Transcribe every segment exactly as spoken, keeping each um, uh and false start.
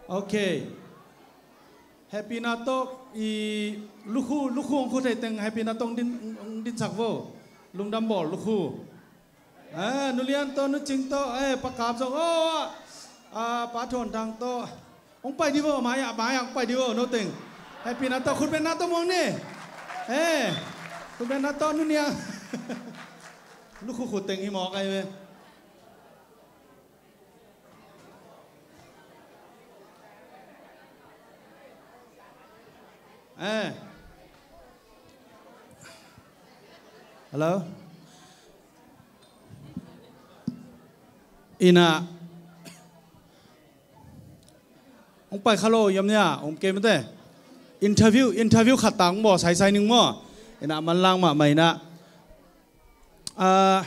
Ok. Hehpihna tawh i lukhu, lukhu hong khu thei teng hehpihna tawh hong din, hong dinsak vo. Lungdam bawl lukhu. Eh, Nu Lian tawh, Nu Cing tawh, eh, Pa Kap zong, oh, ah, Pa Thuan Thang tawh. Hong pai di vo, mai ah, mai ah hong pai di vo, no teng. Hehpihna tawh, khut bengna tawh muang ni. Eh, khut bengna tawh, Nu Niang. Lukhu khut teng hi mawk ai ve. Eh. Hello? Ina. Hong pai kha lo, yam nia, om kei mate. Interview, interview khat tang bo, sai sai ning maw. Ina, manlang mahmah ina. Ah,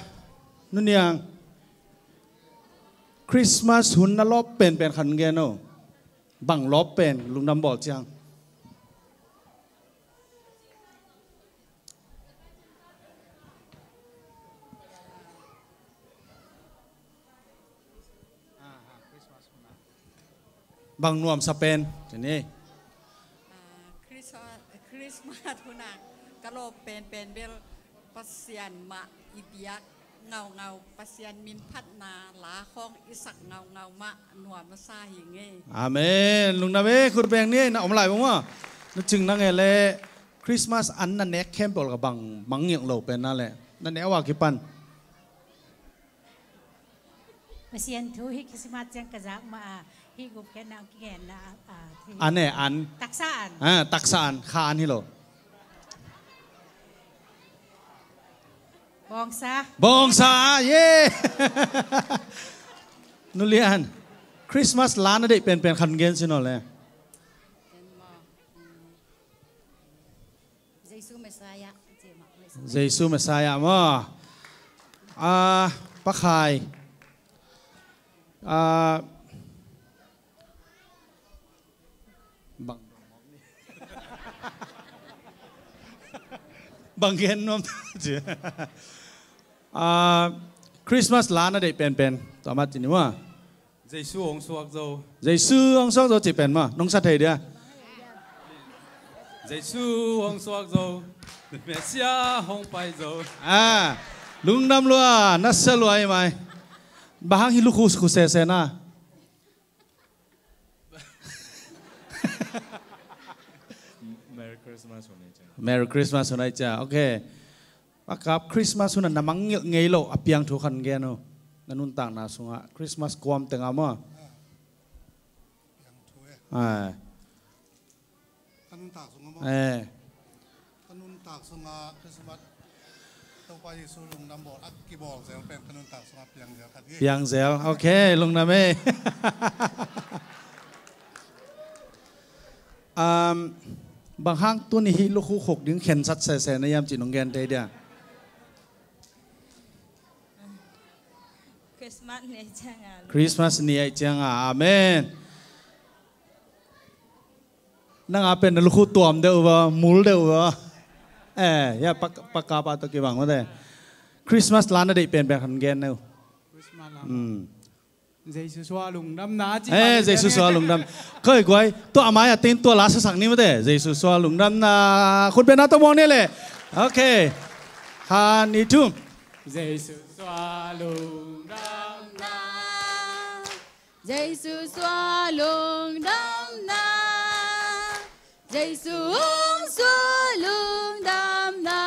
Nu Niang. Christmas hun na lawp penpen khat gen o. Bang lawp pen, lungdam bawl ciang. Bang nuamsa pen, ci ni. Ah, Christmas, Christmas hun a ka lawp penpen bel Pasian mah i biak ngaungau, Pasian min phatna la khawng i sak ngaungau mah nuam a sa hi ngei. Amen. Lungdam e, khut beng ni, na om lai bang maw. Na cing na ngei le Christmas an na nek khempeuh ka bang mangngilh lo pen na le. Na nek a wa kipan. Pasian thu hi Christmas ciang ka zak ma a, hi gup khen na kigen na a, a, hi. An e, an. Taksa an. Ah, taksa an, kha an hi lo. Bawngsa. Bawngsa, yeah! Nu Lian, Christmas la na deih penpen khan gen sin aw le. Jesu Messiah. Jesu Messiah maw. Ah, Pa Khai. Ah, bang. Bang gen nuam. Ah, Christmas la na deih penpen. Tua mah ci ni maw. Jesu hong suak zo. Jesu hong suak zo cih pen maw, nong sa thei dia. Jesu hong suak zo. Messiah hong pai zo. Ah, lungdam lua, na sa lua hi mai. Bang hang hi lukhu khu sese na. Merry Christmas hun ai ciang. Merry Christmas hun ai ciang. Ok. Pa Kap, Christmas hun a na mangngilh ngei lo a piang thu khan gen o. Na nuntakna sungah Christmas kuam tengah maw. Piang thu e. Ai. Ka nuntak sungah maw. Eh. Ka nuntak sungah Christmas Topa Jesu lungdam bawl a kibawl zel pen ka nuntak sungah piang zel khat hi. Piang zel. Ok, lungdam e. Um, bang hang tuni hi lukhu khuk ding khensat sese na hiam cih nong gen thei dia. Christmas ni ai ciang a. Christmas ni ai ciang a. Amen. Nang a pen na lukhu tuam deuh va, mul deuh va. Eh, ya, Pa, Pa Kap a tawh kibang mate. Christmas la na deih penpen khan gen neu. Christmas la. Hmm. Jesu sua lungdamna ci. Eh, Jesu sua lungdam. Koi guai, tua a mai a tin tua la sasak ni mate. Jesu sua lungdamna. Khut bengna tawh muang ni le. Ok. Khat, nih, thum. Jesu sua lungdamna. Jesu sua lungdamna. Jesu hong sua lungdamna.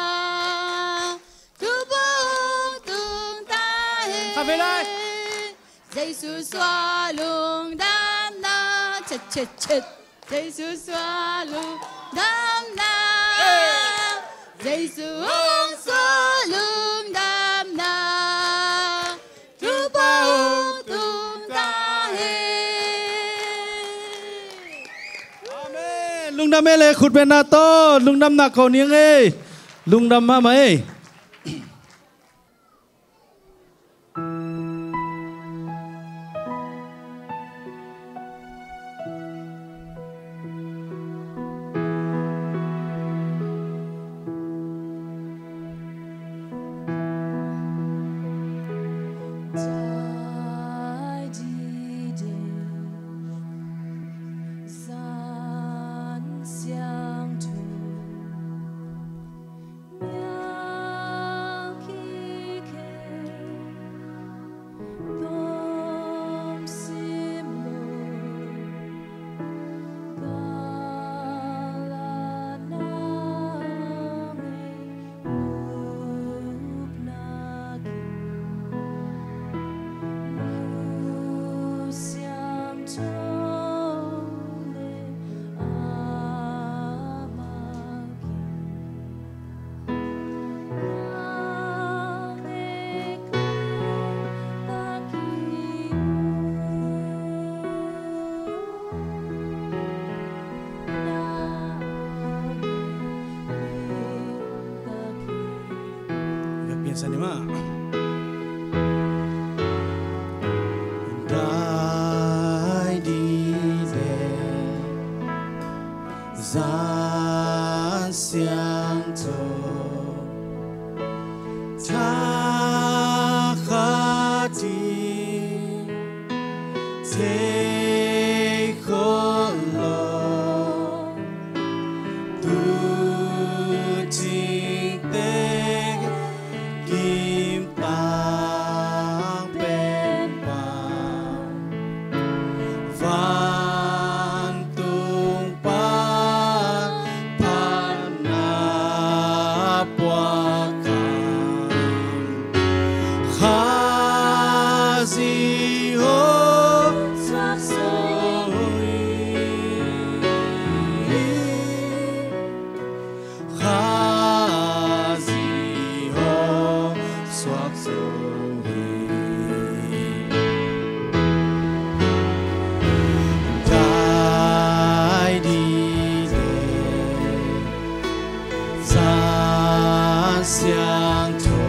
Thupha hong tung ta hen. Kha ve lai. Jesu sua lungdamna. Chet, chet, chet. Jesu sua lungdamna. Jesu hong sua lungdamna. Thupha hong tung ta hen. Amen. Lungdam e le khut bengna tawh. Lungdamna ko niang e. Lungdam mahmah e. Sanima. Dai di de zan siang to ta kha di te kho lo. Tu ting te kim tang pen pa vantung pa phan na puak kha. Khazi ho suak zo hi. Khazi ho suak zo hi. Dai di de zan siang to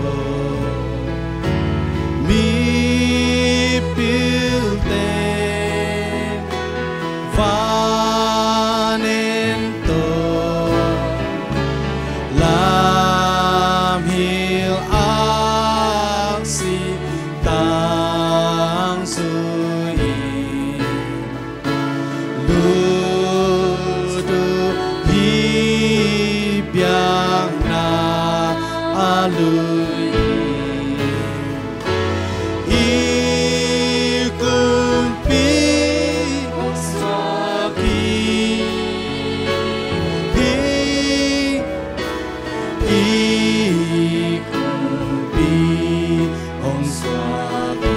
mipilte van en to lam hil aksi tang zui in. Lut uh hih biakna a lui in. I kumpi hong suak hi. I kumpi hong suak hi.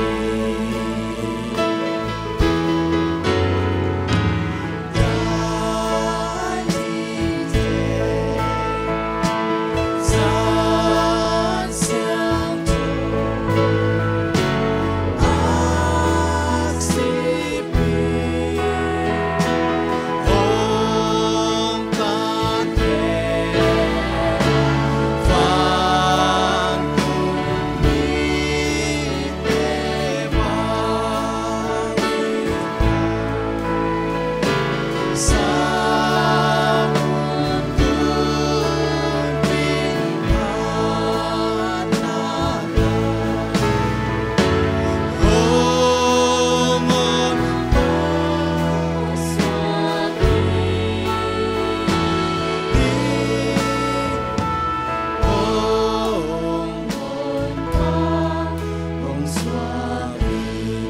Dai di de zan siang to aksi pi hong tan he. Vantung mite bang in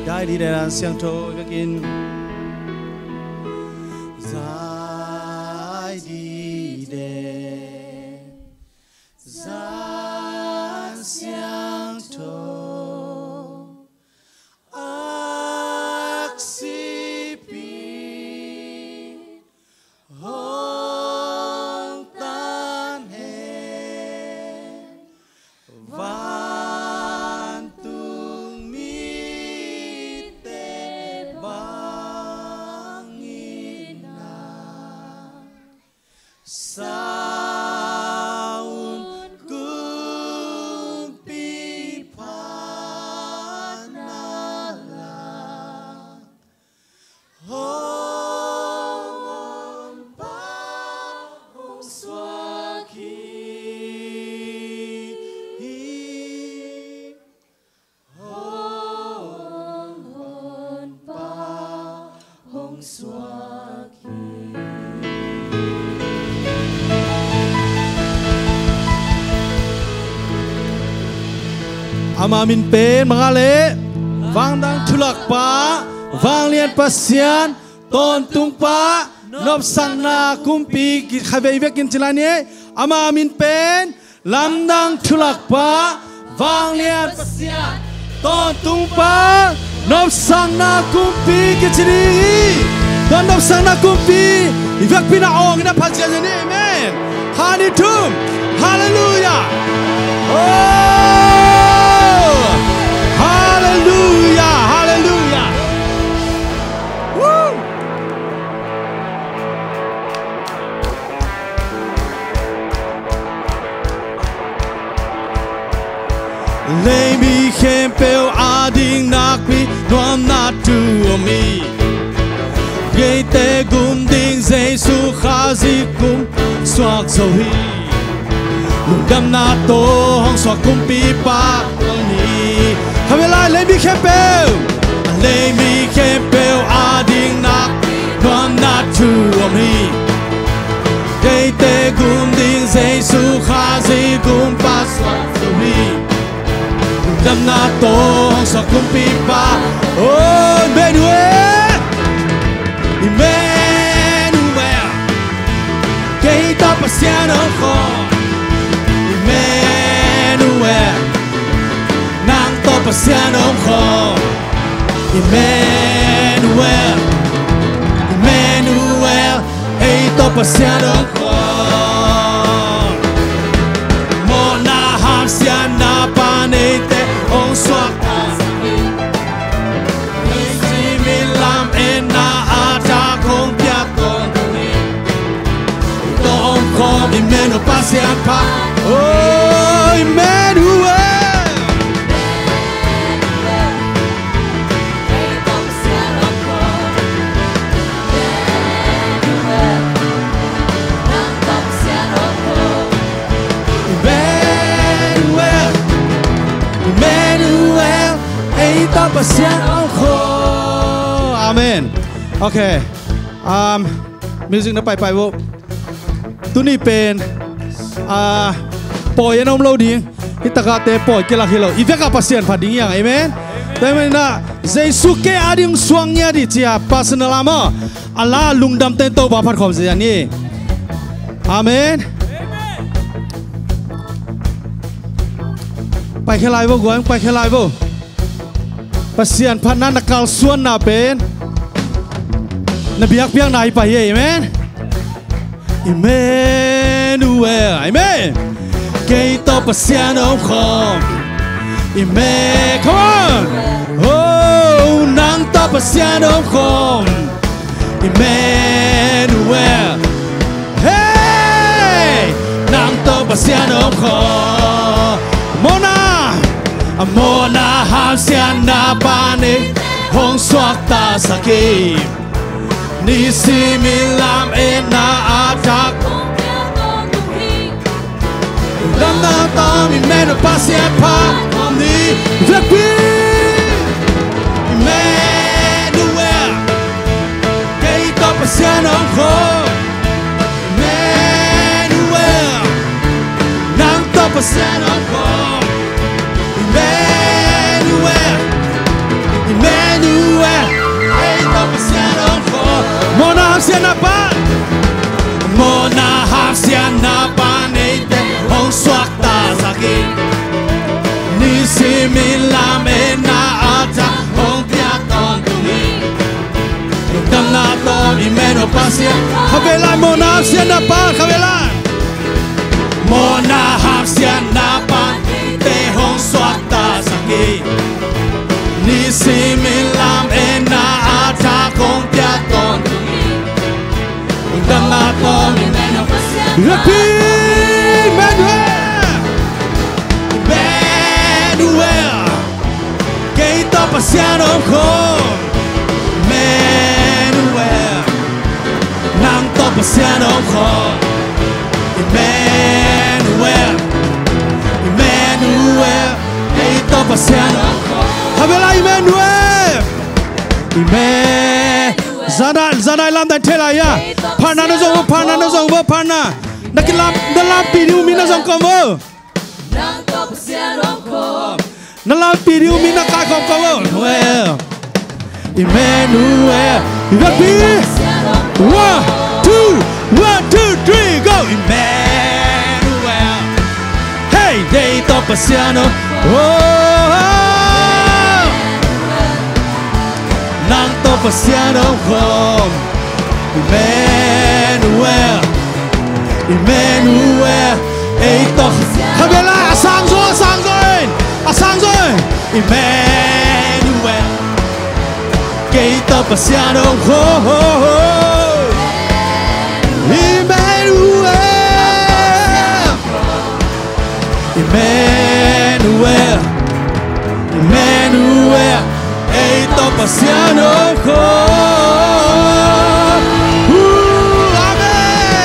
Dai di de zan siang to vekin. Dai di de zan siang to aksi pi hong tan he. Vantung mite bang in na saun kumpi phan na la. Hong hong pa hong suak hi. Hong hong pa hong suak hi. Ama min pen mangale, vangdang thulakpa, vanglian Pasian, tawntungpa, nopsakna kumpi, kikhavei vekin ci lai ni. Ama min pen lamdang thulakpa, vanglian Pasian, tawntungpa, nopsakna kumpi kici ding hi. Tua nopsakna kumpi i vekpi na awng ina phacian ni. Amen. Kha ni thum. Halleluia. Oh. Halleluia. Halleluia. Woo. Kha zi kum suak zo hi. Lungdamna tawh hong suak kumpipa ko ni. Khabe lai, leimi khempeuh, leimi khempeuh a ding nak nuamna thu om hi. Deite gum ding Jesu Khazih gumpa suak zo hi. Lungdamna tawh hong suak kumpipa. Oh, Emmanuel. Emmanuel. Kei tawh Pasian om khawm. Emmanuel. Nang tawh Pasian om khawm. Emmanuel. Emmanuel. Ei tawh Pasian om khawm. Mawhna hamsiatna pan eite hong suaktasak hi. Nisim in lametna a thak hong piak tawntung hi. Ei tawh om khawm Emmanuel Pasian pha. Oh, Emmanuel. Emmanuel, Emmanuel, ei tawh Pasian om khawm. Amen. Okay. Um, music na paipai vo. Tuni pen, ah, pawi a na om lo ding. Hih takahte pawi kilak hi lo. I vekah Pasian phat ding hi hang. Amen. Tua ahih manin ah Jesu kei a ding suak ngiat hi ci-a personal a maw, a la lungdam teng Topa phat khawm zia ni. Amen. Paikhia lai vo, guai, paikhia lai vo. Pasian phatna na kalsuanna pen na biakpiakna hi pah hi. Amen. Emmanuel. Amen. Kei tawh Pasian om khawm. Amen. Come on. Oh, nang tawh Pasian om khawm. Emmanuel. Hey! Nang tawh Pasian om khawm. Mawhna, a mawhna hamsiatna pan eite hong suaktasak hi. Nisim in lametna a thak hong piak tawntung hi. Lungdamna tawh Emmanuel Pasian phat khawm ni. Vekpi. Emmanuel. Kei tawh Pasian om khawm. Emmanuel. Nang tawh Pasian om khawm. Emmanuel. Emmanuel. Ei tawh Pasian om khawm. Mawhna hamsiatna pan. Mawhna hamsiatna pan eite hong suaktasak hi. Nisim in lametna a thak hong piak tawntung hi. Lungdamna tawh Emmanuel Pasian. Khabe lai, mawhna hamsiatna pan, khabe lai. Mawhna hamsiatna pan eite hong suaktasak hi. Nisim in lametna a thak hong piak tawntung hi. Lungdamna tawh Emmanuel Pasian. Repeat, Emmanuel. Emmanuel. Kei tawh Pasian om khawm. Emmanuel. Nang tawh Pasian om khawm. Emmanuel. Emmanuel. Kei tawh Pasian om khawm. Khabe lai, Emmanuel. Emmanuel. Zanai, zanai lamdang thei lai ia. Phatna na zong vo, phatna na zong vo, phatna. Na kilam, na lampih ding uh mi na zong kawm vo. Nang tawh Pasian om khawm. Na lampih ding uh mi na kaikhawm kawm vo. Well. Emmanuel. Emmanuel. One, two, one, two, three, go. Emmanuel. Hey, kei tawh Pasian om. Oh. Nang tawh Pasian om khawm. Emmanuel. Emmanuel. Ei tawh. Khabe lai, a sang zaw, a sang zaw in. A sang zaw in. Emmanuel. Kei tawh Pasian om khawm. Emmanuel. Emmanuel. Emmanuel. Ei tawh Pasian om khawm. Uh, amen.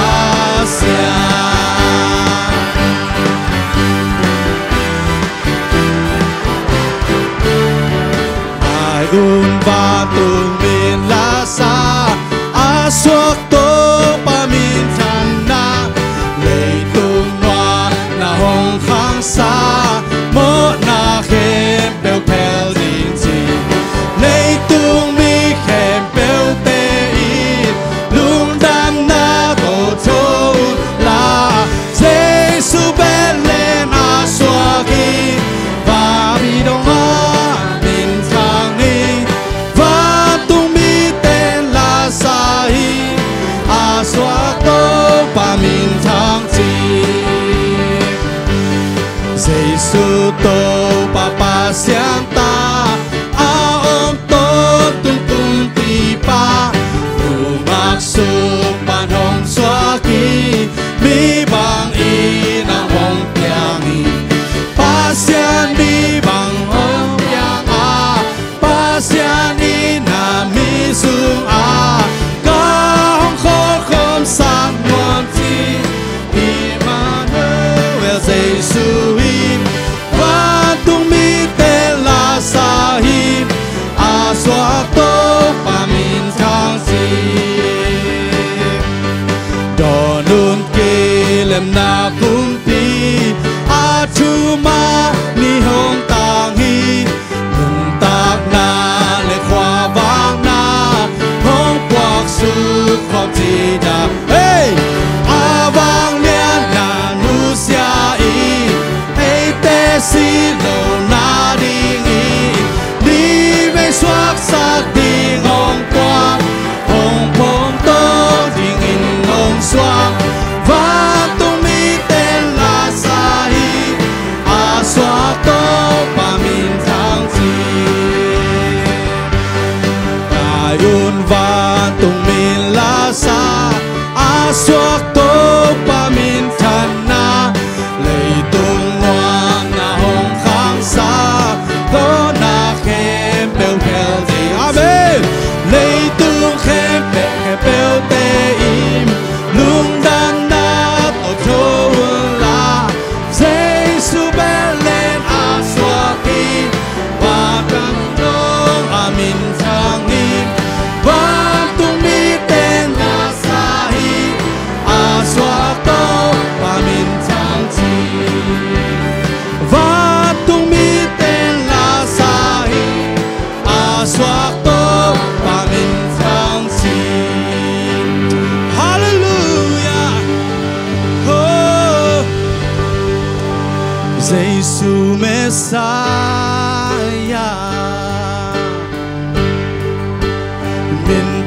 a siang. Ai un vantung min Lasar a suak Topa minthanna, leitung nuai na hong khangsa mawhna khempeuh phel ding ci. Leitung mi khempeuhte in lungdamna tawh tho un la, Jesu Bethlehem ah suak hi. Vapidong ah minthang hi. Vantung mite in la sa hi.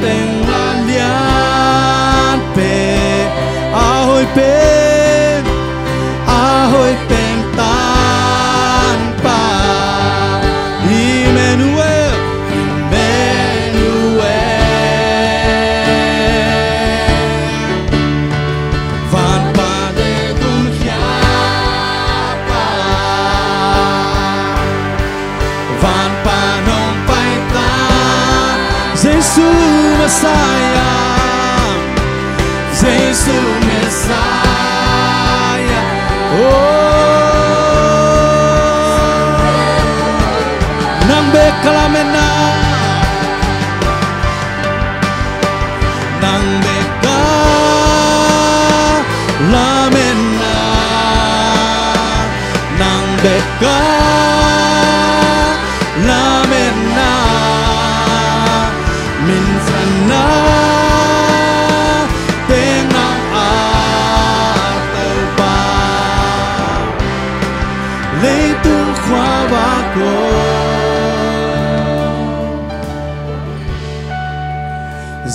teng la lianpen, a hoih pen, a hoih pen Tanpa, Emmanuel, Emmanuel. Van pan hong tung khia pa, van pan hong pai ta, Jesu Messiah, Jesu Messiah. Oh, nang bek ka lametna, nang bek ka lametna, nang bek ka lametna, minthana teng nang a Topa, leitung khuavak aw.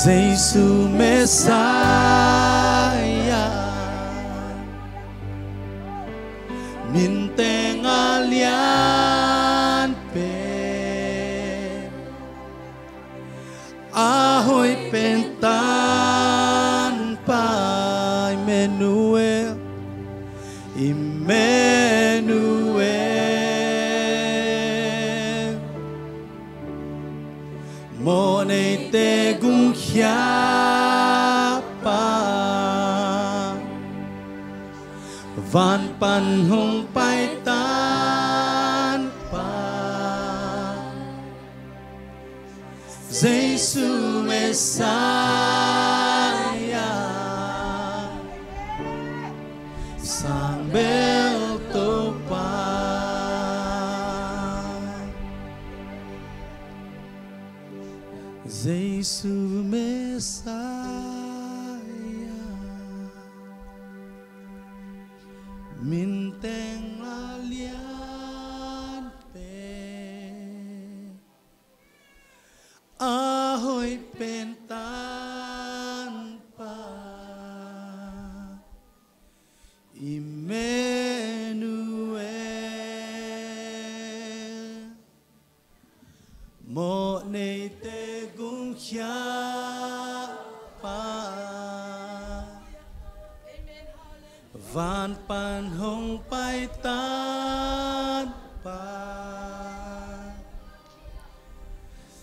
Jesu Messiah, min teng a lianpen, a hoih pen Tanpa, Emmanuel, Emmanuel. Mawhneite gumkhia pa, van pan hong pai Tanpa, Jesu Messiah, sangbel Topa. Jesu Messiah, min teng a lianpen, a hoih pen Tanpa, Emmanuel. Mawhneite gumkhia pa, van pan hong pai Tanpa,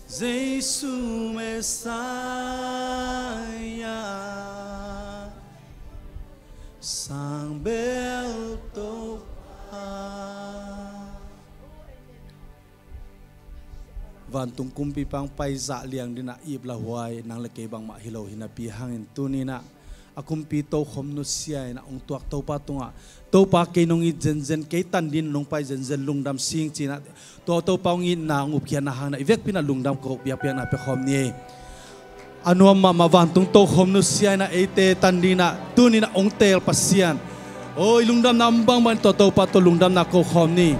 Jesu Messiah, sangbel Topa. Vantung kumpipa hong pai zah liang dingin ah ip lauhuai nang le kei bangmah hi lo hi napi hangin tuni-in ah a kumpi tokhom nusia in ah hong tuak Topa tungah, Topa kei nong it zenzen, kei tan dingin nong pai zenzen, lungdam sing ci-in ah tua Topa hong itna hong upkhiatna hangin ah i vekpi-in ah lungdam ko, biakpiakna pia khawm ni. A nuam mahmah vantung tokhom nusia in ah eite tan dingin ah tuni-in ah hong teel Pasian, aw, i lungdamna om bangbang in tua Topa tawh lungdamna ko khawm ni.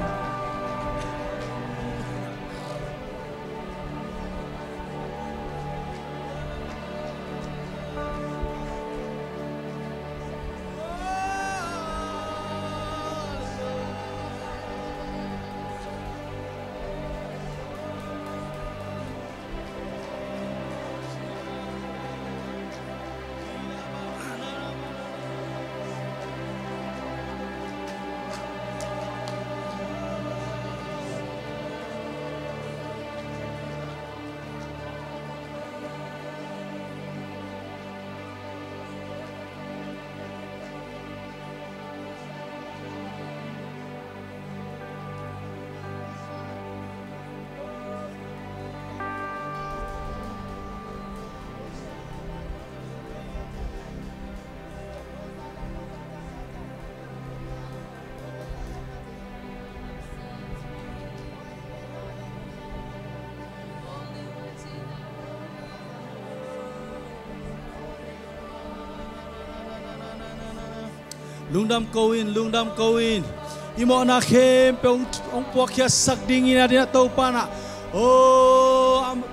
Lungdam ko in, lungdam ko in. I mawhna khempeuh hong, hong puakkhiatsak dingin a dingin ah Topa in ah, aw, am,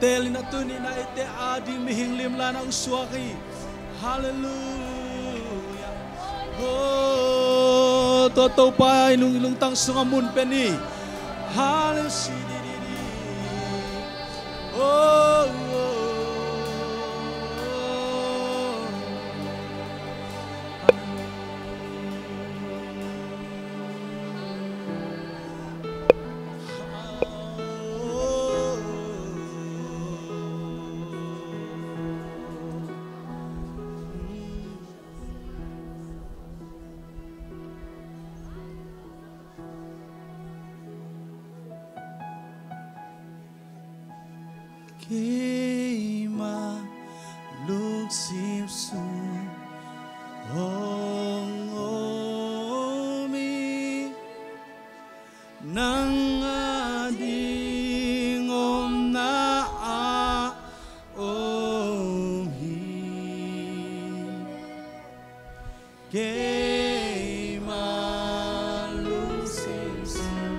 Teel in a tuni-in ah eite ading mihing limla na hong suak hi. Halleluia. Oh, tua Topa i lung, i lungtang sungah mun pia ni. Halleluia. Oh, oh, oh. Keima lungsim sung hong om hi, nang ading omna ah om hi. Keima lungsim sung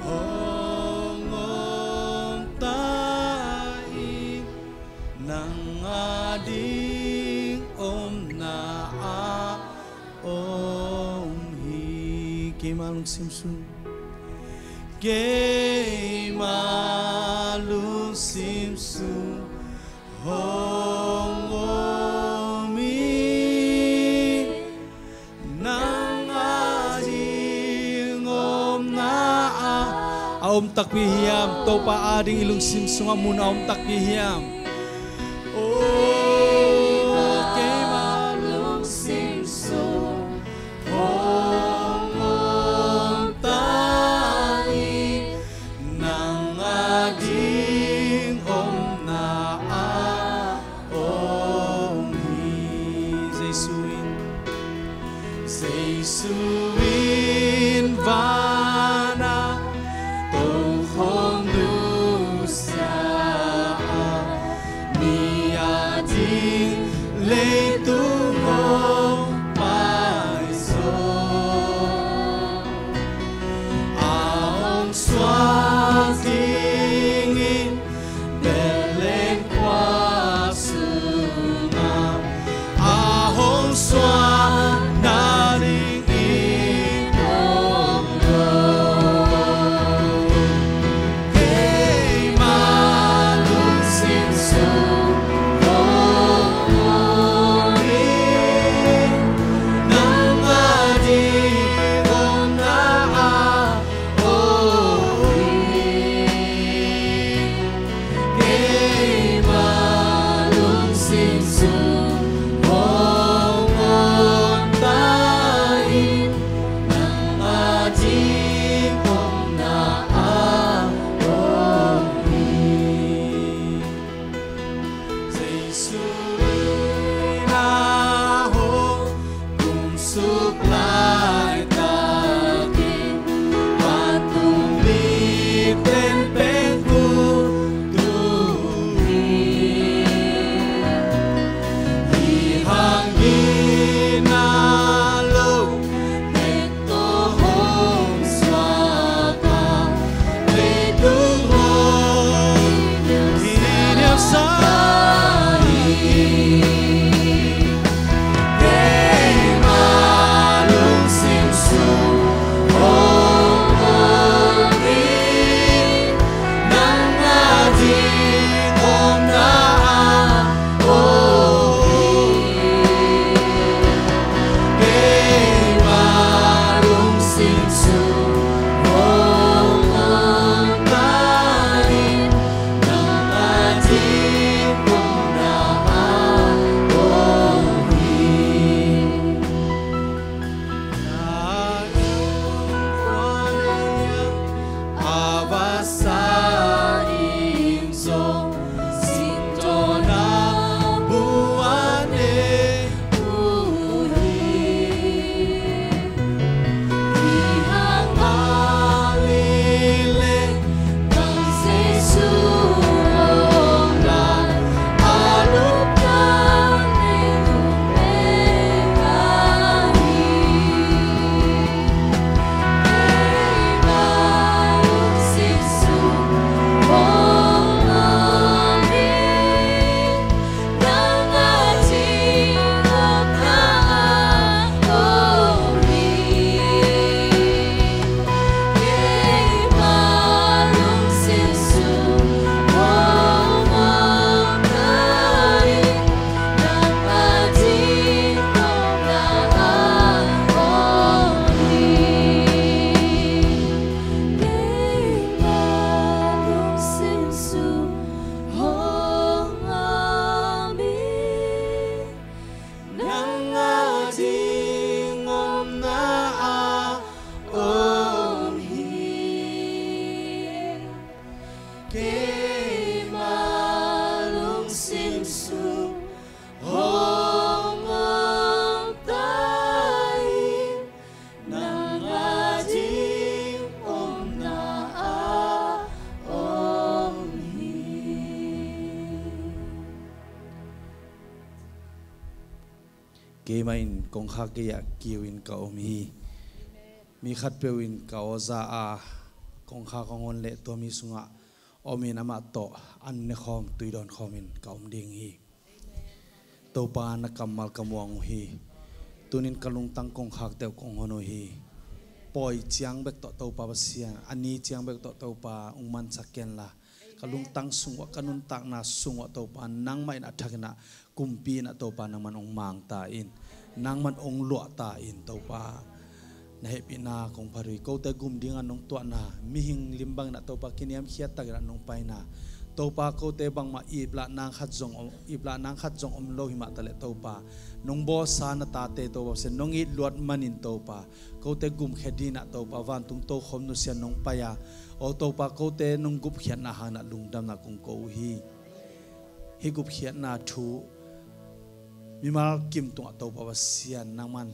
hong om ta in, nang ading omna ah om hi. Keima lungsim sung, keima lungsim sung hong om hi, nang ading omna ah. A om takpi hiam? Topa ading i lungsim sungah mun a om takpi hiam? Oh, keima lungsim sung hong om ta in, nang ading omna ah om hi. Jesu in, Jesu in van ah tokhom nusia a, mi ading leitung hong paizaw. A hong suak dingin Bethlehem khua sungah, a hong suak nading i tawh lo. Keima lungsim sung hong om hi, nang ading omna ah om hi. Keima lungsim sung hong om ta in, nang ading omna ah om hi. Jesu in a hong kum suk laitakin, vantung mite in pengkul tung hi. Hi hang in a lo, nek tawh hong suak a, leitung hong hi niamsa hi. Keimah in kongkhak gei-ah kiu in ka om hi. Mi khatpeuh in ka aw za a, kongkhak hong hon leh tua mi sungah om in amah tawh an nekhawm, tui dawnkhawm in ka om ding hi. Topa, na kammal ka muang uh hi. Tunin ka lungtang kongkhak deuh kong hon uh hi. Pawi ciang bek tawh Topa Pasian, a ni ciang bek tawh Topa hong mansak kenla, ka lungtang sungah, ka nuntakna sungah Topa, nangmah in a thakin ah, kumpi in ah Topa, nangman hong mang ta in, nangman hong luah ta in Topa. Na hehpihna kong phat uh hi. Kote gum dingah nong tuahna, mihing lim bangin ah Topa, kiniamkhiat takin ah nong paina, Topa, kote bangmah iplah nang khat zong om, iplah nang khat zong om lo hi mah taleh Topa, nong bawlsa na tate Topa Pasian, nong it luat manin Topa, kote gumkhia dingin ah Topa, vantung tokhom nusia nong pai a, aw Topa, kote nong gupkhiatna hangin ah lungdamna kong ko uh hi. Hih gupkhiatna thu mimal kim tungah Topa Pasian, nangman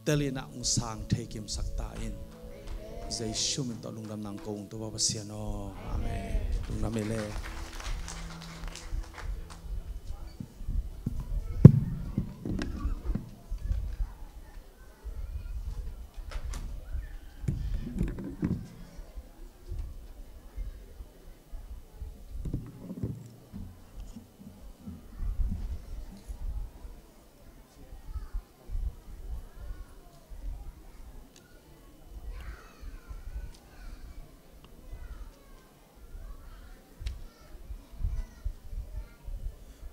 tel in ah hong sang thei kimsak ta in. Jesu min tawh lungdamna kong ko uh hi Topa Pasian aw. Amen. Lungdam ei le.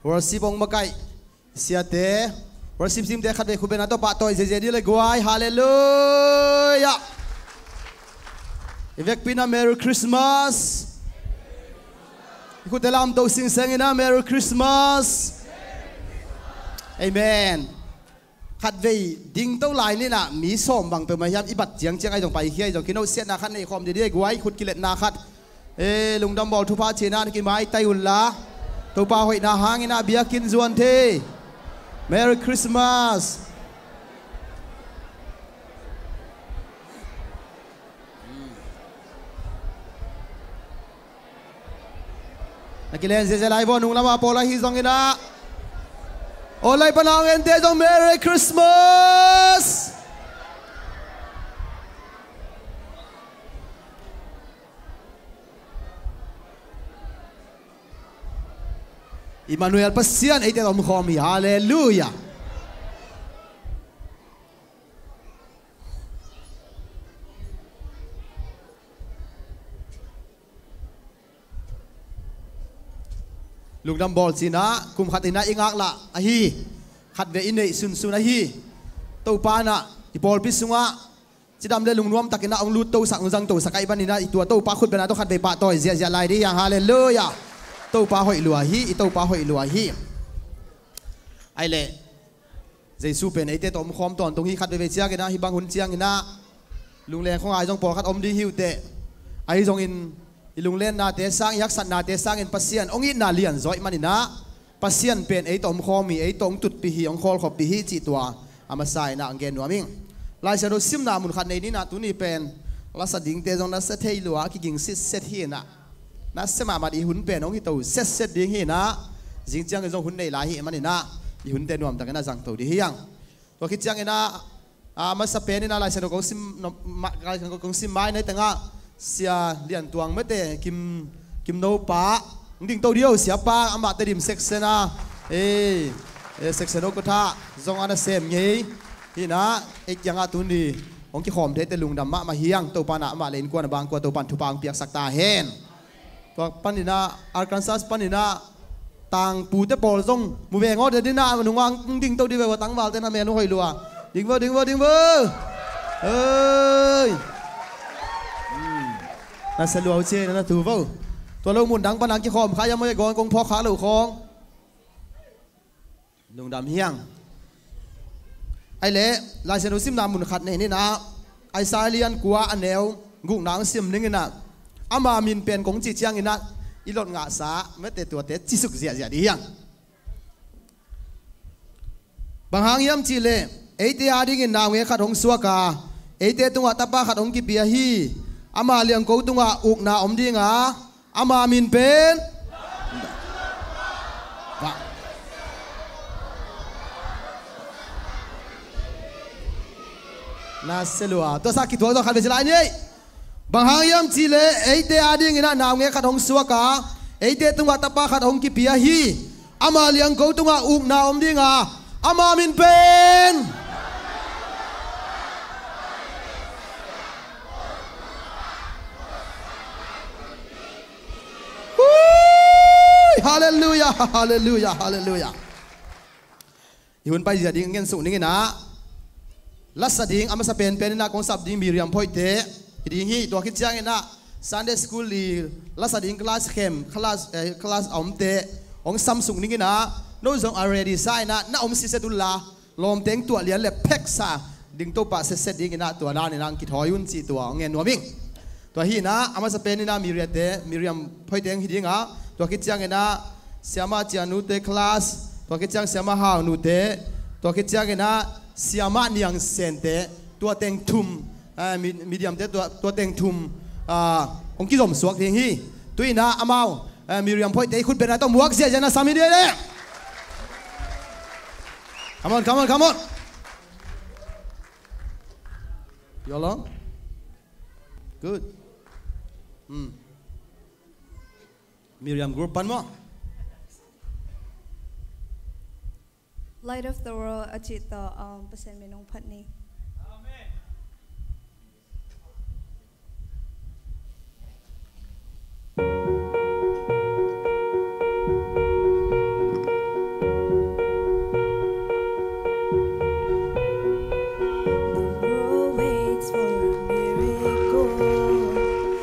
Worship hong makaih siate, worship team te khatvei khut bengna tawh pahtawi ziahziah dih le guai. Halleluiah. I vekpi in ah Merry Christmas. I khutte lamto singseng in ah Merry Christmas. Amen. Khatvei dingto lai ni in ah, mi sawm bang peuhmah hiam i bat ciangciang ahi zong, paikhia ahi zong, kinosiatna khat nei khawm dih dih guai, khut kiletna khat. E, lungdam bawl thupha ciangin ah na kimaitai unla, Topa hoihna hangin ah biakinn zuan thei. Merry Christmas. Na kilen ziahziah lai vua, nung lamah pawl ahi zongin ah, aw, lai pana hong ente zong Merry Christmas. Emmanuel Pasian eite tawh omkhawm hi. Halleluiah. Lungdam bawl ci-in ah, kum khat in ah i ngaklah ahi, khatvei i neih sunsun ahi, Topa in ah i pawlpi sungah cidam le lungnuam takin ah hong luttosak, hong zangtosak ahih manin ah, i tua Topa khut bengna tawh khatvei pahtawi ziahziah lai dih hi hang. Halleluiah. Topa hoih lua hi, i Topa hoih lua hi. Ahih leh Jesu pen eite tawh omkhawm tawntung hi. Khat veivei ciangin ah, hih bang hun ciangin ah lungleng khong ai zong pawlkhat om ding hi uh teh. Ahi zongin i lunglennate sang, i haksatnate sangin Pasian hong itna lianzaw ahih manin ah, Pasian pen ei tawh omkhawm hi, ei tawh hong tutpih hi, hong khawlkhoppih hi cih tua a masa in ah hong gen nuam ing. Lai Siangtho simna mun khat nei ni in ah, tuni pen lasa dingte zong na sia thei lua, a kiging sitset hi in ah, na sia mahmah dih, i hun pen hong hito setset ding hi in ah, zing ciangin zong hun nei lai hi ahih manin ah, i hunte nuamtakin ah zangto dih hi hang. Tua khit ciangin ah, a masa pen in ah Lai Siangtho kong sim, no, ma, Lai Siangtho kong sim mai nai tengah Sia Lian Tuang mate, Kim, Kim No pa hong dingto dih o, Sia pa, amah Tedim section a, eh, eh, section ukatha zong a nasem ngei hi in ah, ei kiangah tuni hong kikhawm theite lungdam mahmah hi hang. Topa in ah amah le innkuan a bangkua Topa in thupha hong piaksak ta hen. Tua panin ah, Arkansas panin ah tangpute pawl zong mu veng aw, te ding ah, nung ang dingto dih ve ua, tangvalte na men uh hoih lua. Ding vo, ding vo, ding vo. Oi. Hmm. Na sia lua uh ci, na na tu vo. Tua lo mun dang pan ang kikhawm kha hiam, oi, gawn kong phawk kha lo khawng. Lungdam hi hang. Ahih leh, Lai Siangtho simna mun khat nei ni in ah, Isaiah lian kua a neu gukna hong sim ning in ah, ama min pen kong cih ciangin ah, i lot ngahsa mate tuate cisuk ziahziah dih hi hang. Bang hang hiam cih leh, eite adingin naungek khat hong suak a, eite tungah tapa khat hong kipia hi. Ama liangko tungah ukna om ding a, ama min pen, va, Na se lua. Tua sa kituak tawh khat vei ci lai ni. Bang hang hiam cih leh eite adingin ah naungek khat hong suak a, eite tungah tapa khat hong kipia hi. Ama liangko tungah ukna om ding a, ama min pen Hui! Halleluiah, halleluiah, halleluiah. I hun paizia ding ngen suk ning in ah, lasa ding a masa penpen in ah kong sap ding Miriam Phoihte hi ding hi. Tua khit ciangin ah Sunday school i lasa ding class khem, class, eh, class a omte hong sam suk ning in ah, no zong a ready sa in ah na om siset un la, lawmteng tuah lian le pheksa ding Topa setset ding in ah tua dan in ah kithawi un cih tua hong ngen nuam ing. Tua hi in ah a masa pen in ah Miriam te, Miriam Phoihte hi ding a, tua khit ciangin ah Siama Cianute class, tua khit ciang Siama Haunute, tua khit ciangin ah Siama Niang Sente, tua teng thum, ah, mi-, Miriam te tua, tua teng thum, ah, hong kizom suak ding hi. Tu in ah amau, ah, Miriam Phoihte i khut beng a tawh muak ziahziah na sam hi ding hi leh. Come on, come on, come on. You along? Good. Hmm. Miriam group pan maw? Light of the world a cih tawh, um, Pasian min hong phat ni. The world waits for a miracle.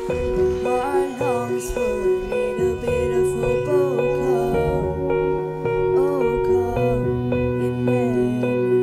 The heart longs for a little bit of hope. Oh, come, oh, come, Emmanuel.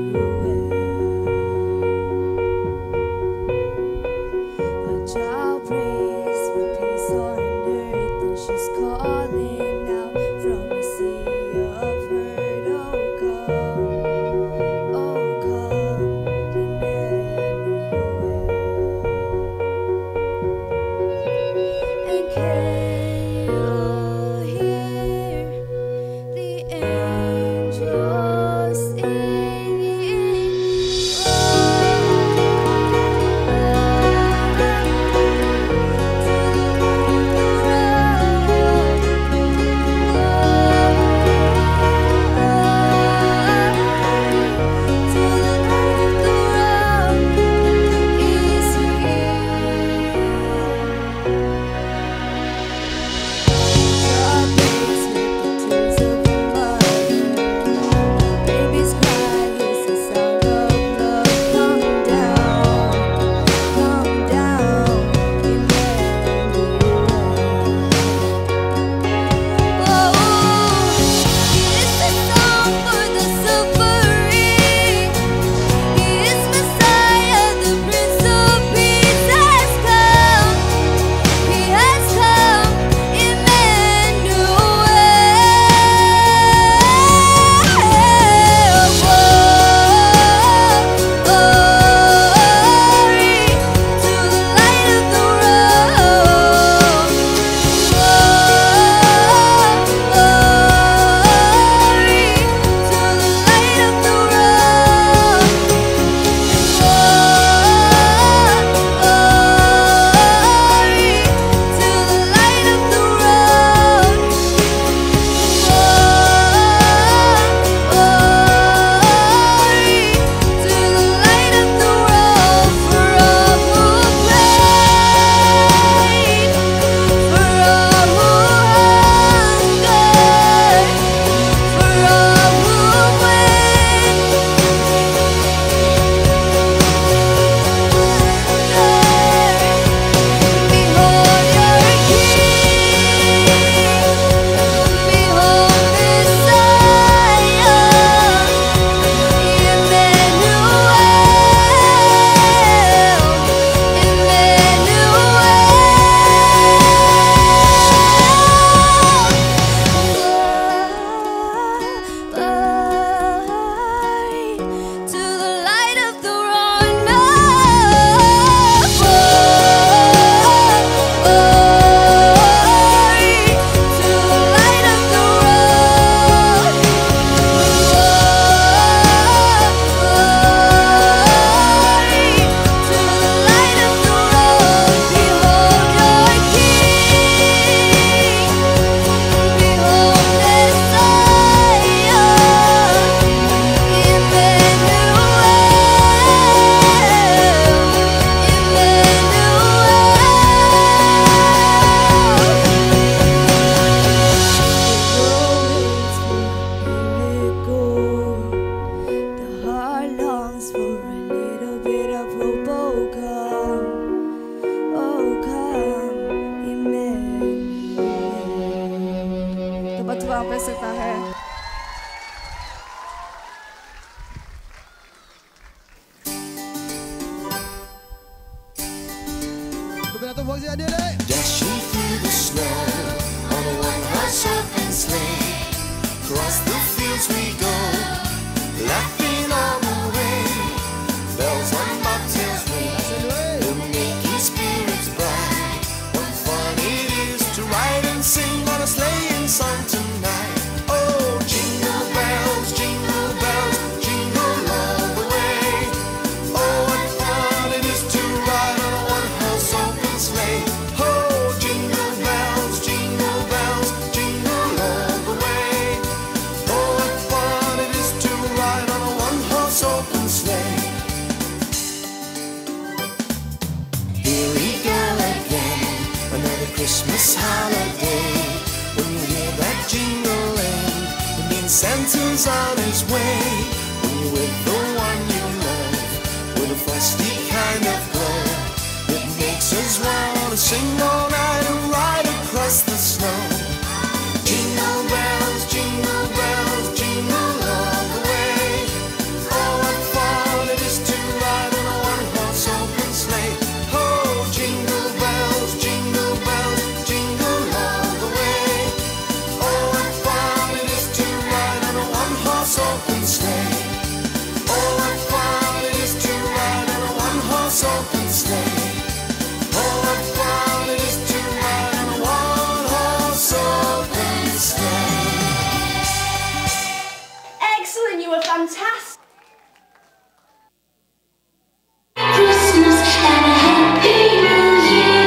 Dashing through the snow on a one-horse open sleigh. Across the fields we go, laughing all the way. Bells on bobtails ring, the making spirits bright. What fun it is to ride and sing on a sleighing song tonight. Oh, jingle bells, jingle bells, jingle all the way. Oh, what fun it is to ride on a one-horse open sleigh. Oh, jingle bells, jingle bells, jingle all the way. Oh, what fun it is to ride on a one-horse open sleigh. Here we go again, another Christmas holiday. When you hear that jingling, it means Santa's on his way. When you're with the one you love, with a frosty kind of glow, it makes us want to sing all night and ride across the snow. Jingle bells, jingle bells, jingle all the way. Oh, what fun it is to ride on a one-horse open sleigh. Oh, jingle bells, jingle bells, jingle all the way. Oh, what fun it is to ride on a one-horse open sleigh. Oh, what fun it is to ride on a one-horse open sleigh. Oh, what fun it is to ride on a one-horse open sleigh. Excellent, you were fantastic. Christmas and a Happy New Year.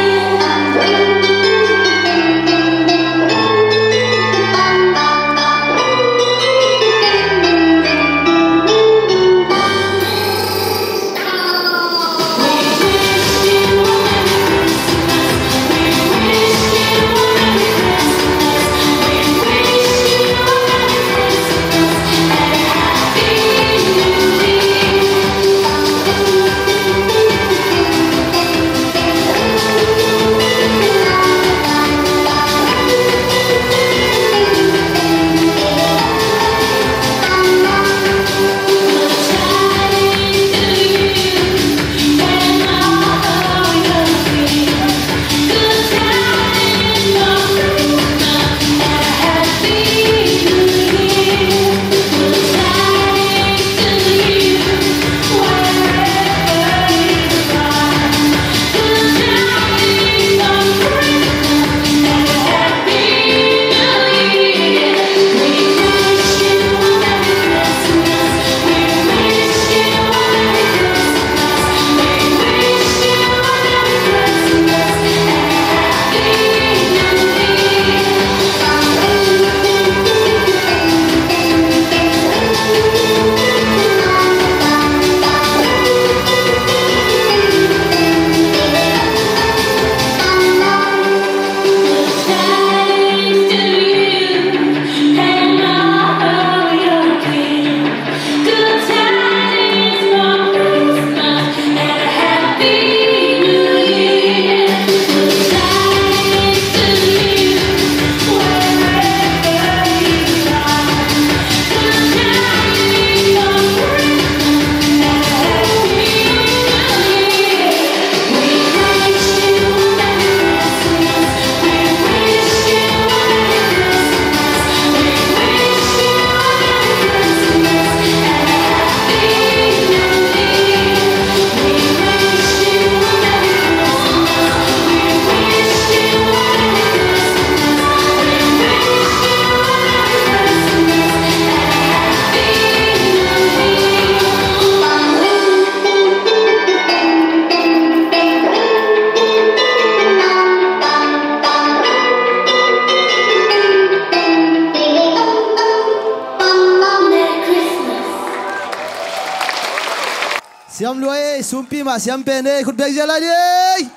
Siam lua ei, sumpi mah siam pen ei, khut beng zia lai di ei.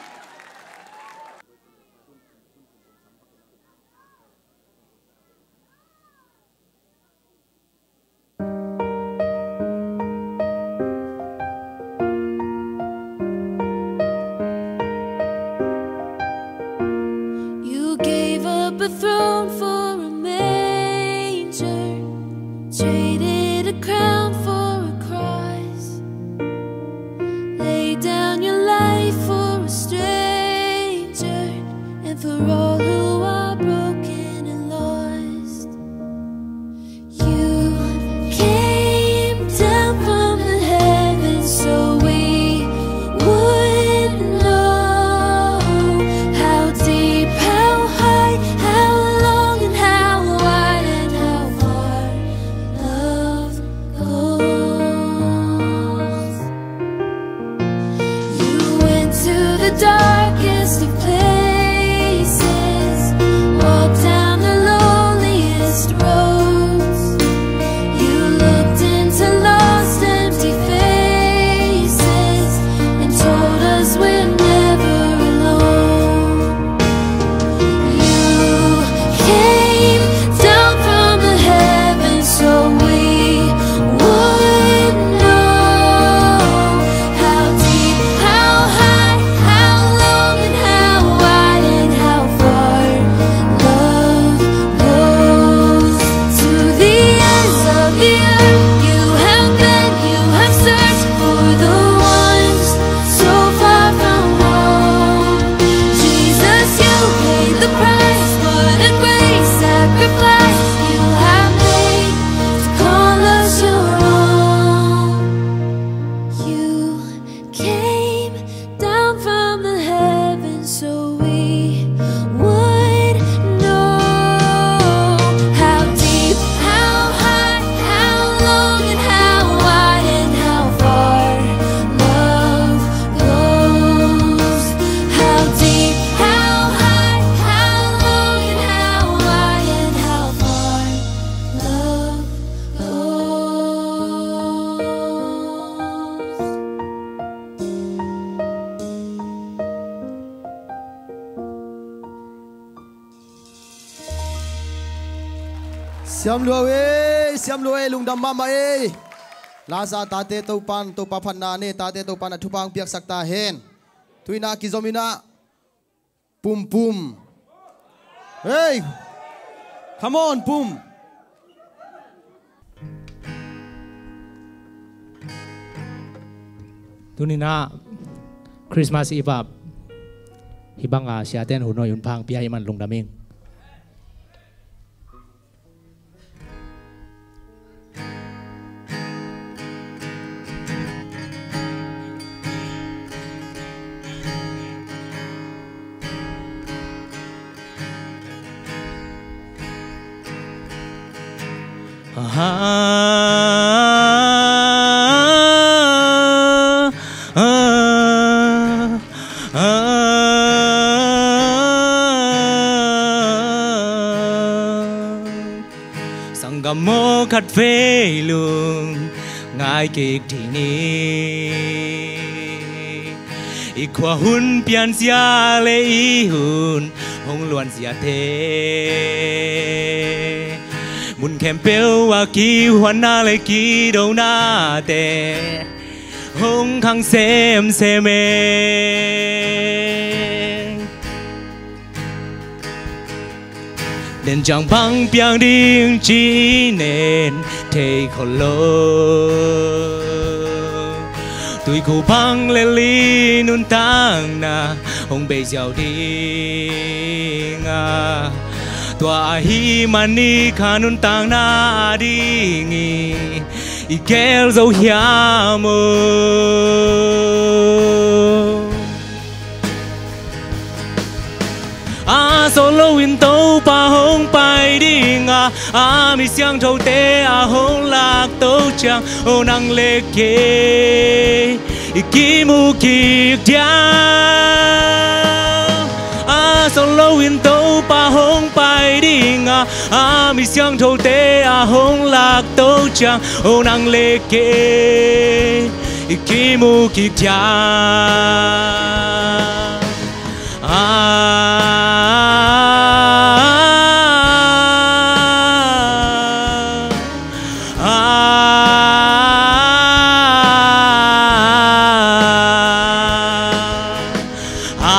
You gave up a throne for a manger, traded a crown for a cross, laid down your life for a stranger. Siam lua ei, siam lua ei, lungdam mahmah ei. Laza tate Topan, Topa phatna nei tate Topan a thupha hong piaksak ta hen. Tuina kizom inah Pum Pum. Hey! Come on, Pum! Tuninah Christmas Eve ah hih banga siaten hun hoih hun pha hong pia ahih man lungdam ing. Sanggam aw, khatvei lungngai kik dih ni. I khua hun pianzia le i hun hong luanziate, mun khempeuh a kihuanna le kidonate hong khang semsem e. Nen ciang bang piang ding ci-in nen thei khol lo. Tuikhu bang lel i nuntakna hong bei ziau ding a, tua ahih manin kha nuntakna a ding i i gel zo hiam aw? A sawt loin Topa hong pai ding a, a mi siangthote a hong lak to ciang, o nang le kei i kimu kik diam. A sawt loin Topa hong pai ding a, a mi siangthote a hong lak to ciang, o nang le kei i kimu kik diam. A, a, a,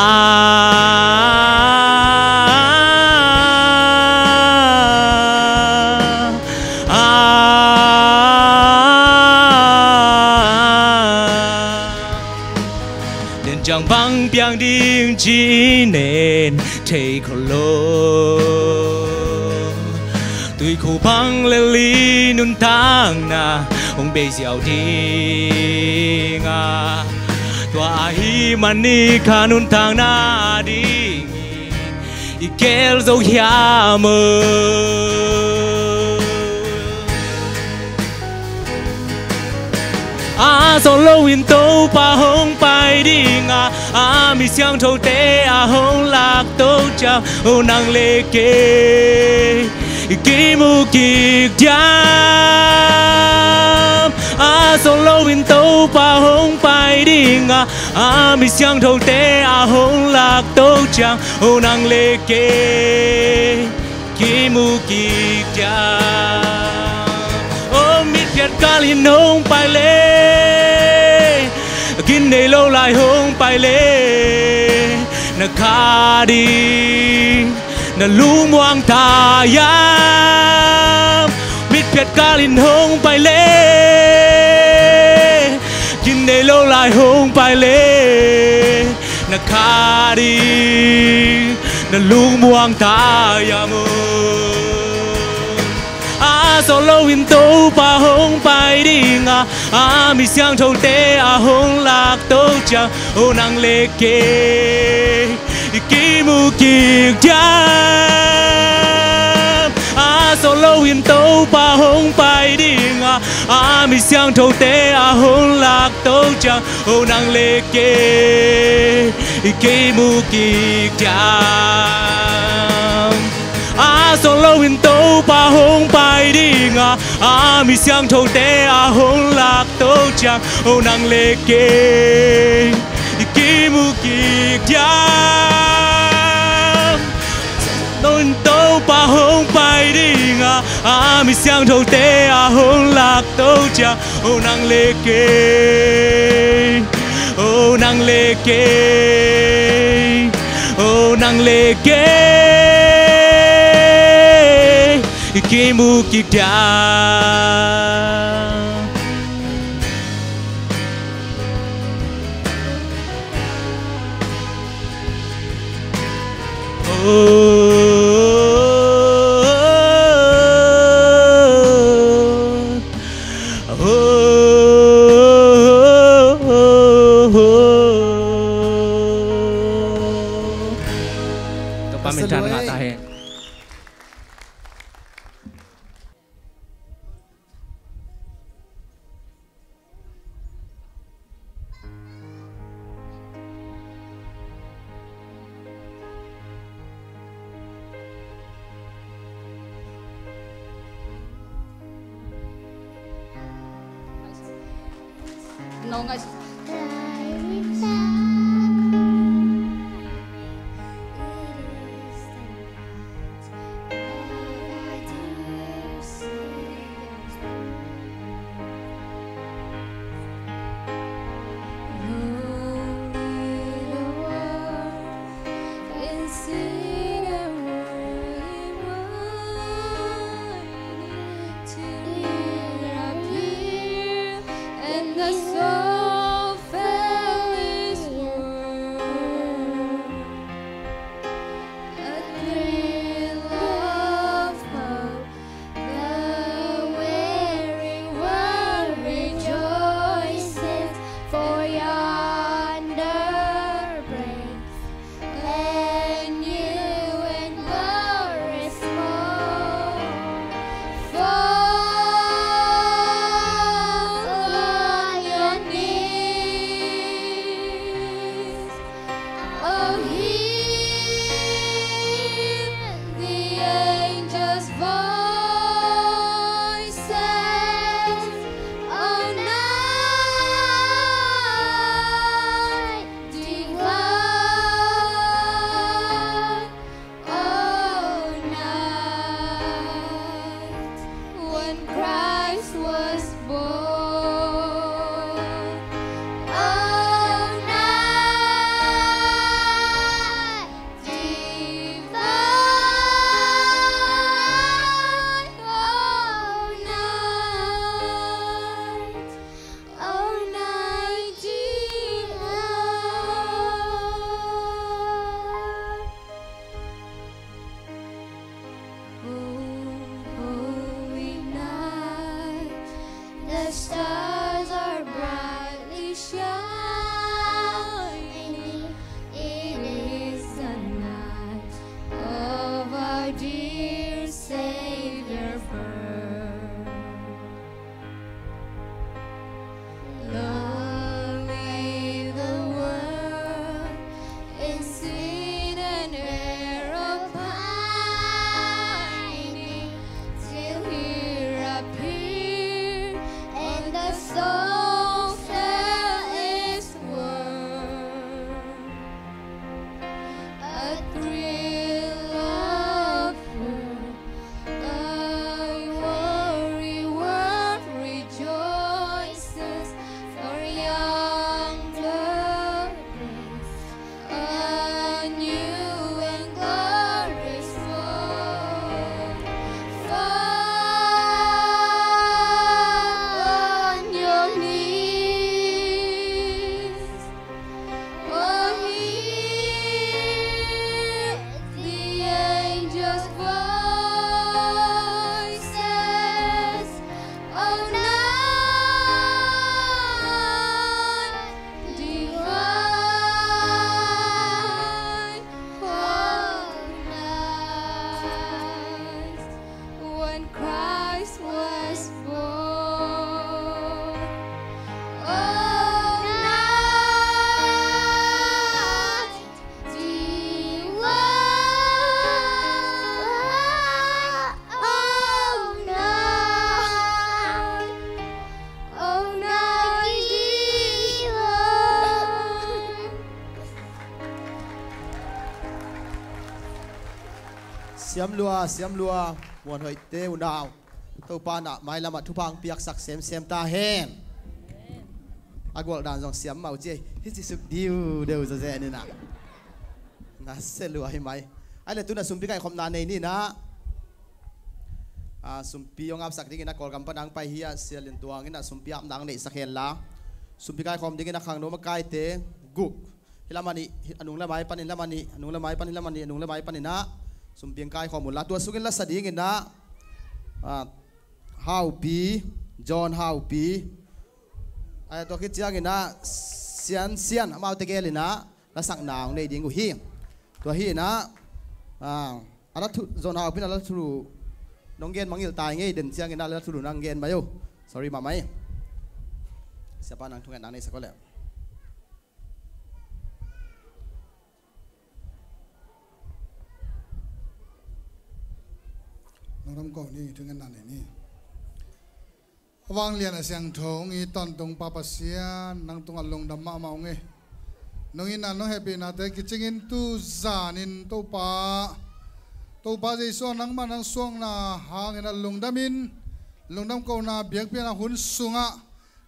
a, nen ciang bang piang ding ci-in nen thei khol lo. Tuikhu bang lel i nuntakna hong bei ziau ding a, tua ahih manin kha nuntakna a ding i i gel zo hiam aw? A sawt loin Topa hong pai ding a, a mi siangthote a hong lak to ciang, o nang le kei i kimu kik diam. A sawt loin Topa hong pai ding a, a mi siangthote a hong lak to ciang, o nang le kei kimu kik diam. O mitphiat kalin hong pai le, gin nei lo lai hong pai le, na kha ding na lungmuang ta hiam? Mitphiat kalin hong pai le, gin nei lo lai hong pai le, na kha ding na lungmuang ta hiam aw? A sawt loin Topa hong pai ding a, a mi siangthote a hong lak to ciang, o nang le kei i kimu kik diam. A sawt loin Topa hong pai ding a, a mi siangthote a hong lak to ciang, o nang le kei i kimu kik diam. A sawt loin Topa hong pai ding a, a mi siangthote a hong lak to ciang, o nang le kei i kimu kik diam. Loin Topa A hong pai ding a, a mi siangthote a hong lak to ciang, o nang le kei, o nang le kei, o nang le kei, i kimu kik dia. Topa min thang ngah ta hen. And the soul felt His word. A thrill of hope, the weary world rejoices, for yonder breaks a new and glorious morn. Fall on your knees. Oh, hear the angels' voices. Oh, night divine. Oh, night when Christ was born. Oh, night divine. Oh, night. Oh, night divine. Oh, holy night, the stars are brightly shining. It is the night of our dear Savior birth. Long lay the world in sin and error pining, till He appeared and the Siam lua, siam lua, muan hoihte unau. Topa na mailamah thupha hong piaksak semsem ta hen. A gualh dan zong siam mah uh ci ei, hi ci suk diu deuh zazen inah. Na se lua hi mai. Ai le tuna sumpi kaikhopna nei ninah. A, sumpi hong apsak dingin a Kawlgam pan hong pai hi a, Sia Lian Tuang inah sumpi apna hong neihsak henla. Sumpi kaikhawm dingin a khangno makaite guk. Hi lam a nih, a nung le mai panin lam a nih, a nung le mai panin lam a nih, a nung le mai paninah sumpi hong kaikhawm unla. Tua sungin lasa dinginah, a, Haupi, John Haupi. Ai, tua khit cianginah Sian Sian, amaute gelinah lasakna hong nei ding uh hi. Tua hinah, a, a la thu, John Haupi in a la thulu nong gen mangngilh ta ing ei, den cianginah la thulu nang gen mai uh. Sorry mahmah ei. Siapa nang thungetna hong neisak uh leh. Nong ram ko ni, thungetna nei ni. A vanglian a siangtho hong it tawntung Pa Pasian, nang tungah lungdam mahmah ung ei. Nong itna nong hehpihnate kicingin tu zanin Topa, Topa Jesu ah nangmah nang suakna hangin a lungdamin, lungdam kohna biakpiakna hun sungah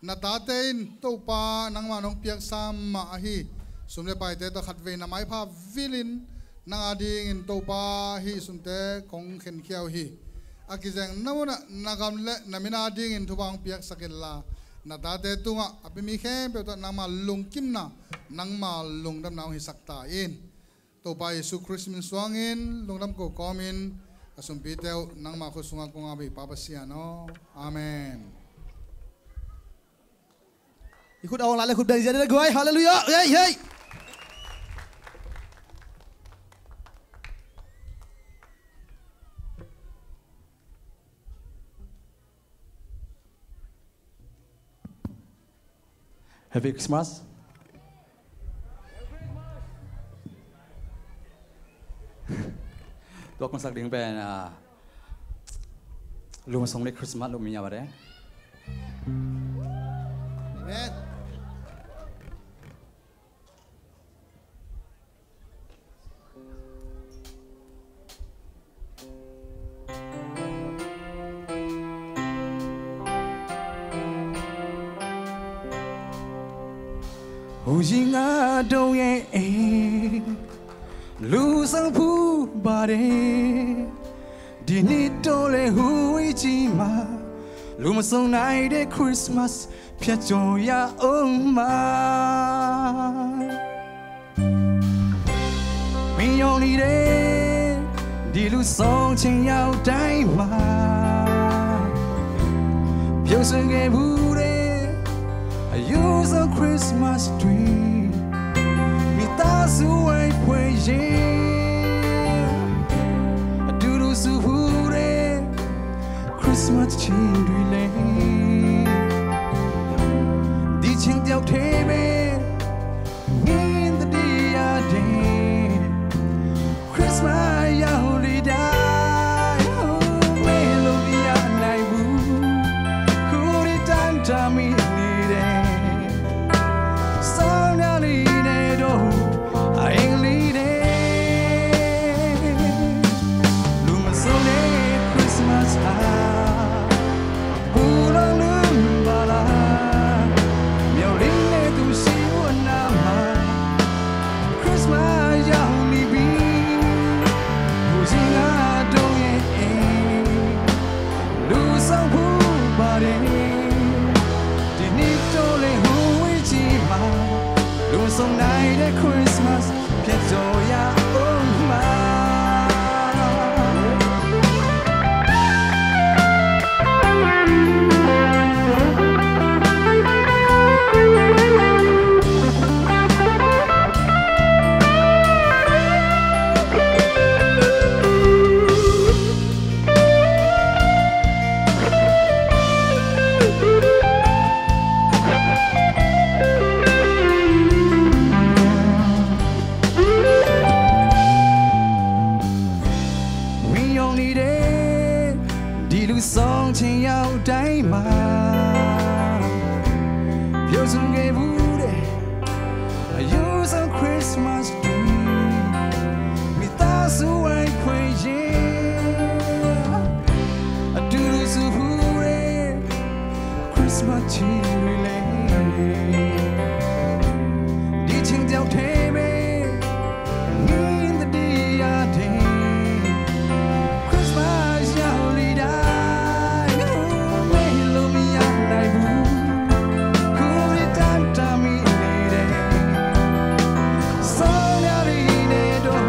na tate in Topa nangmah nong piaksa mah ahi sum le paite tawh khatvei na maipha vilin nang adingin Topa hih sumte kong khenkhia uh hi. A kizeng na munah na gam le na min adingin thupha hong piaksak inla, na tate tungah a pi mi khempeuh tawh nangma lungkimna, nangma lungdamna hong hisak ta in. Topa Jesu Khrist min suangin lungdam ko kawmin a sumpite uh nangma khut sungah kong ap hi Pa Pasian aw. Amen. I khut a awng la le khut beng zia ding le guai. Halleluiah. Hei, hei. Happy Christmas. Tua kong sak ding pen, ah, lum song le Christmas lum mi a bade. Amen. Hujinga dong e, lusang pu bade. Dinito le hui jima, lumasong nai de Christmas, pia joya oma. Miyong ni de, di lusong ching yau dai ma. Pio sung e bu de, a use a Christmas tree. Mi ta su ai pue ye, a du du su bu de. Christmas chin dui le. Di ching tiau te me. Min the dia de. Christmas ya huli da. Melobia nai bu. Kuri tan tami ni de. Song ya li ne do. Aeng li de. Luma song de Christmas ha. Pulang lum bala. Miau ling ne tu si wan nama. Christmas ya mi bi. Puji nga dong e e. Lusang pu bade. Dinito le hui jima. Lusong nai de Christmas. Pia joya oma. Wi yong ni de, di lu song ching yau dai ma. Pyo sung ge bu de, a yu song Christmas tree. Mi ta su wai kwe ye. Christmas ချီလွေလဲ ဒီချိန်ကြောင့်ထဲပဲ ငင်းသတိရတဲ့ Christmas ရောက်လေတိုင်း မေ့လို့မရနိုင်ဘူး ကိုယ်လေးတမ်းတမ်းမိနေတဲ့ စောင်းရည်နဲ့တော့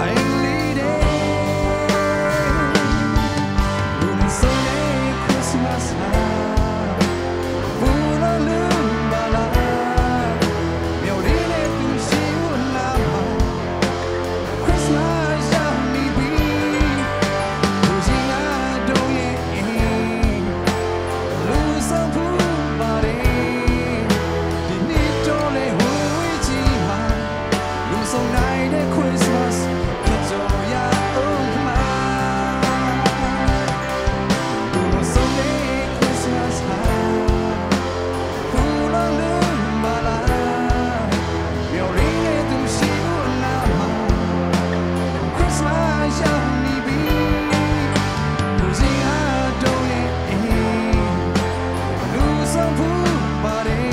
I need it. လူမစုံတဲ့ Christmas ဟာ ပူလို့လူပါလား မျော်လင့်တဲ့သူရှိဦးလား Christmas ရောက်နေပြီ ကိုယ်ချင်းအတို့ရဲ့အိမ် လူဆောင်ဖို့ပါတယ် ဒီနှစ်တော့လေ ဟိုဝေးကြီးမှာ လူဆောင်နိုင်တဲ့ Christmas ဖြစ်ကြရအောင်မှာ လူဆောင်တဲ့ Christmas ဟာ ဘယ်လိုလုပ်မလဲ မျော်လင့်နေသူရှိဦးအနားမှာ Christmas ရောက်နေပြီ လူစင်အတို့ရဲ့အိမ် လူဆောင်ဖို့ပါတယ်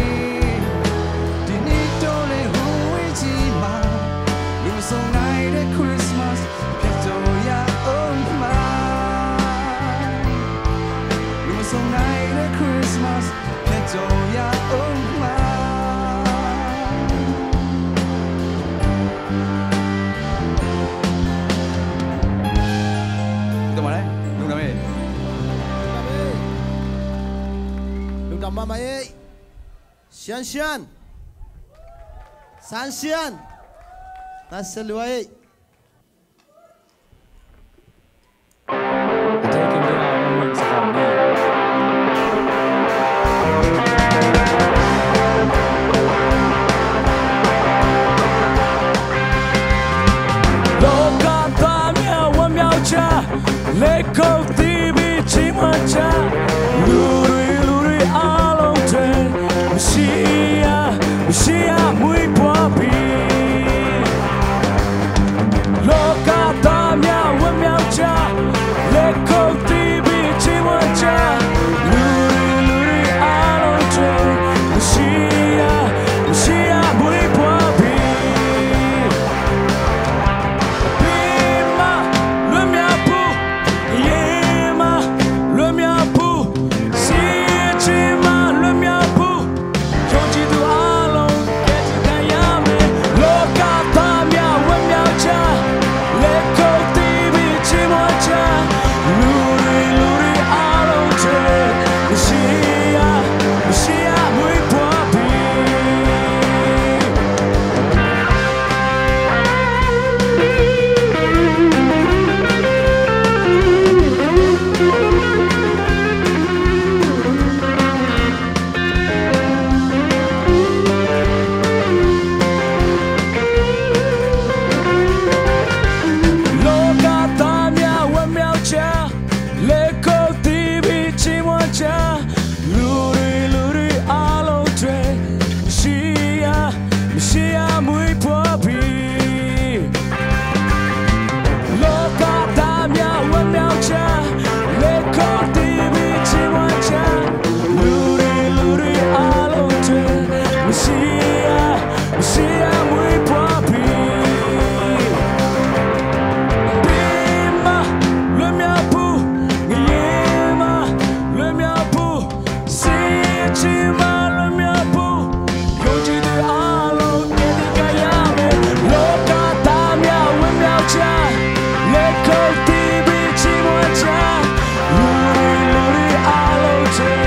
ဒီနှစ်တော့လေ ဟိုဝေးကြီးမှာ လူဆောင်နိုင်တဲ့ Christmas ဖြစ်ကြရအောင်မှာ လူမစုံနိုင်တဲ့ Christmas ဖြစ်ကြရအောင်မှာ Ito mare, lungdam e. Lungdam mahmah e. Sian sian. San sian. Nasa luai. Messiah, Messiah မွေးဖွားပြီ။ လောကသားများဝမ်းမြောက်ကြ။ လက်ခုပ်တီးပြီးချီးမွမ်းကြ။ လူတွေလူတွေအားလုံးအတွက် Messiah, Messiah မွေးဖွားပြီ။ အပြစ်မှလွတ်မြောက်ဖို့၊ ငရဲမှလွတ်မြောက်ဖို့၊ ဆင်းရဲခြင်းမှလွတ်မြောက်ဖို့၊ ယုံကြည်သူအားလုံး ကယ်တင်နိုင်ရမယ်။ လောကသားများဝမ်းမြောက်ကြ။ လက်ခုပ်တီးပြီးချီးမွမ်းကြ။ လူတွေလူတွေအားလုံးအတွက် Messiah, Messiah မွေးဖွားပြီ။ လောကသားများဝမ်းမြောက်ကြ။ လက်ခုပ်တီးပြီးချီးမွမ်းကြ။ လူတွေလူတွေအားလုံးအတွက် Messiah, Messiah မွေးဖွားပြီ။ လောကသားများဝမ်းမြောက်ကြ။ လက်ခုပ်တီးပြီးချီးမွမ်းကြ။ လူတွေလူတွေအားလုံးအတွက် Messiah, Messiah မွေးဖွားပြီ။ အပြစ်မှလွတ်မြောက်ဖို့၊ ငရဲမှလွတ်မြောက်ဖို့၊ ဆင်းရဲခြင်းမှလွတ်မြောက်ဖို့၊ ယုံကြည်သူအားလုံး ကယ်တင်နိုင်ရမယ်။ လောကသားများဝမ်းမြောက်ကြ။ လက်ခုပ်တီးပြီးချီးမွမ်းကြ။ လူတွေလူတွေအားလုံးအတွက်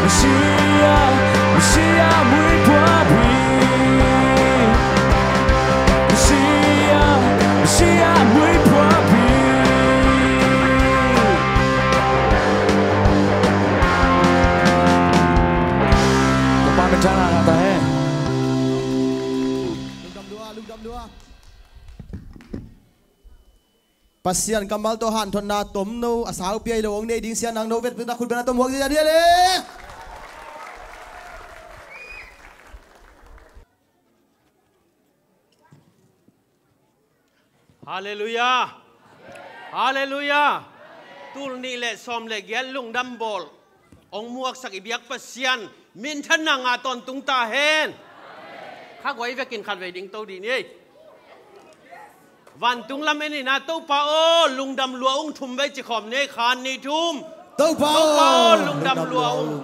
Messiah, Messiah မွေးဖွားပြီ။ Messiah, Messiah မွေးဖွားပြီ။ ကမ္ဘာ့မတ္တနာတာဟဲ။ Pasian kammal tawh hanthotna tomno a sau pia hi lo hong nei ding sia nang no vet pina khut bena tom huak zia dia le. Halleluiah. Halleluiah. Tul nih le sawm le giat lungdam bawl. hong muaksak i biak Pasian minthanna ngah tawntung ta hen. Kha guai vekin khatvei ding to dih ni. Vantung lam en in ah, Topa aw, lungdam lua ung, thum vei ci khawm ni. Khat, nih, thum. Topa aw, lungdam lua ung.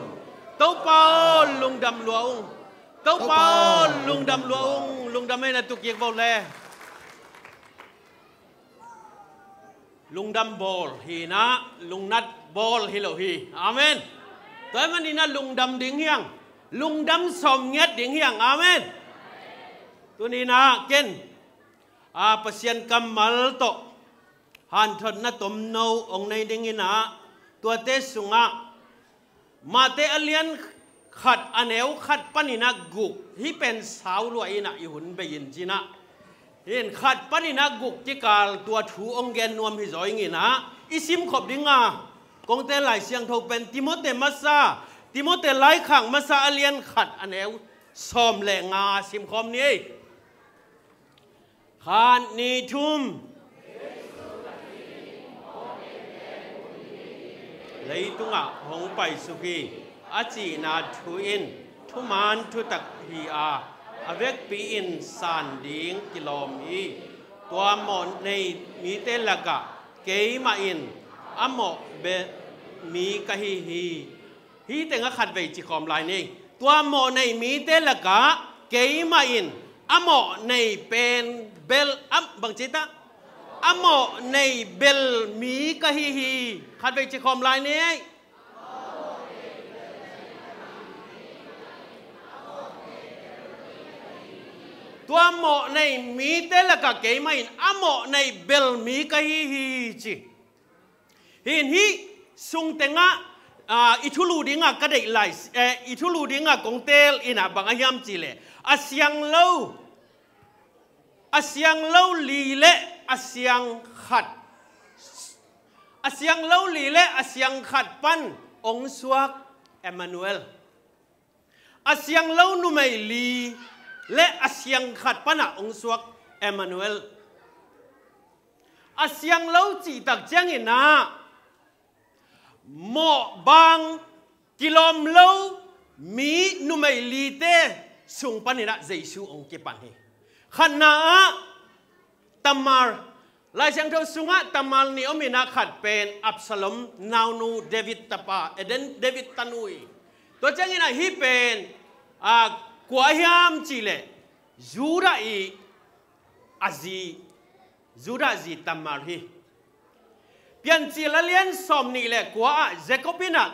Topa aw, lungdam lua ung. Topa aw, lungdam lua ung. Lungdam en a, tu kik vo le. Lungdam bawl hi in ah, lungnat bawl hi lo hi. Amen. Tua ahih manin ah lungdam ding hi hang. Lungdam sawm ngiat ding hi hang. Amen. Tuni in ah ken, a, Pasian kammal tawh hanthotna tomno hong nei ding in ah, tuate sungah Mate a lian khat a neu khat panin ah guk, hih pen sau lua in ah i hun bei in ci in ah, hih khat panin ah guk kikal tua thu hong gen nuam hi zaw ing in ah, i simkhop ding a kong teel Lai Siangtho pen Timote masa, Timote laikhak masa a lian khat a neu sawm le nga simkhawm ni. Khat, nih, thum. Leitungah hong paisuk hi, a cihna thu in thuman thutak hi a, a vekpi-in san ding kilawm hi. Tua mawh nei mite lakah keimah in a mawh bel mi ka hi hi. Hih tengah khatvei ci khawm lai ni. Tua mawh nei mite lakah keimah in a mawh nei pen bel, a, bang ci ta? A mawh nei bel mi ka hi hi. Khatvei ci khawm lai ni. Tua mawh nei mite lakah keimah in a mawh nei bel mi ka hi hi ci. Hih in hih sung tengah, a, i thulu dingah ka deih lai, eh, i thulu dingah kong teel in ah bang a hiam cih leh, a siang lo, a siang lo li le a siang khat, a siang lo li le a siang khat pan hong suak Emmanuel. A siang lo numei li le a siang khat panah hong suak Emmanuel. A siang lo cih tak ciangin ah mawhbang kilawm lo mi numei lite sung panin ah Jesu hong kipan hi. Khatna ah Tamar, Lai Siangtho sungah Tamar nih om in ah, khat pen Absalom naunu, David tapa, eh, David tanu hi. Tua ciangin ah hih pen, a, kua hiam cih leh Judah i a zi, Judah zi Tamar hi. Piancil a lian sawm nih le kua ah Jacob in ah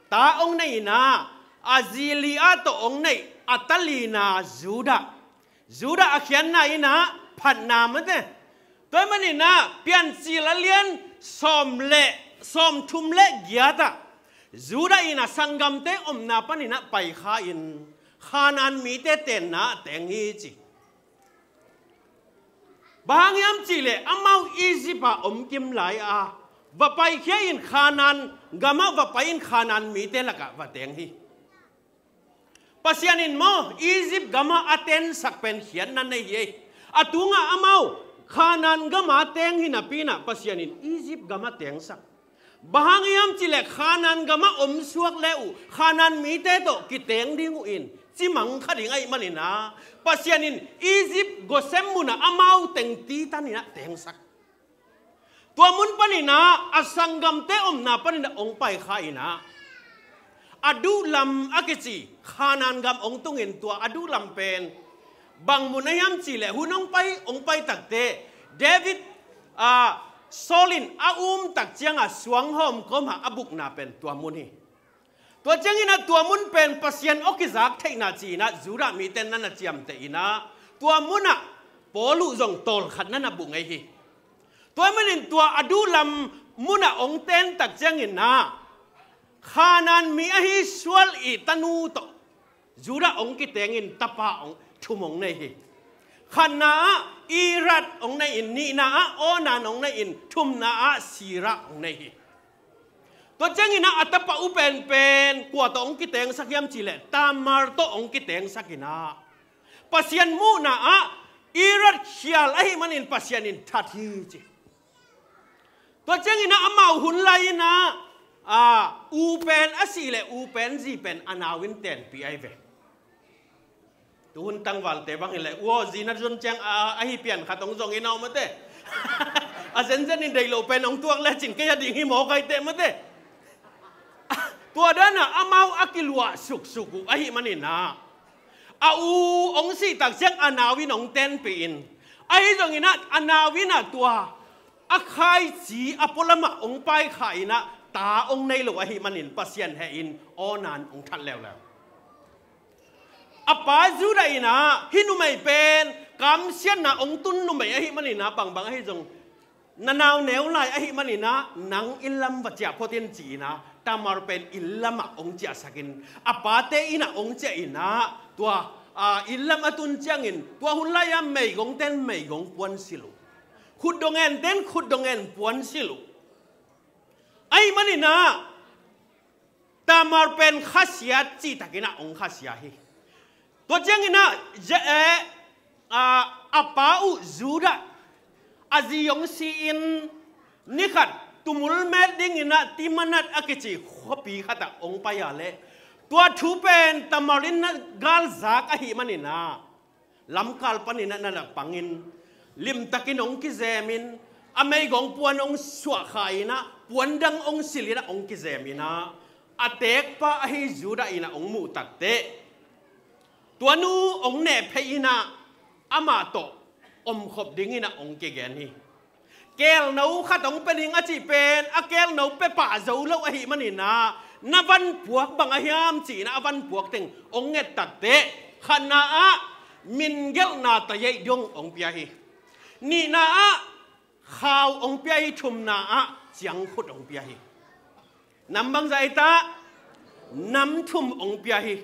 ta hong nei in ah, a zi Leah tawh hong neih a ta lina Judah. Judah a khiatna in ah phatna mate. Tua ahih manin ah Piancil a lian sawm le, sawm thum le giat ah Judah in ah sanggamte omna panin ah paikha in Khanaan mite tenna ah teng hi ci. Bang hang hiam cih leh amau Egypt ah om kim lai a, va paikhia in Khanaan gamah va pai in Khanaan mite lakah va teng hi. Pasian in maw Egypt gamah a tensak pen khiatna nei hi ei. A tungah amau Khanaan gamah a teng hi napi in ah Pasian in Egypt gamah tengsak. Bang hang hiam cih leh Khanaan gamah omsuak le uh Khanaan mite tawh kiteng ding uh in cimang kha ding ahih manin ah Pasian in Egypt Goshen munah amau teng titan in ah tengsak. Tua mun panin ah a sanggamte omna panin ah hong paikha in ah, Adullam a kici Khanaan gam hong tungin, tua Adullam pen bang mun a hiam cih leh hun hong pai, hong pai takte David, a, Saul in a um tak ciangah suanghawm kawmah a bukna pen tua mun hi. Tua ciangin ah tua mun pen Pasian aw kizak theihna ci-in ah Judah mite na na ciamteh in ah tua munah Paul uh zong tawlkhat na na buk ngei hi. Tua ahih manin tua Adullam munah hong ten tak ciangin ah Khanaan mi ahi Saul i tanu tawh Judah hong kiteng in tapa hong thum hong nei hi. Khatna ah Ira hong nei in, nihna ah Onan hong nei in, thumna ah Serah hong nei hi. Tua ciangin ah a tapa uh penpen kua tawh hong kitengsak hiam cih leh Tamar tawh hong kitengsak in ah Pasian muhna ah Ira khial ahih manin Pasian in that hi ci. Tua ciangin ah amau hun lai in ah A, u pen a sih leh u pen zi pen a nau in tenpih ahi ve. Tuhun tangvalte bang hileh u aw zi na zon ciang a, ahi pian khat hong zong in aw mate. A zenzen in deih loh pen hong tuak lecin kei a ding hi mawk ahi teh mate. Tua dana amau a kiluah suksuk uh ahi maninah a u hong sih tak ciang a nau in hong tenpih in, ahi zonginah a nau inah tua a khaici a pualamah hong paikha inah ta hong nei lo ahi manin Pasian heh in awnan hong that leuleu. A pa Judah inah hih numei pen kamsiatna hong tun numei ahi maninah bangbang ahi zong na nau neu lai ahi maninah nang inn lam va ciah phot in ci inah Tamar pen inn lamah hong ciahsakin a pate inah hong ciah inah tua, a, inn lam a tun ciangin tua hun lai-a meigongten meigong puansilh uh. Khutdong enten khutdong en puansilh uh. Ahi maninah Tamar pen khasiat cihtakinah hong khasia hi. Tua cianginah a, a pa uh Judah a zi hong si-in nikhat tumul met dinginah Timanat a kici khuapi khatah hong pai a leh tua thu pen Tamar in na galzak ahi maninah lamkal paninah na na pangin limtakin hong kizemin a meigong puan hong suahkha inah puan dang hong silhinah hong kizeminah a teekpa ahi Judah inah hong muh takteh tua nu hong nehphei inah amah tawh omkhop dinginah hong kigen hi. Kelno khat hong pia ding a cih pen a kelno pia pah zo lo ahi maninah na vanpuak bang a hiam ci inah a vanpuak teng hong nget takteh khatna ah mingelhna tayeih dong hong pia hi. Nihna ah khau hong pia hi. Thumna ah ciangkhut hong pia hi. Nam bangzah ei ta nam thum hong pia hi.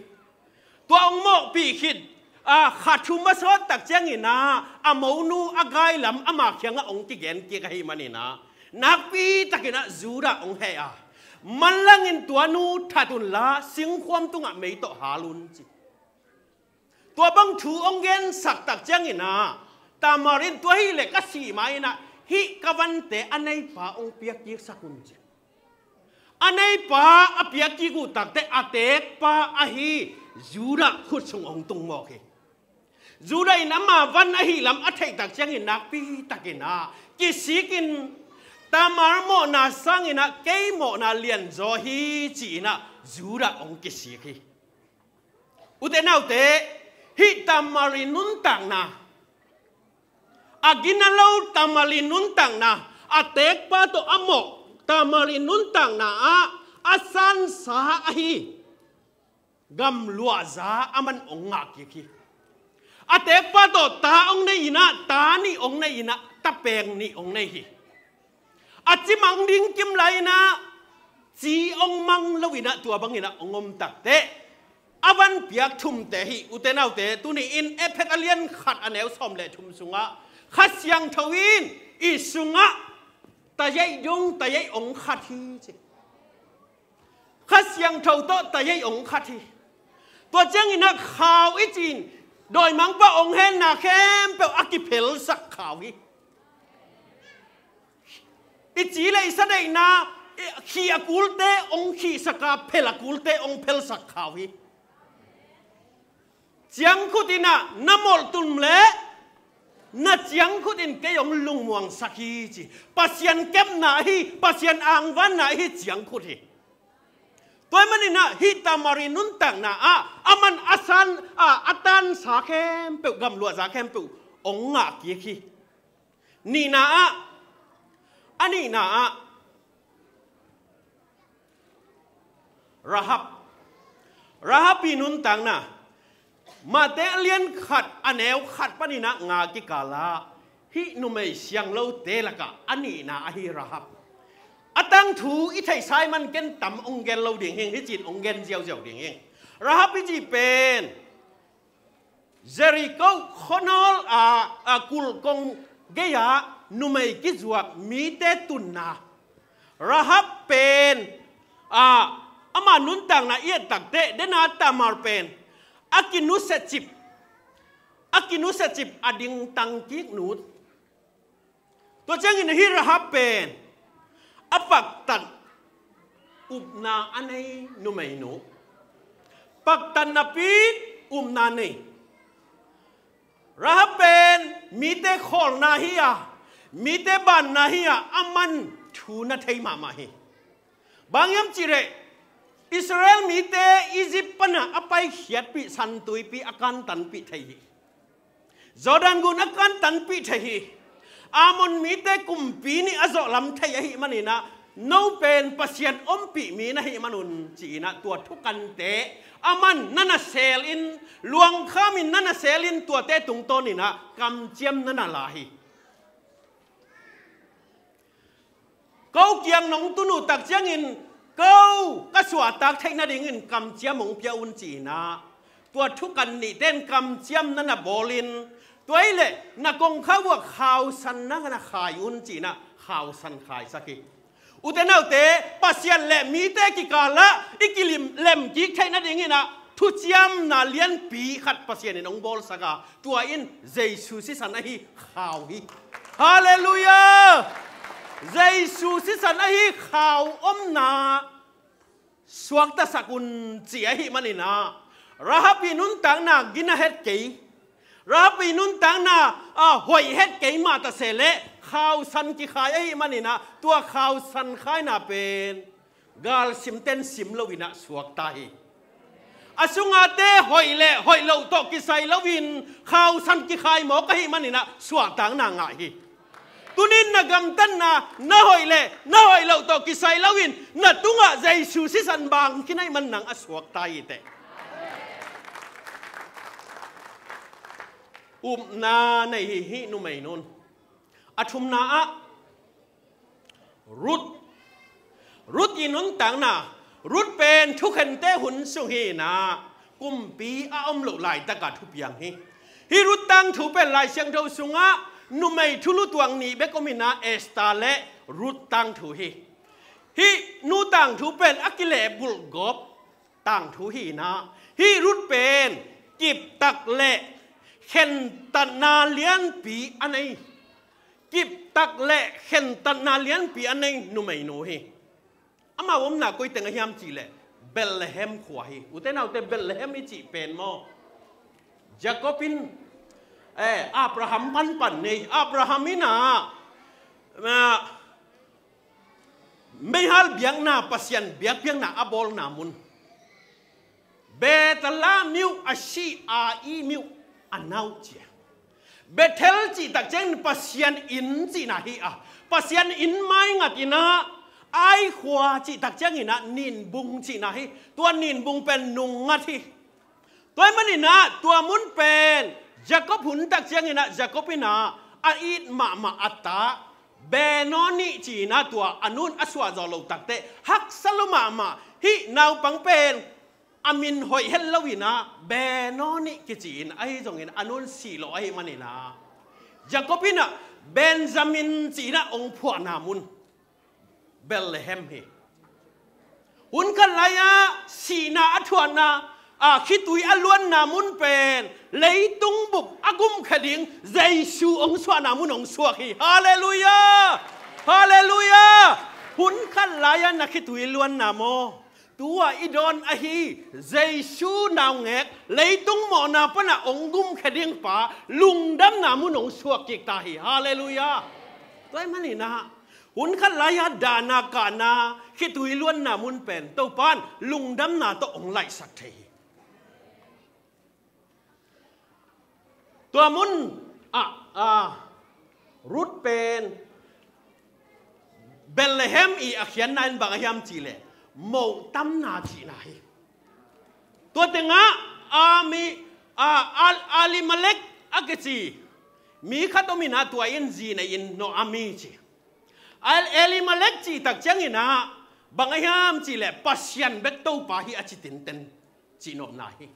Tua hong mawhpih khit a kha thum a sawt tak cianginah a monu a gailam ama kiangah hong kigen kik ahi maninah nakpi takinah Judah hong heh a manlangin tua nu that unla singkhuam tungah mei tawh hal un ci. Tua bang thu hong gensak tak cianginah Tamar in tua hileh ka sih ma inah hih ka vante a neipa hong piak kiksak un ci. A neipa a piak kik uh takteh a teekpa ahi Judah khut sung hong tung mawk hi. Judah in ama van ahi lam a theih tak ciangin nakpi takinah kisikin Tamar mawhna sanginah kei mawhna lianzaw hi ci inah Judah hong kisik hi. Ute naute, hih Tamar i nuntakna a gina lo Tamar i nuntakna a teekpa tawh a mawh Tamar i nuntakna ah a sansa ahi gamluahza a man hong ngah kik hi. A teekpa tawh ta hong nei inah ta nih hong nei inah ta peng nih hong nei hi. A cimang ding kim lai inah ci hong mang lo inah tua banginah hong om takteh a van piak thumte hi. Ute naute, tuni-in Efesa a lian khat a neu sawm le thum sungah Kha Siangtho in i sungah tayeih dong tayeih hong khat hi ci. Kha Siangtho tawh tayeih hong khat hi. Tua cianginah khau i cin dawimangpa hong henna khempeuh a kiphelsak khau hi. I ci le i sa deihna khih a kulte hong khihsak a phel a kulte hong phelsak khau hi. Ciangkhut inah na molh tum le na ciangkhut in kei hong lungmuangsak hi ci. Pasian kepna ahi, Pasian angvanna ahi ciangkhut hi. Tua ahih maninah hih Tamar i nuntakna ah a man a san a a tansa khempeuh gamluahza khempeuh hong ngah kik hi. Nihna ah a nihna ah Rahab. Rahab i nuntakna Mate a lian khat a neu khat paninah nga kikalah hih numei sianglote lakah a nihna ahi Rahab. A tangthu i theihsa ahih man ken tam hong gen lo ding hing, hih cin hong gen ziauziau ding hing. Rahab i cih pen Jericho khuanawl a, a kulhkong gei-ah numei kizuak mite tunna. Rahab pen a, ama nuntakna i et takteh dena Tamar pen a kinusiacip, a kinusiacip a dingtang kik nut. Tua ciangin hih Rahab pen a paktat Upna a nei numeinu, paktatna pi upna nei. Rahab pen mite khawlna hi a, mite banna hi a, aman thu na thei mahmah hi. Bang hiam cih leh Israel mite Egypt pana a paikhiatpih San Tuipi a kantanpih thei hi. Jordan gun a kantanpih thei hi. Ammon mite kumpi nih a zawhlam thei ahih maninah, no pen Pasian ompih mi na hih manun ci-inah tua thukante aman na na selin, luangkhamin na na selin tuate tungtawninah kamciam na na la hi. Ko kiang nong tun uh tak ciangin ko ka suahtak theih nadingin kamciam hong pia un ci-inah, tua thukan nihte in kamciam na na bawlin, tua hileh na kongkhak uh ah khausan na na khai un ci-inah khausan khaisak hi. Ute naute, Pasian le mite kikalah i kilim lemkik theih nadinginah thuciamna lianpi khat Pasian in hong bawlsak a, tua in Jesu sisan ahi khau hi. Halleluiah! Jesu sisan ahi khau omna suaktasak un ci ahih maninah, Rahab i nuntakna gina het kei, Rahab i nuntakna a hoih het kei mah ta se leh khausan kikhai ahih maninah, tua khausan khaina pen galsimten sim loinah suakta hi. A sungate hoih le hoih loh tawh kisai loin khausan kikhai mawk ahih maninah suahtakna ngah hi. Tunin na gamtatna na hoih le na hoih loh tawh kisai loin na tungah Jesu sisan bang kinaih man nang a suakta hi teh. Upna nei hi hih numeinun. A thumna ah Ruth. Ruth i nuntakna. Ruth pen thukhente hun sung hi-inah kumpi a om loh laitaka thupiang hi. Hih Ruth tangthu pen Lai Siangtho sungah numei thulu tuang nih bek om inah Esther le Ruth tangthu hi. Hih nu tangthu pen a kilehbulh gawp tangthu hi-inah, hih Ruth pen kiptak le khentatna lianpi a nei. Kiptak le khentatna lianpi a nei numeinu hi. Amau omna koi teng a hiam cihleh Bethlehem khua hi. Ute naute, Bethlehem i cih pen maw, Jacob in, eh, Abraham panpan nei. Abraham inah, ah, meihal biakna, Pasian biakpiakna a bawlna mun. Bethel ah mi uh a si, Ai mi uh a na uh ci a. Bethel cihtak ciangin Pasian inn cihna hi a, Pasian inn maingat inah, Ai khua cihtak cianginah Ninbung cihna hi. Tua Ninbung pen nungngat hi. Tua ahih maninah tua mun pen Jacob huntak cianginah Jacob inah a it mahmah a ta Benoni ci-inah tua a nun a suahzawh loh takteh haksa lua mahmah. Hih naupang pen a min hoih het loinah Benoni kici-in, ahi zongin a nun sih lo ahih maninah Jacob inah Benjamin ci-inah hong phuahna mun Bethlehem hi. Hun khat lai-ah sihna a thuahna, a, khitui a luanna mun pen leitung bup a gumkha ding Jesu hong suahna mun hong suak hi. Halleluiah! Halleluiah! Hun khat lai-ah na khitui luanna maw, tua i dawn ahi Jesu naungek leitung mawhna pana hong gumkha dingpa lungdamna mun hong suak kik ta hi. Halleluiah! Tua ahih maninah hun khat lai-ah dahna kahna khitui luanna mun pen Topa in lungdamna tawh hong laihsak thei hi. Tua mun ah, ah, Ruth pen Bethlehem i a khiatna in bang a hiam cihleh mohtamna cihna hi. Tua tengah Ami, ah, Al-, Elimelek a kici mi khat om inah tua in zi nei in Naomi ci. Al-, Elimelek cihtak cianginah bang a hiam cihleh Pasian bek Topa hi a ci tinten cihnopna hi.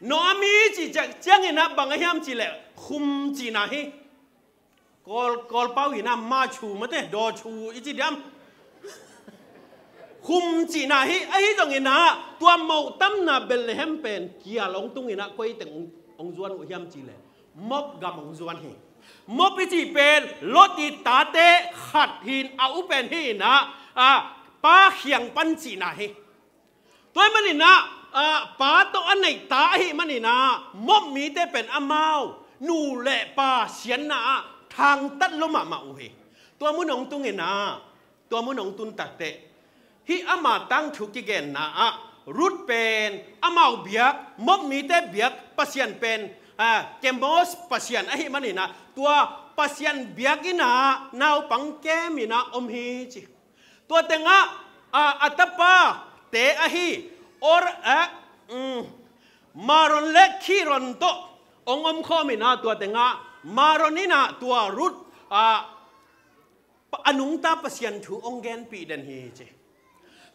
Naomi cihtak cianginah bang a hiam cihleh khum cihna hi. Kawl, Kawlpau inah machu mate dawchu i ci diam. Khum cihna hi, ahi zonginah tua mohtamna Bethlehem pen kial hong tunginah koi teng hong, hong zuan uh hiam cihleh Moab gam hong zuan hi. Moab i cih pen Lot i tate khat hi-in a u pen hi-inah, a, pa khiang pan cihna hi. Tua ahih manin ah, ah, pa tawh a neih ta ahih manin ah, Moab mite pen amau nu le pa siatna ah thangtat lua mahmah uh hi. Tua mun hong tungin ah, tua mun hong tun takteh, hih ama tangthu kigenna ah Ruth pen amau biak, Moab mite biak pasian pen, ah, Kemosh pasian ahih manin ah, tua pasian biakinn ah naupang kem in ah om hi ci. Tua tengah, ah, a tapate ahi Or, eh, mm, Mahlon le Khilion tawh hong omkhawm in ah, tua tengah Mahlon in ah tua Ruth, ah, a nungta Pasian thu hong genpih den hi ci.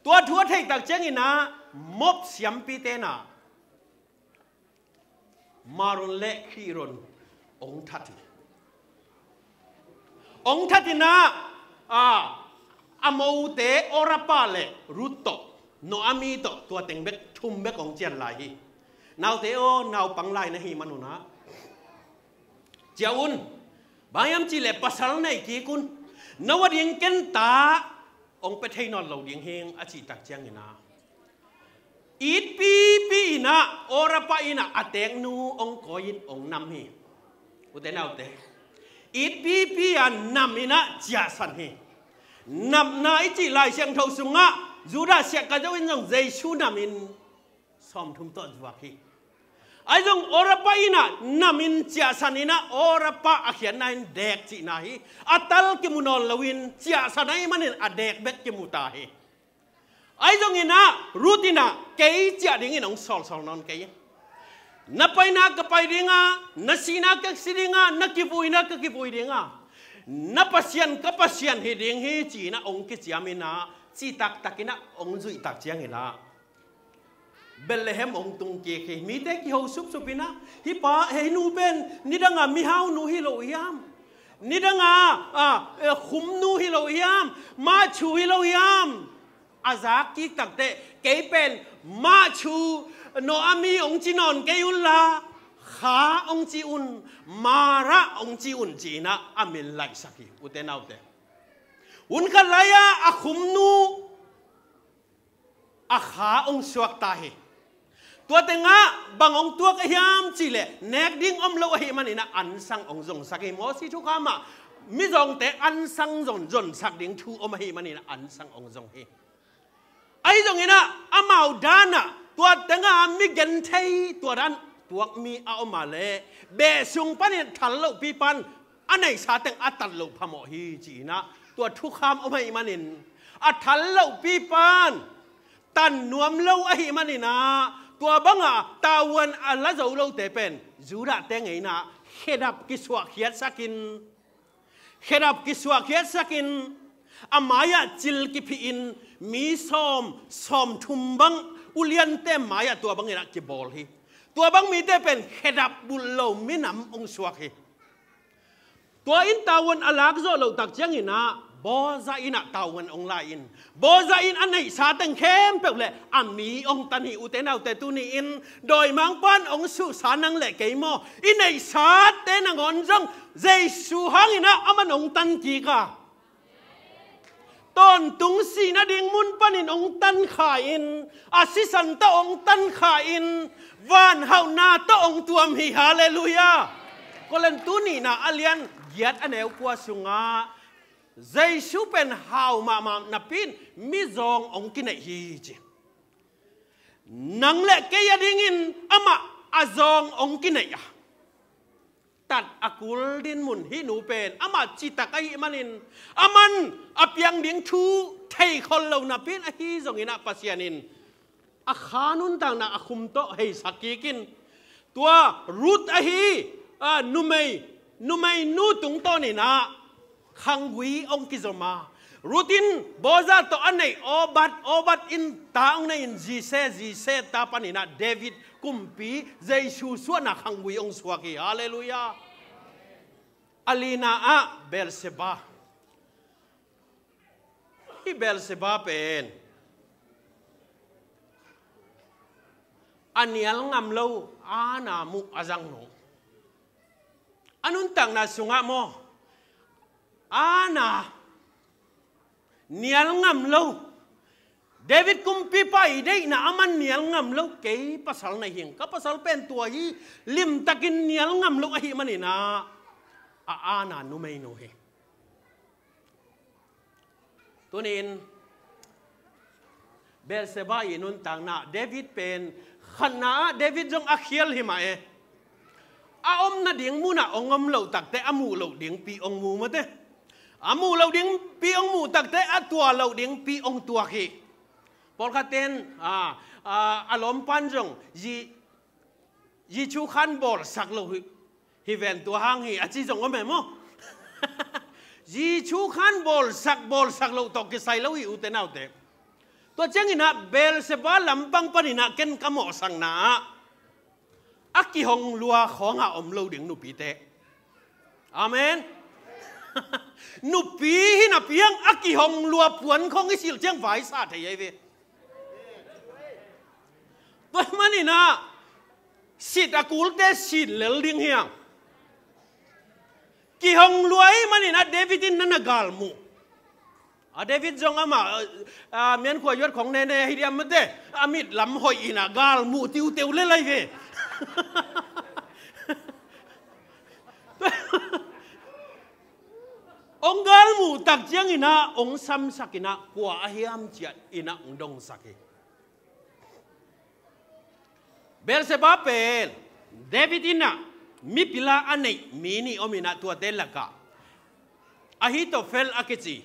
Tua thu a theih tak ciangin ah Moab siampite in ah Mahlon le Khilion hong that hi. Hong that in ah, a, a mote Orpah le Ruth tawh, Naomi tawh, tua teng bek, thum bek hong cian lai hi. Naute aw, naupang lai na hih manun ah, ciah un. Bang hiam cih leh pasal nei kik un. Na va ding ken ta hong pia thei nawn lo ding hing a cih tak ciangin ah, it pipi in ah Orpah in ah a teeknu hong kawi in hong nam hi. Ute naute, it pipi a nam in ah ciahsan hi. Napna i cih Lai Siangtho sungah Judah siahka zo in zong Jesu nam in sawmthum tawh zuak hi. Ahi zong Orpah in ah nam in ciahsan in ah Orpah a khiatna in deek cihna hi. A tal kimu nawn loin ciahsan ahih manin a deek bek kimu ta hi. Ahi zongin ah Ruth in ah kei ciah dingin hong sawlsawl nawn kei. Na paina ka pai ding a, na sihna ka si ding a, na kivuina ka kivui ding a, na Pasian ka Pasian hi ding hi ci-in ah hong kiciam in ah, cih taktak in ah hong zuih tak ciangin ah Bethlehem hong tung kik hi. Mite kiho supsup in ah, hih pa, hih nu pen nidang a mihaunu hi lo hiam? Nidang a, a, eh, khumnu hi lo hiam? Mahthu hi lo hiam? A zak kik takteh, kei pen Mahthu, Naomi hong ci nawn kei unla, Kha hong ci un, Mara hong ci un ci-in ah a min laihsak hi, ute naute. Hun khat lai-ah a khumnu, a kha hong suak ta hi. Tua tengah bang hong tuak a hiam cih leh, nek ding om lo ahih manin ah ansang hong zongsak hi. Moses thukham ah mizawngte ansang zon, zonsak ding thu om ahih manin ah ansang hong zong hi. Ahi zongin ah amau dan ah tua tengah mi genthei tua dan tuak mi a om a leh, beh sung panin thal lohpi pan a neihsa teng a tat loh phamawh hi ci-in ah tua thukham om ahih manin, a thal lohpi pan tan nuam lo ahih manin ah, tua bangah tavuan a la zo lote pen Judah te ngeina khedap kisuahkhiatsak in, khedap kisuahkhiatsak in, a mai-ah cil kiphih in, mi sawm, sawmthum bang uliante mai-ah tua bangin ah kibawl hi. Tua bang mite pen khedap bulh lo minam hong suak hi. Tua in tavuan a lak zawh loh tak ciangin ah Boaz in ah tavuan hong la in, Boaz in a neihsa teng khempeuh le a mi hong tan hi. Ute naute, tuni in dawimangpa'n hong suhsa nang le kei maw, i neihsate nangawn zong Jesu hangin ah aman hong tan kik a, tawntung sihna ding mun panin hong tan kha in, a sisan tawh hong tan kha in, vanhauhna tawh hong tuam hi. Halleluiah. Korin tu nihna a lian giat a neu kua sungah Jesu pen hau mahmah napi-in mizawng hong kineih hi ci. Nang le kei a dingin amah a zawng hong kineih a, tat a kul dinmun hih nu pen amah citak ahih manin, aman a piang ding thu theikhol lo napi-in, ahi zongin ah Pasian in a kha nuntakna a khum tawh heisak kik in, tua Ruth ahi, a, numei, numeinu tungtawnin ah khanggui hong kizom a, Ruth in Boaz tawh a neih Obed, Obed in ta hong nei in Jesse, Jesse ta panin ah David kumpi, Jesu suahna khanggui hong suak hi. Halleluiah. A lina ah Bathsheba. Hih Bathsheba pen a nial ngam lo Anna muh a zangno. A nuntakna sungah maw, Anna nial ngam lo, David kumpipa i deihna a man nial ngam lo, kei pasal na hing, ka pasal pen tua hi, limtakin nial ngam lo ahih manin ah, a aana numeinu hi. Tuni-in Bathsheba i nuntakna, David pen khatna ah David zong a khial hi mah e. A omna ding munah hong om loh takteh a muh loh dingpi hong mu mate. A muh loh dingpi hong muh takteh a tuah loh dingpi hong tuak hi. Pawlkhatten a, a, a lawmpan zong zi, zi chu khan bawlsak lo hi, hi ven tua hang hi a ci zong om e maw? Zi chu khan bawlsak, bawlsak loh tawh kisai lo hi, ute naute. Tua ciangin ah Bathsheba lampang panin ah ken ka mawhsakna ah a kihong lua khawngah om lo ding nupite. Amen. Nupi hi napi hang a kihong lua puan khawng i silh ciang vaisa thei ahi ve. Tua manin ah sit a kulte sit lel ding hi hang. Kihong lua ahih manin ah David in na na galmuh. A David zong amah, a, a, miankhua yuat khong nene hi diam mate, a mit lam hoih in ah galmuh tiuteu le lai ve. Hong galmuh tak ciangin ah hong samsak in ah kua a hiam ciah in ah hong dongsak hi. Bathsheba pen David in ah mipil a a neih mi nih om in ah tuate lakah Ahitophel a kici,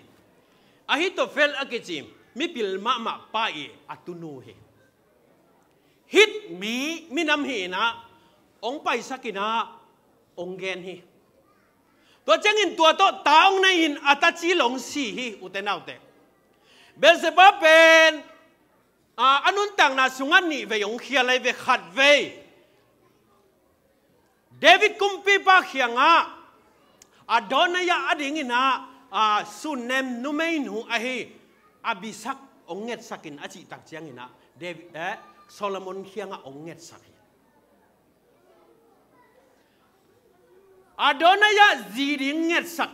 Ahitophel a kici mipil mahmah pa i a tunu hi. Hit mi minam hi in ah hong paisak in ah hong gen hi. Tua ciangin tua tawh ta hong nei in a taci lo hong si hi, ute naute. Bathsheba pen a, a nuntakna sungah nih vei hong khial ahi ve. Khat vei David kumpipa kiangah Adonijah a dingin ah, a, sunnem numeinu ahi Abishag hong ngetsak in a cih tak ciangin ah David, eh, Solomon kiangah hong ngetsak hi. Adonijah zi ding ngetsak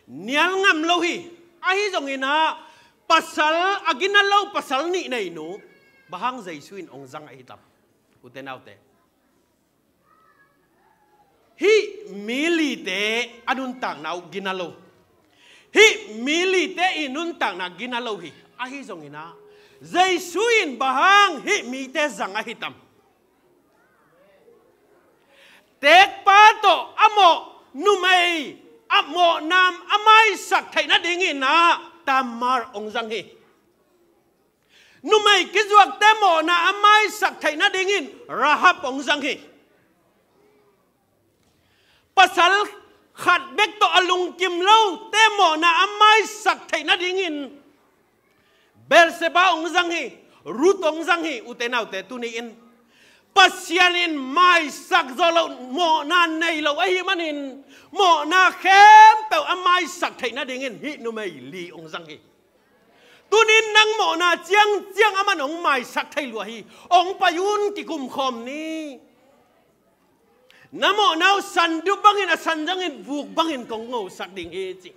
nial ngam lo hi. Ahi zongin ah pasal a gina lo, pasal nih neinu, bang hang Jesu in hong zang ahi tam, ute naute. Hih mi lite a nuntakna uh gina lo. Hih mi lite i nuntakna gina lo hi. Ahi zongin ah Jesu in bang hang hih mite zang ahi tam. Tekpa tawh a mawh numei a mawhna a maisak theih nadingin ah Tamar hong zang hi. Numei kizuakte mawhna a maisak theih nadingin Rahab hong zang hi. Pasal khat bek tawh a lungkim lote mawhna a maisak theih nadingin Bathsheba hong zang hi, Ruth hong zang hi, ute naute. Tuni-in Pasian in maisak zawh loh mawhna nei lo ahih manin mawhna khempeuh a maisak theih nadingin hih numei li hong zang hi. Tuni-in nang mawhna ciangciang aman hong maisak thei lua hi. Hong pai un, kikum khawm ni. Na mawhna uh sandup bangin, a san zangin, vuk bangin kong ngosak ding hi ci.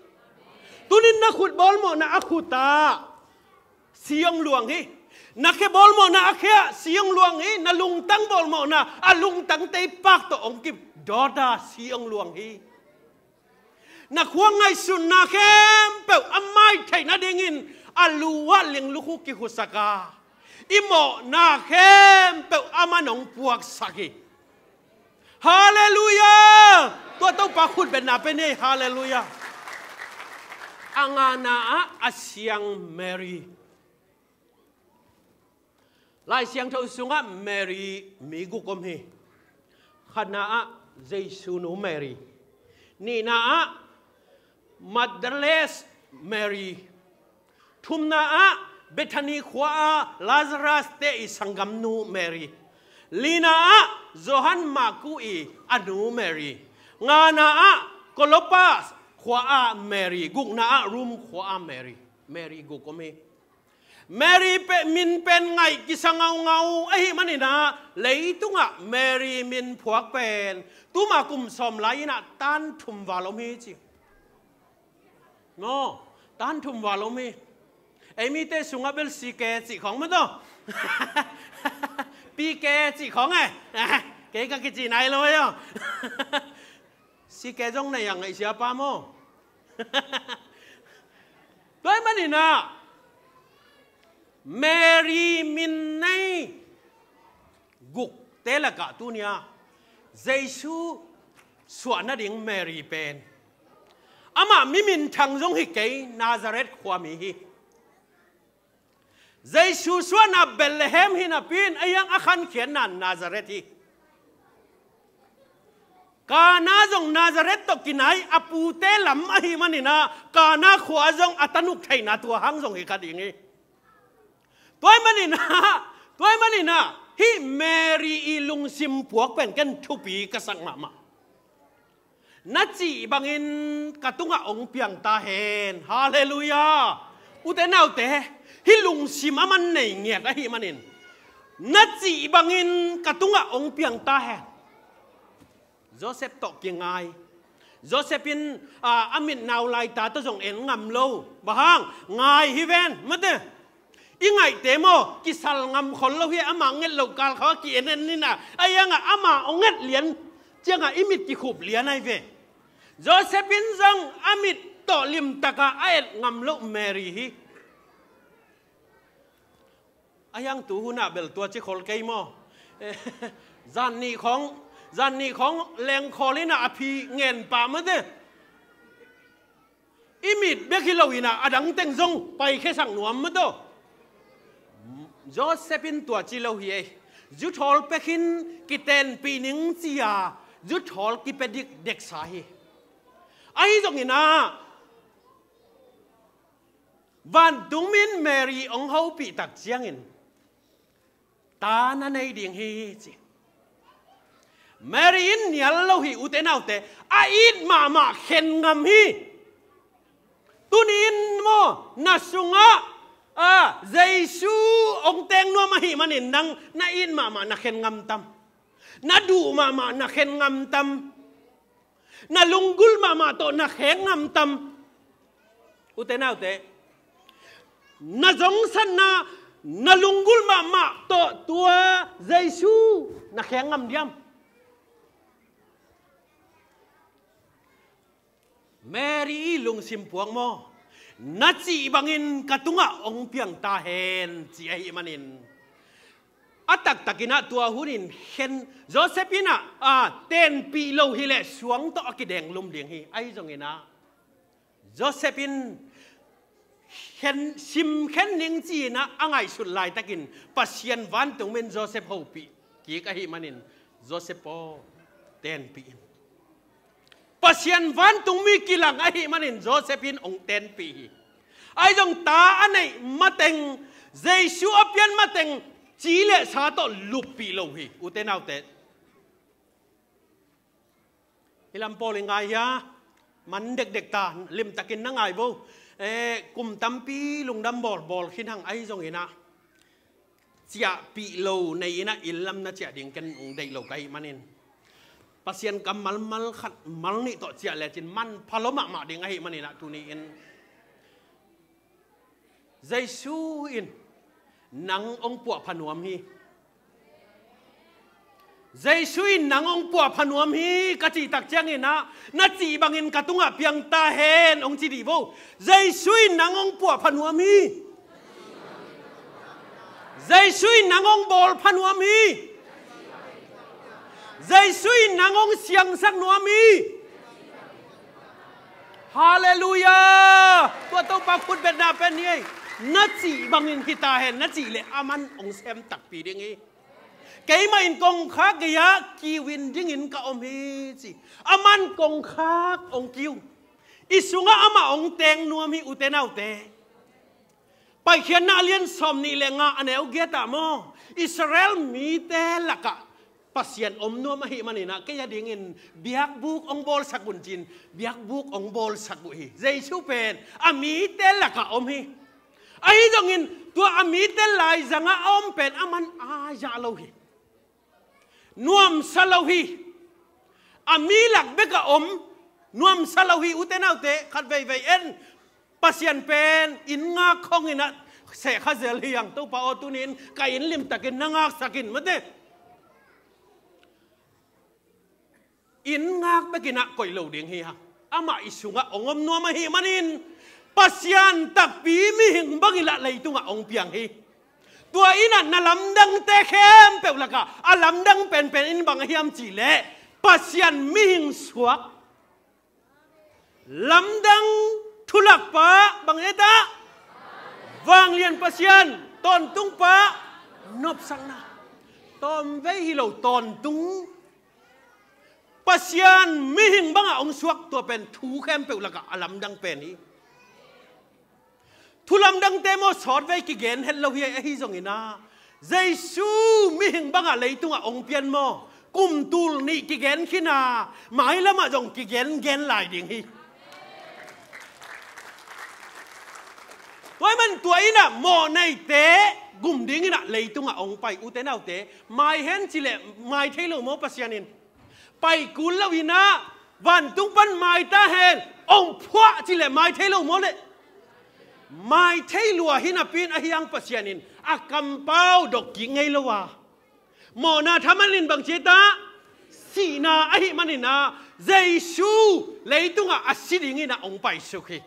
Tuni-in na khut bawlmawhna a khut ah si hong luang hi. Na khe bawlmawhna a khe ah si hong luang hi. Na lungtang bawlmawhna a lungtang teipak tawh hong kip dawt ah si hong luang hi. Na khua ngaihsutna khempeuh a mai theih nadingin a lu ah linglukhu kikhusak a, i mawhna khempeuh aman hong puaksak hi. Halleluiah! Tua Topa khut betna pe ni. Halleluiah! A ngana ah a siang Mary. Lai Siangtho sungah Mary mi guk om hi. Khatna ah Jesu nu Mary. Nihna ah Magdalene Mary. Thumna ah Bethany khua ah Lazarus te i sanggamnu Mary. Lina ah Johan Maku i a nu Mary. Ngana ah Clopas khua ah Mary. Gukna ah Rome khua ah Mary. Mary guk om hi. Mary pe, min pen ngaih kisa ngaungau ahih manin ah leitungah Mary min phuak pen tuma kum sawm lai-in ah tan thum val om hi ci. Maw, tan thum val om hi. Ei mite sungah bel C K cih khawng maw taw. P K cih khawng e. Kei ka kici nai lo aw. C K zong nei a ngaihsia pa maw. Tua ahih manin ah Mary min nei gukte lakah tuni-a Jesu suah nading Mary pen amah mi minthang zong hi kei, Nazareth khuami hi. Jesu suahna Bethlehem hi napi-in a hiang a khankhiatna Nazareth hi. Kana zong Nazareth tawh kinai a pute lam ahih manin ah Kana khua zong a tanuk theihna tua hang zong hi kha ding hi. Tua ahih manin ah, tua ahih manin ah hih Mary i lungsim puak pen ken thupi ka sak mahmah. Na cih bangin ka tungah hong piang ta hen. Halleluiah. Ute naute, hih lungsim a man nei ngiat ahih manin na cih bangin ka tungah hong piang ta hen. Joseph tawh kingai. Joseph in, a, a mit nau laita tawh zong en ngam lo. Bang hang? Ngai hi ven, mate. I ngaihte maw, kisal ngam khol lo hi, amah nget loh kal khawng a ki-en en ni na. A hiang ah amah hong et lian ciangah i mit kikhup lian ahi ve. Joseph in zong a mit tawh limtak a a et ngam loh Mary hi. A hiang tu hun ah bel tua ci khol kei maw. Zan nih khawng, zan nih khawng lengkhawl in ah a phi ngen pah mate. I mit bek hi lo in ah a dang teng zong paikhia sak nuam mate. Joseph in tua ci lo hi ei. Zuthawl pek in kitenpih ning ci-a zuthawl kipia dikdeksa hi. Ahi zongin ah vantungmi in Mary hong hopih tak ciangin ta na nei ding hi ci. Mary in nial lo hi, ute naute, a it mahmah khen ngam hi. Tuni in maw, na sungah, a, Jesu hong teng nuam ahih manin nang na it mahmah na khen ngam tam? Na duh mahmah na khen ngam tam? Na lunggulh mahmah tawh na khen ngam tam? Ute naute, na zongsatna, na lunggulh mahmah tawh tua Jesu na khen ngam diam? Mary i lungsim puak maw? Na cih bangin ka tungah hong piang ta hen, ci ahih manin a taktakin ah tua hunin khen, Joseph in ah, a, tenpih lo hileh suang tawh a kidenglum ding hi. Ahi zongin ah Joseph in khen, sim khen ning ci-in ah a ngaihsut laitakin Pasian vantungmi in Joseph hopih kik ahih manin, Joseph aw, tenpih in. Pasian vantungmi kilang ahih manin Joseph in hong tenpih hi. Ahi zong ta a neih mateng, Jesu a pian mateng, ci le sa tawh luppih lo hi, ute naute. Hih lam pawl i ngai hia? Man dekdek ta, limtakin na ngai vo. Eh, kum tampi lungdam bawlbawl khin hang, ahi zongin ah ciahpih lo nei in ah inn lam na ciah ding ken hong deih lo ka hih manin, Pasian kammal mal khat mal nih tawh ciah lecin manpha lua mahmah ding ahih manin ah tuni in Jesu in nang hong puahpha nuam hi. Jesu in nang hong puahpha nuam hi ka cih tak ciangin ah, na cih bangin ka tungah piang ta hen hong ci dih vo. Jesu in nang hong puahpha nuam hi. Jesu in nang hong bawlpha nuam hi. Jesu in nang hong siangsak nuam hi. Halleluiah. Tua Topa khutbetna pen hi ei. Na cih bangin hi ta hen, na cih leh aman hong sem takpi ding hi. Keimah in kongkhak gei-ah kiu in dingin ka om hi ci. Aman kongkhak hong kiu. I sungah amah hong teng nuam hi, ute naute. Paikhiatna a lian sawmnih le nga a neu giat ah maw, Israel mite lakah Pasian om nuam ahih manin ah kei a dingin biakbuk hong bawlsak un ci-in biakbuk hong bawlsak uh hi. Jesu pen a mite lakah om hi. Ahi zongin tua a mite laizangah a om pen aman a zah lo hi. Nuamsa lo hi. A mi lak bek a om. Nuamsa lo hi, ute naute, khat veivei en. Pasian pen inn ngak khawng in ah sehkha zel hi hang. Topa aw, tuni-in ka inn limtakin na ngaksak in, mate. Inn ngak bekin ah koih lo ding hi hang. Amah i sungah hong om nuam ahih manin Pasian takpi mihing bangin lah leitungah hong piang hi. Tua in ah na lamdangte khempeuh lakah a lamdang penpen in bang a hiam cihleh, Pasian mihing suak, lamdang thulakpa, bang hiam cihleh, vanglian Pasian, tawntungpa, nopsakna. Tawmvei hi lo, tawntung. Pasian mihing bangah hong suak, tua pen thu khempeuh lakah a lamdang pen hi. Thu lamdangte maw, sawtvei kigen het lo hi, ahi zongin ah Jesu mihing bangah leitungah hong pian maw, kum tul nih kigen khin a, mailamah zong kigen gen lai ding hi. Tua ahih man tua in ah mawhneite gum dingin ah leitungah hong pai. Ute naute, mai hen cihleh mai thei lo maw Pasian in? Pai kul lo in ah, vantung pan mai ta hen, hong phuah cihleh mai thei lo maw leh? Mai thei lua hi napi-in ahi hang Pasian in a kampau dok kik ngei lo a, mawhna thaman in bang ci hiam cihleh, sihna ahih manin ah Jesu leitungah a si dingin ah hong paisuk hi.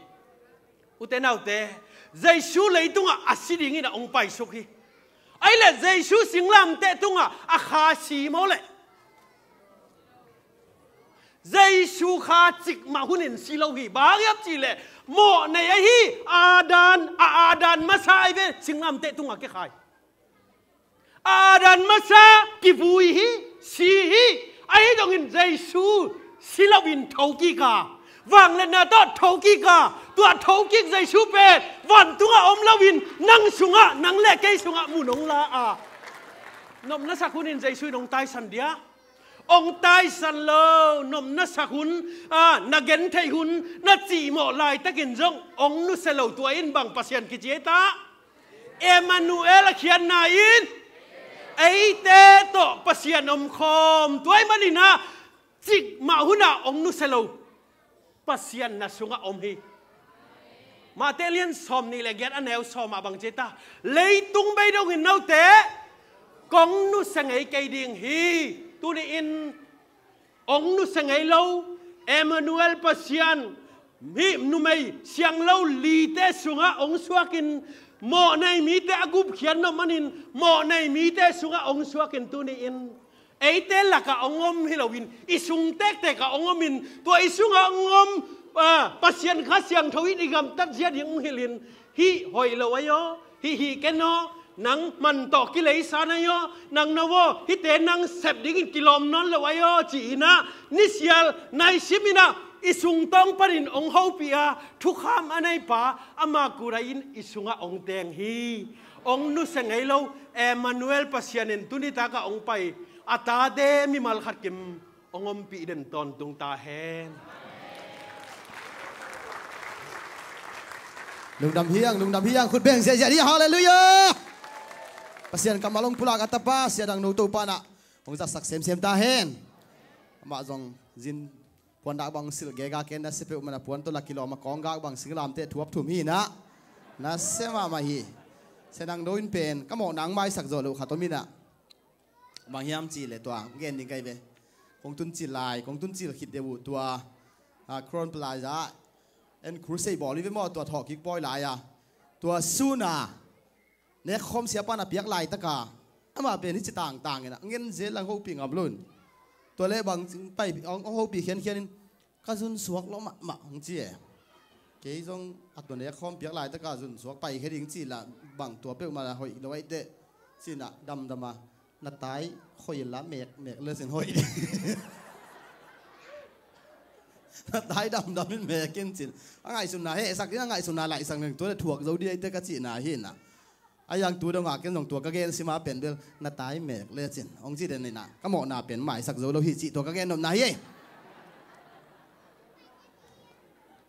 Ute naute, Jesu leitungah a si dingin ah hong paisuk hi. Ahih leh Jesu singlamteh tungah a kha si maw leh? Jesu kha cikmah hunin si lo hi. Bang hiam cihleh, mawhnei ahi Adam, a Adam masa ahi ve, singlamteh tungah kikhai. Adam masa kivui hi, si hi. Ahi zongin Jesu si loin thokik a, vangliatna tawh thokik a, tua thokik Jesu pen vantungah om loin nang sungah, nang le kei sungah mun hong la a, nopna sak hunin Jesu in hong taisan dia? Hong taisan lo. Nopna sak hun, a, na gentheih hun, na cihmawh laitakin zong hong nusia lo. Tua in bang Pasian kici hiam cihleh, Emmanuel a khiatna in eite tawh Pasian omkhawm. Tua ahih manin ah cikmah hunah hong nusia lo Pasian na sungah om hi. Matthai lian sawmnih le giat, a neu sawm ah bang ci hiam cihleh, leitung bei dongin note kong nusia ngei kei ding hi. Tuni-in hong nusia ngei lo Emmanuel Pasian, hih numei sianglo lite sungah hong suakin, mawhnei mite a gupkhiat nop manin mawhnei mite sungah hong suakin, tuni-in eite lakah hong om hi loin, i sung tektek ah hong omin, tua i sungah hong om, a, Pasian Kha Siangtho in i gamtat zia ding hong hilhin, hih hoih lo ahi aw, hih hih ken aw, nang man tawh kileisa na hi aw, nang na aw, hihte nang sep dingin kilawm nawn lo ahi aw, ci-in ah, nisial naisim in ah, i sungtawng panin hong hopih a, thukham a neipa, ama kut ah in i sungah hong teng hi. Hong nusia ngei lo Emmanuel Pasian in tuni takah hong pai, a tate mimal khat kim hong ompih den tawntung ta hen. Lungdam hi hang, lungdam hi hang, khut beng ziahziah hi, halleluiah. Pasian kammal hong pulak a tapa, Sia Dang No Topa in ah hong zatsak semsem ta hen. Amah zong zin puandak bang silh gega ken, nasia peuhmah in ah puan tawh la kilawm a, kawnggak bang singlamteh thuap thum hi in ah, nasia mahmah hi. Sia Dang No in pen ka mawhna hong maisak zawh loh khat om in ah, bang hiam cihleh tua gen ding ka hi ve. Kong tun cil lai, kong tun cil khit deuh uh tua, a, Crown Plaza ah en crusade bawl hi ve maw, tua thawhkik pawi lai-a, tua sun a nekkhawm siapa in a piak laitaka, amah pen hih ci tangtang in ah, ngen zel lang, hopih ngam lo in. Tua leh bang pai, hong, hong hopih khiankhian in, ka zunsuak lawh mahmah hong ci e. Kei zong a tua nekkhawm piak laitaka zunsuak paikhia ding cih lah, bang tua peuhmah lah hoih lo ahih teh, ci-in ah damdam a, na tai khoi inla mekmek le cin hoih ding. Na tai damdam in mek in cin. A ngaihsutna hehsak in, a ngaihsutna laihsak in, tua leh thuak zo ding ahih teh ka cihna hi in ah. A yang tu dongah ken zong tua ka gen sim a pen bel, na tai mek le cin hong ci den in ah, ka mawhna pen maisak zo lo hi cih tua ka gen nopna hi ei.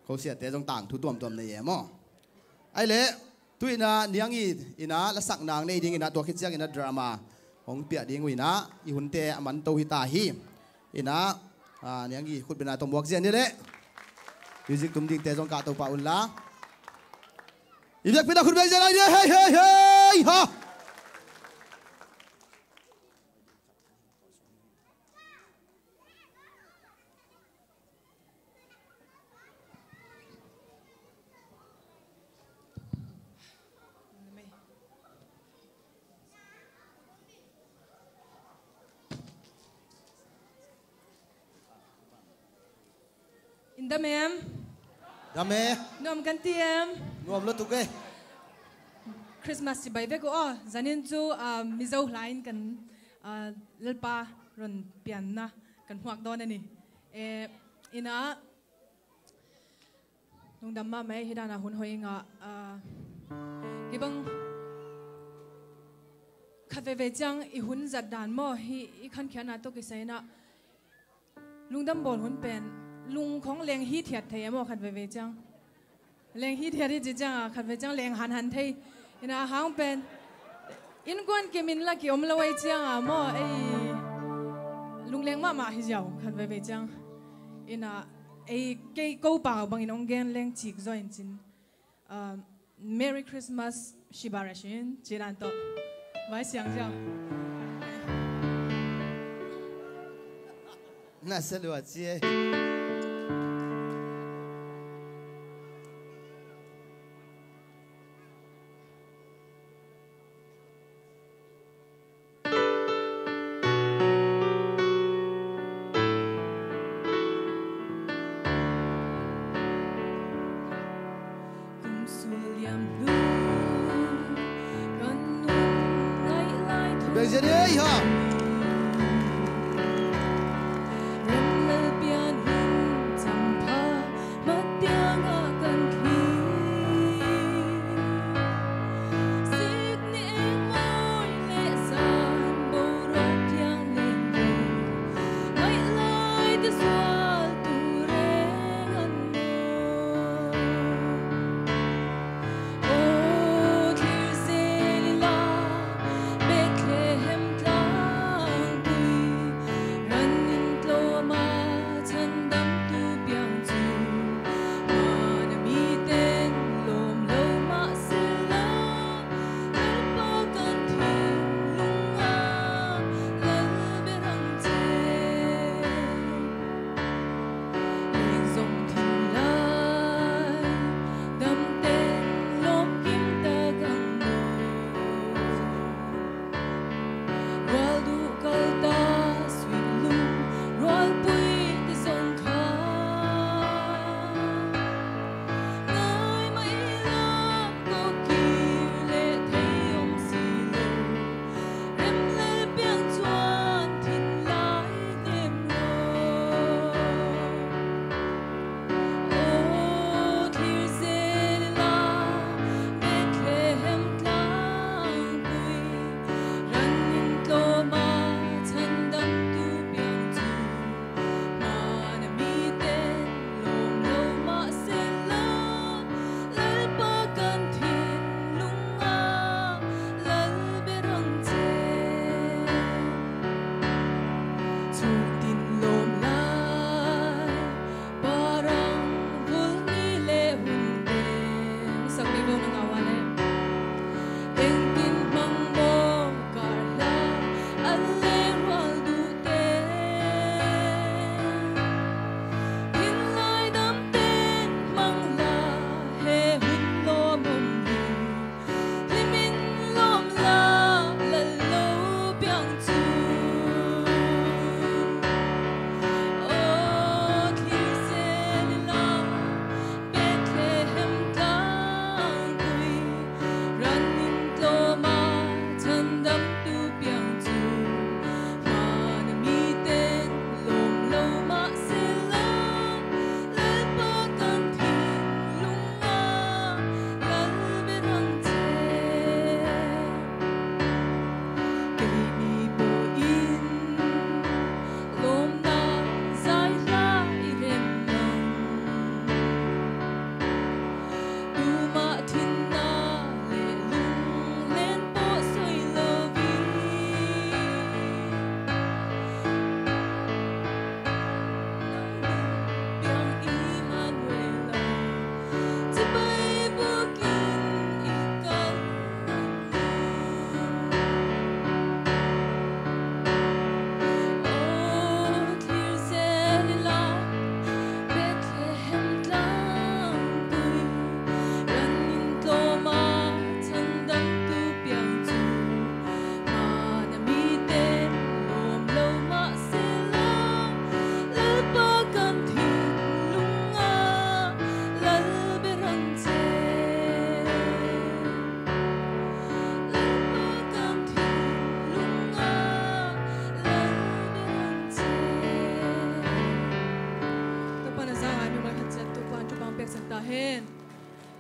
Ko siate zong tangthu tuamtuam nei e maw. Ahih leh tu in ah Niang Yi in ah lasak nang nei ding in ah, tua khit ciangin ah drama hong piah ding uh in ah, i hunte a man to hi ta hi. In ah, a, Niang Yi khutbetna tawh muak zia ni leh, music tum dingte zong kahto pah un la. I biakpiakna khut beng zen lai ni, hei, hei, hei, ha. In dam em? Dam e. Nuam kan ti em? Nuam lutuk e. Christmas cibai vek uh aw. Zanin cu, ah, Mizo hla in kan, ah, Lalpa ron pianna kan huak dawn a ni. Eh, ina, lungdam mahmah e, hi dana hun hoi i ngah, ah, kibang khat veve ciang i hun zat dan maw, hi i khankhiatna tawh kisai inah lungdam bawl hun pen lung khong leng hithiat thei e maw, khat veve ciang. Leng hithiat hi ci ciang a, khat veve ciang leng hanhan thei. Ina hang pen innkuan kim in la ki om lo ei ciang a maw, ei lungleng mahmah hi ziau khat veve ciang. Ina ei kei ko pau bangin ong gen leng cik zaw in cin. Um, Merry Christmas, Shiba Rashin, ci dan tawh. Vai siang ziau. Na sa lua ci e. Kum sual liam hlu kan nun ngaih lai thung. Bek zia dei ha. Ram lal pian hun cam pha, matiang ah kan thli. Sik ni eng mawi le zan boruak thiang ning ve. Ngaih lai te sual tu reng an maw. Aw thlir zel ila Bethlehem tla. Amen.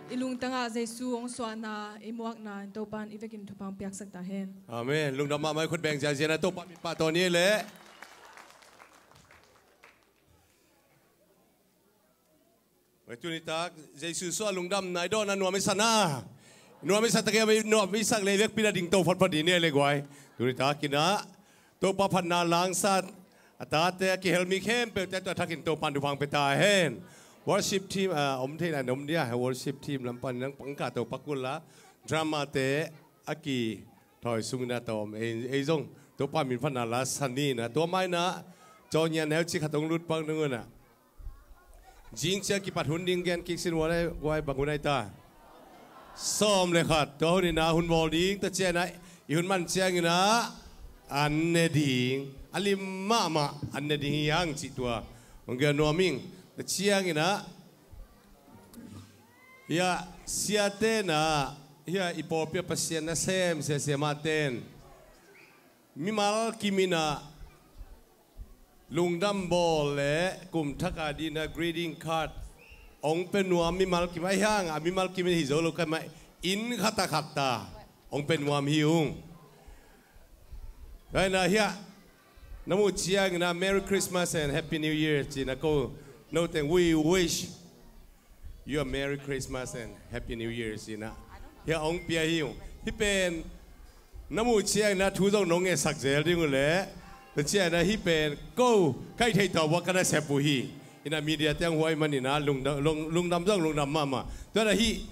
I lungtangah Jesu hong suahna i muakna in Topa'n i vekin thupha hong piaksak ta hen. Amen. Lungdam mahmah i khut beng ziahziah na Topa min pahtawi ni le. Wei tuni tak Jesu suah lungdamna i dawna nuam i sa na. Nuam i sa tak ia nuam i sak le vekpi na ding to photphot ni le guai. Tuni tak ina Topa phatna langsat a tate a kihel mi khempeuhte tua thakin Topa'n thupha hong pia ta hen. Worship team a om theihna om dia worship team lam pan nang pangka Topa kul la drama te a ki thawi sungin a tawm ei zong Topa min phatna la sa ni na tua mai na cawnia neu ci khat hong lut pang nung una. Zing ciang kipat hun ding gen kik sin guai bang hun ai ta. Sawm le khat tua hun ina hun bawl ding tua ciang ina i hun man ciang ina an ne ding a lim mahmah an ne ding hi hang cih tua hong gen nuam ing. Tua ciang ina hia siate na hia i pawlpi a Pasian na sem sia sia ma ten mimal kim ina lungdam bawl le kum thak a dina greeting card hong pe nuam mimal kim a hi hang a mimal kim in hi zo lo kai mai inn khat a khat ta hong pe nuam hi ung. Tua ina hia na muh ciang ina Merry Christmas and Happy New Year ci na ko no teng we wish you a Merry Christmas and Happy New Year ci na hia hong pia hi ung. Hi pen na muh ciang ina thu zong nong ngesak zel ding uh le na ciang ina hi pen ko kai thei tawh buak ka na sep uh hi. Ina media tiang huai man ina lungdam zong lungdam mahmah tua na hi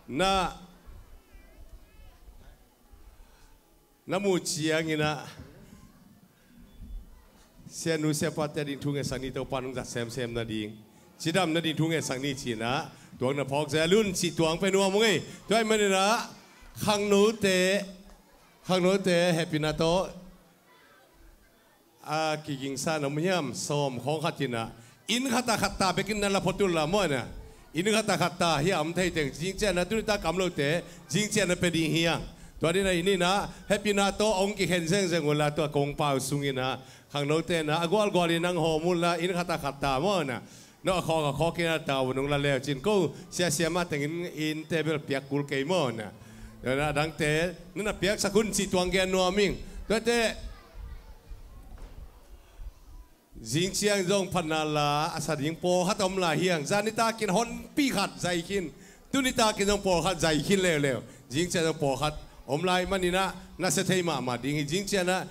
na na muh ciang ina sianu siapate ding thu ngesak ni Topa nung zat semsem na ding cidam na ding thu ngesak ni ci na tuang na phawk zel un ci tuang pe nuam ung ei. Tua i man ina khangnote khangnote happy na tawh a kigingsa na om hiam sawm khawng khat ina inn khat a khat ta bekin na la phot ul la maw ina inn khat a khat ta hia om thei teng zing ciang na tuni ta kam lote zing ciang na pe ding hiang. Tua dina inn ina happy na tawh hong kikhen zengzeng ula tua kong pau sung ina khangnote na a gualgual in nang hawm ula inn khat a khat ta maw ina no a khawk a khawk ina tau nung la leu cin ko siasia ma tengin inn table piak kul kei maw ina. Tua na dangte nana piaksak hun ci tuang gen nuam ing. Tuate zing ciang zong phatna la a sa ding pawlkhat om lai hiang zan nitakin honpi khat zai khin tuni takin zong pawlkhat zai khin leuleu. Zing ciang zong pawlkhat om lai man ina na sia thei mahmah ding hi zing ciang na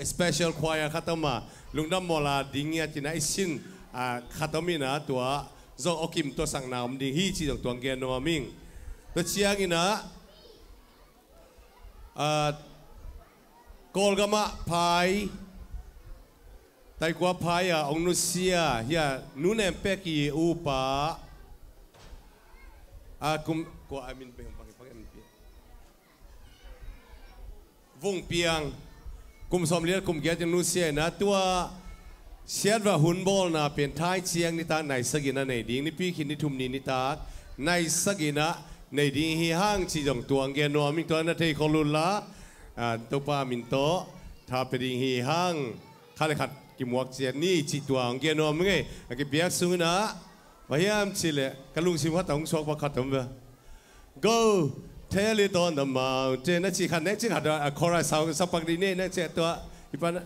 special choir khat om a lungdam mawla ding ngiat ina i sin khat om ina tua zong awkim tua sakna om ding hi ci zong tuang gen nuam ing. Tua ciang ina Kawlgamah phai taikua phai a ong nusia hia nunem pek i upa a kum kua a min pek pang pang Vung Piang kum sawm liat kum giat in nusia ina tua siatvah hun bawlna pen thai ciang nitak nai sagina nei ding nipi khin ni thum ni nitak nai sagina nei ding hi hang ci zong tuang gen nuam ing tua na thei khol uh la Topa min tawh tha pe ding hi hang khat le khat kimuak ciat ni ci tuang gen nuam ing ei. A kipiak sungina pahiam ci le ka lungsim khat a hong suak pakhat om ve. Go tell it on the mountain na ci khat ne ci khat a chorus sau sapak di ne na ci tua ipan.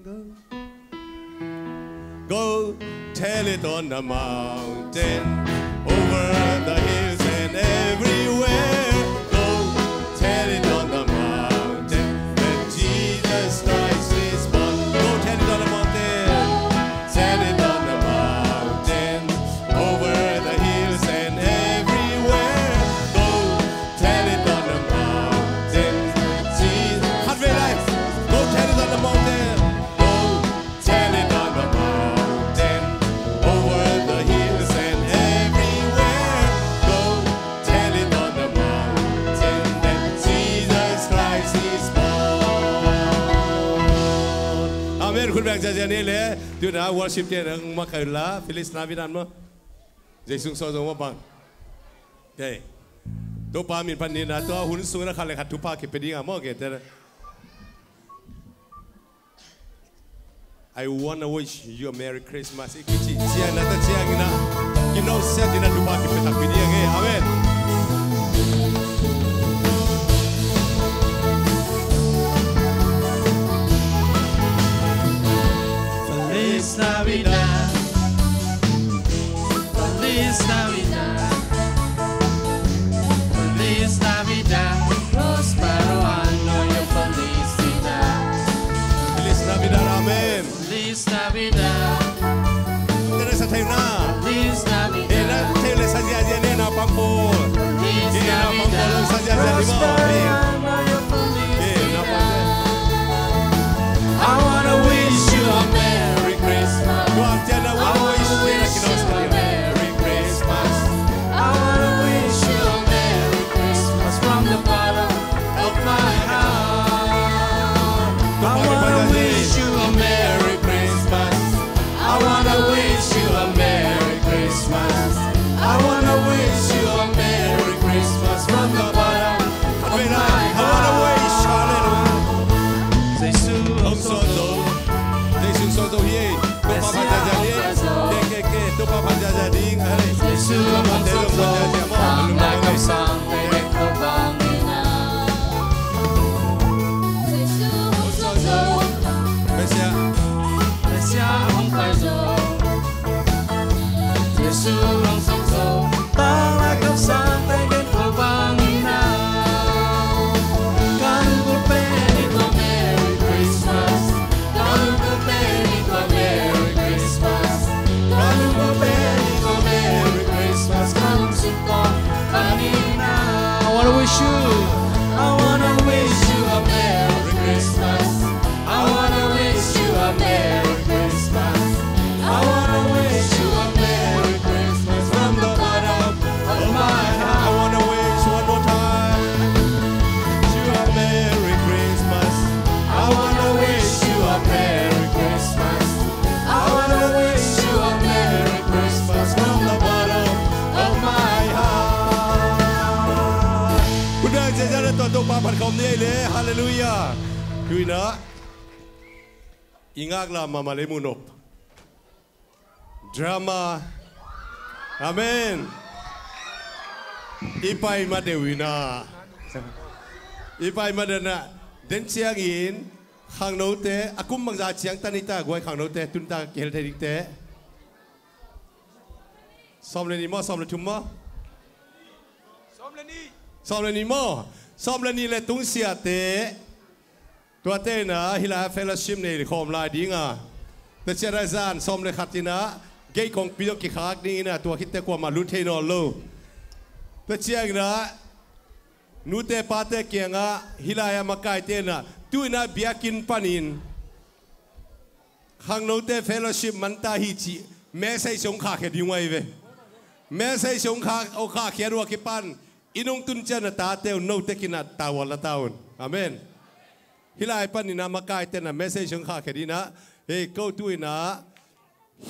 Go. Go tell it on the mountain, over the hills and everywhere. Go tell it on the mountain that Jesus Christ is born. Go tell it on the mountain. Tell it on the mountain, over the hills and everywhere. Go tell it on the mountain. See, khat vei lai. Go tell it on the mountain. Go tell it on the mountain, over the hills and everywhere. Go tell it on the mountain that Jesus Christ is born. Amen. Khut beng ziahziah ni le. Tuna worship te nang makaila Phyllis na bidan mo. Jesu sung so zong mabang. Topa min pan ni na tua hun sung na khat le khat thupha kipe ding a maw ke te. I wanna wish you a Merry Christmas. I kici ciang na ta ciang ina. Kino siat in a thupha kipia takpi ding hi. Amen. Feliz Navidad. Feliz Navidad. Feliz Navidad. Próspero año y felicidad. Feliz Navidad. Amen. Feliz Navidad. Teresa Taina. Feliz Navidad. Eh, na, Teresa Zia Zia ne na pampo. Feliz Navidad. Eh, na pampo lo sa Zia Zia di mo. Eh. Eh, na pampo. I wanna wish you a Merry Christmas. Tua Zia na, I wanna wish you a Merry Christmas. I wanna wish you a Merry Christmas from the bottom of my heart. I wanna wish you a Merry Christmas. I wanna wish you a Merry Christmas. I wanna wish you a Merry Christmas from the bottom of my heart. I wanna wish, hallelujah. Jesu hong suak zo. Jesu hong suak zo hi. Topa phat ziahziah ding. Ke, ke, ke. Topa phat ziahziah ding. Hallelujah. Jesu hong suak zo. Topa phat ziahziah ding. Topa phat ziahziah ding. Messiah. Messiah hong pai zo. Jesu hong suak zo. Tanglai kamsang teng gen ko bang in a. Ka lungput pen in ko Merry Christmas. Ka lungput pen in ko Merry Christmas. Ka lungput pen in ko Merry Christmas. Ka lungsim ko bang in a. I wanna wish you. I wanna wish you a Merry Christmas. I wanna wish you a Merry Christmas. I wanna wish you a Merry Christmas from the bottom of my heart. I wanna wish one more time. You a Merry Christmas. I wanna wish you a Merry Christmas. I wanna wish you a Merry Christmas from the bottom of my heart. Good night, Zia Zia le tua Topa phat khawm ni ei le. Hallelujah. Tuina i ngaklah mahmah le muhnop. Drama. Amen. I pai ma deuh ina. I pai ma deuh ina. Den ciangin khangnote a kum bangza ciang tan i ta guai khangnote tun ta kihel thei dingte. Sawm le ni maw, sawm le thum maw? Sawm le ni. Sawm le ni maw? Sawm le ni le tungsiate. Tuate ina hih lai fellowship nei khawm lai dinga. Tua ciang a zan sawm le khat ina gei kongpi dong kikhak dingina tua khitte kuamah lut thei nawn lo. Tua ciang ina nute pate kiangah hih lai a makaite ina tu ina biakinn panin khangnote fellowship man ta hi cih message hong khahkhia ding uh ahi ve. Message hong khah, hong khahkhia uh a kipan i nungtun ciang a tate uh note kinah ta uh a la ta un. Amen. Hih lai panin a makaite ina message hong khahkhia ding ina, hei ko tu ina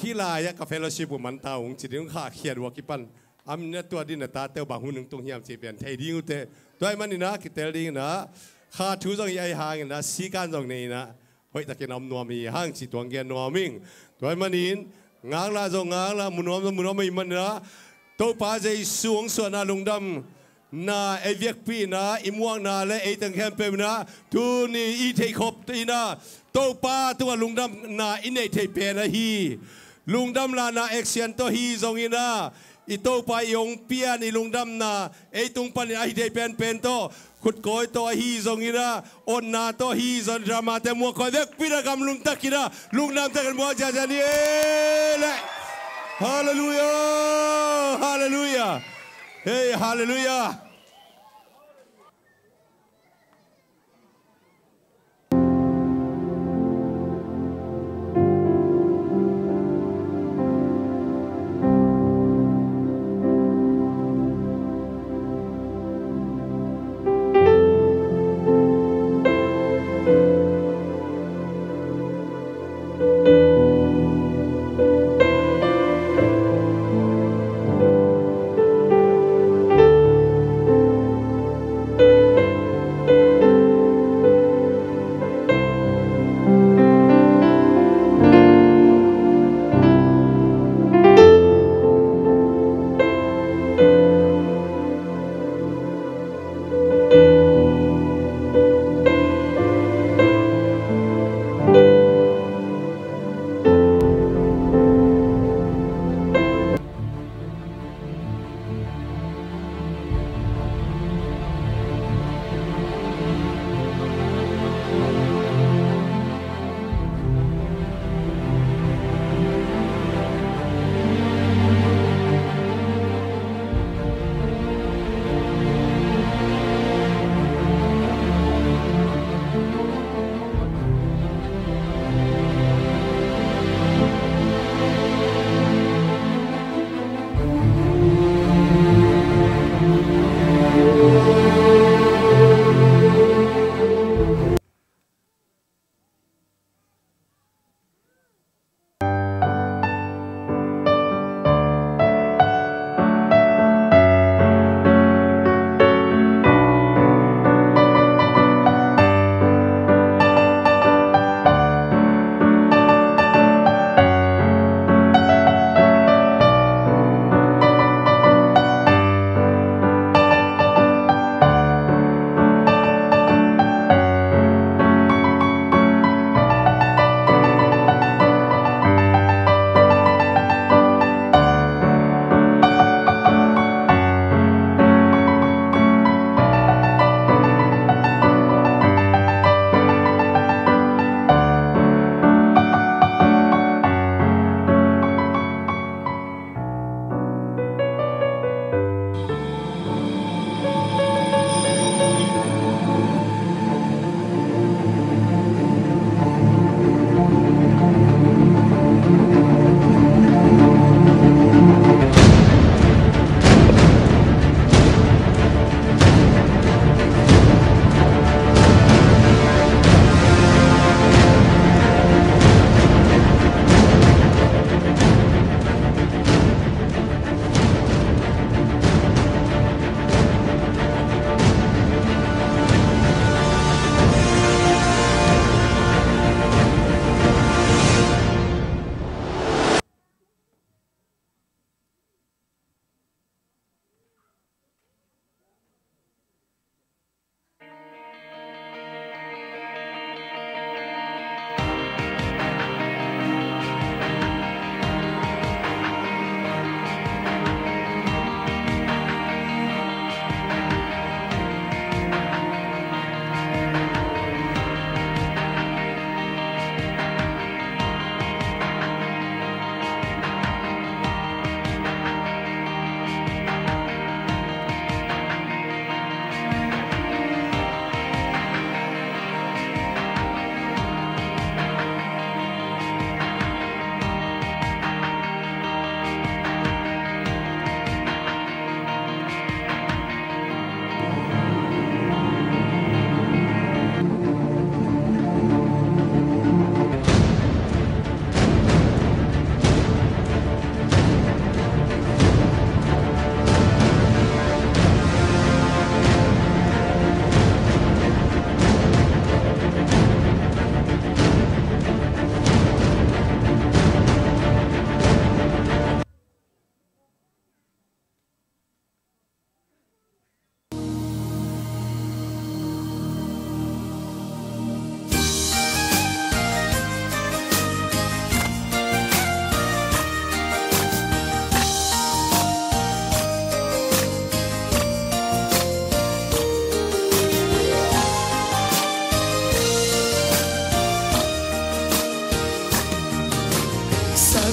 hih lai ah ka fellowship uh man ta ung ci ding hong khahkhia uh a kipan a min a tua ding ina tate uh bang hun hong tung hiam cih pen thei ding uh teh. Tua ahih manin a kitel ding ina kha thu zong hi ahih hangin a sikan zong nei ina hoihtakin a om nuam hi hang cih tuang gen nuam ing. Tua ahih manin ngaklah zong ngaklah, mu nuam zong mu nuam ahih manin a Topa Jesu hong suahna lungdamna ei biakpihna i muakna le ei teng khempeuh ina tuni i theihkhop ina Topa tungah lungdamna i neih theih pen ahi. Lungdam lahna action tawh hi zong ina i Topa i hong pian i lungdamna ei tung panin ahi thei penpen tawh khutkawi tawh ahi zong ina otna tawh hi zong dramate muak khawi vekpi na gamlum tak ina lungdam takin muak ziahziah ni e le. Halleluiah. Halleluiah. Hei, halleluiah.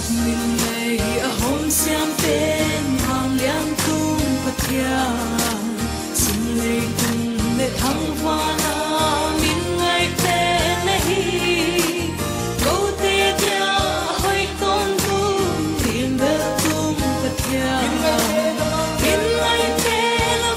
Min ngaih a hong siam pen vanglian tung Pathian, sum leitung le thangvana min ngaihte na hi. Kote dia a hoih tawntung, lim bel tung Pathian, min ngaihte na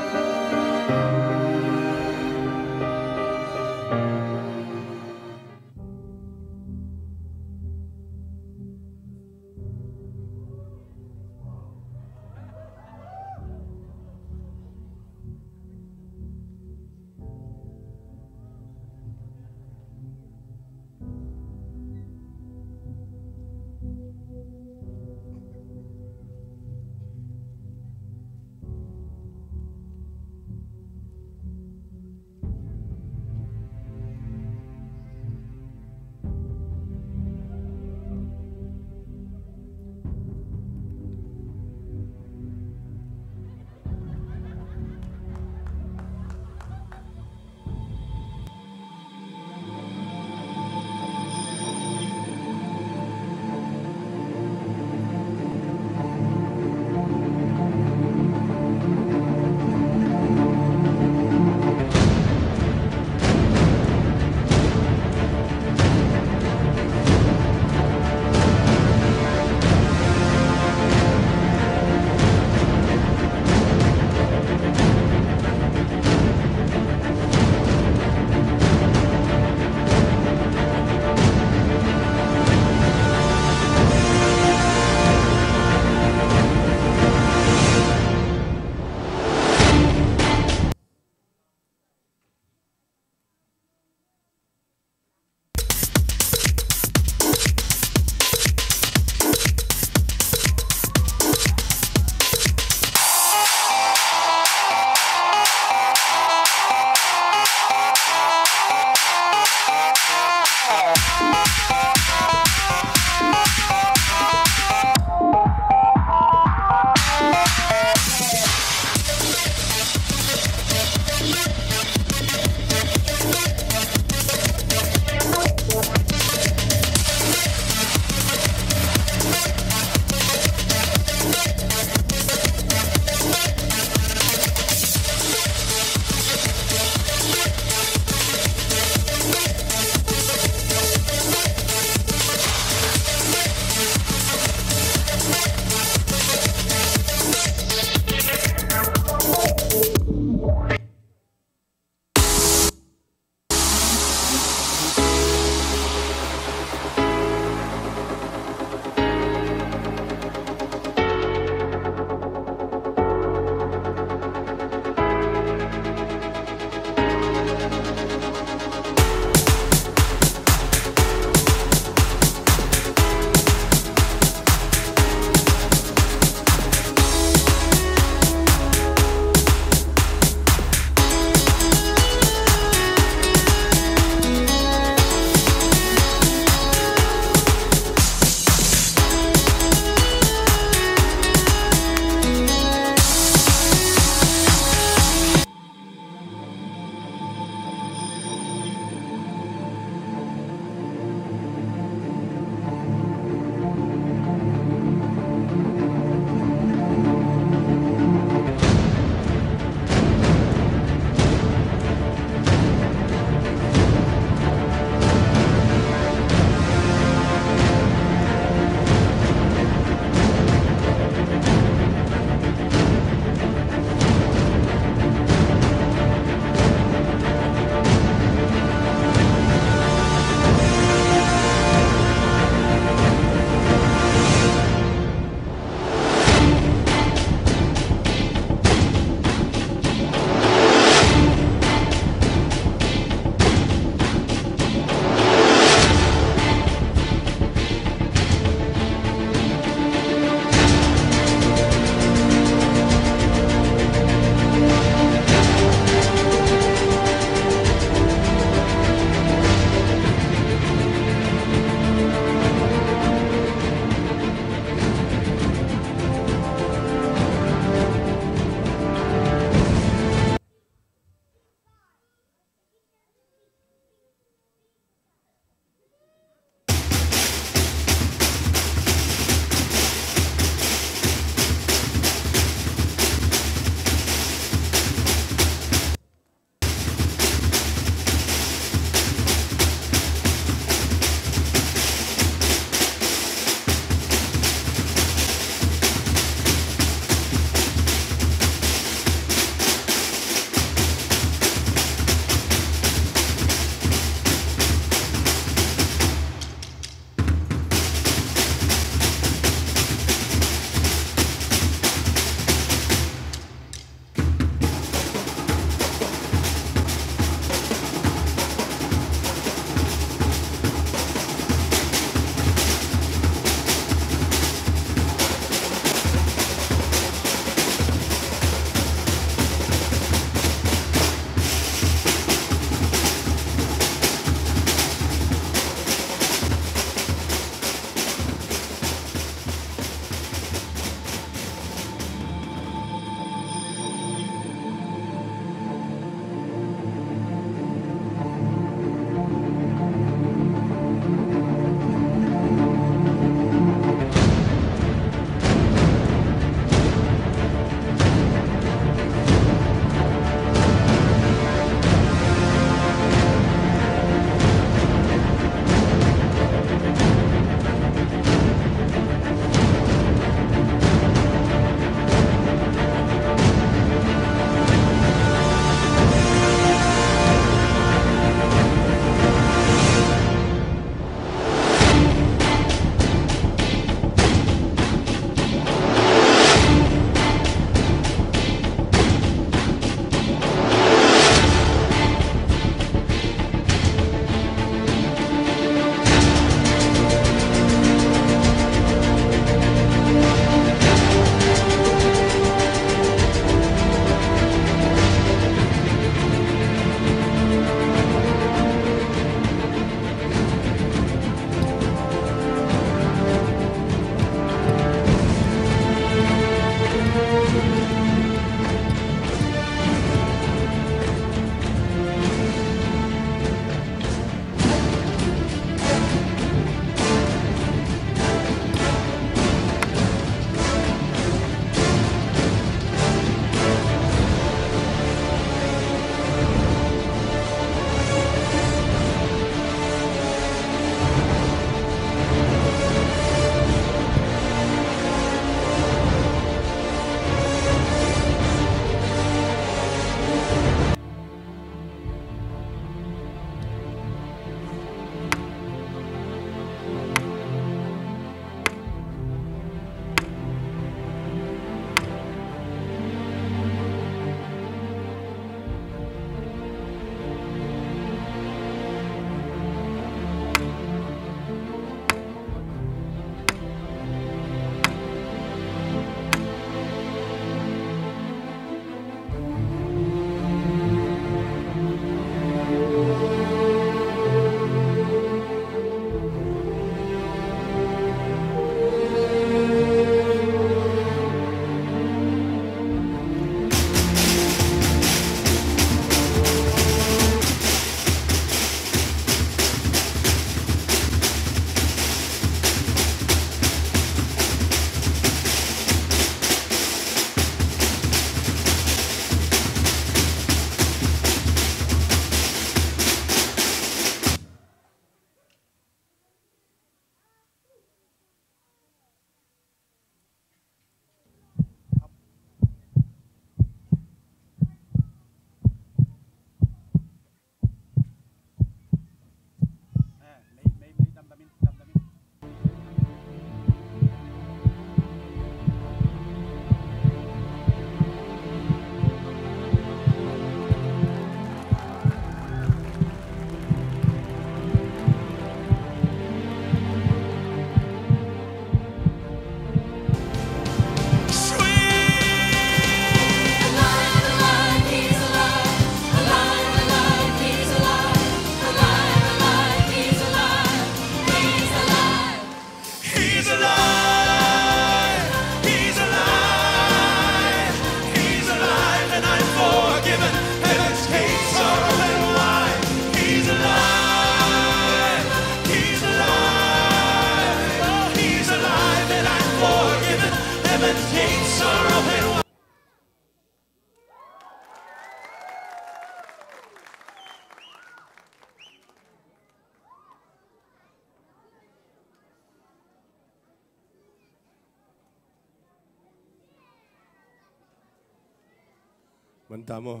Manta maw?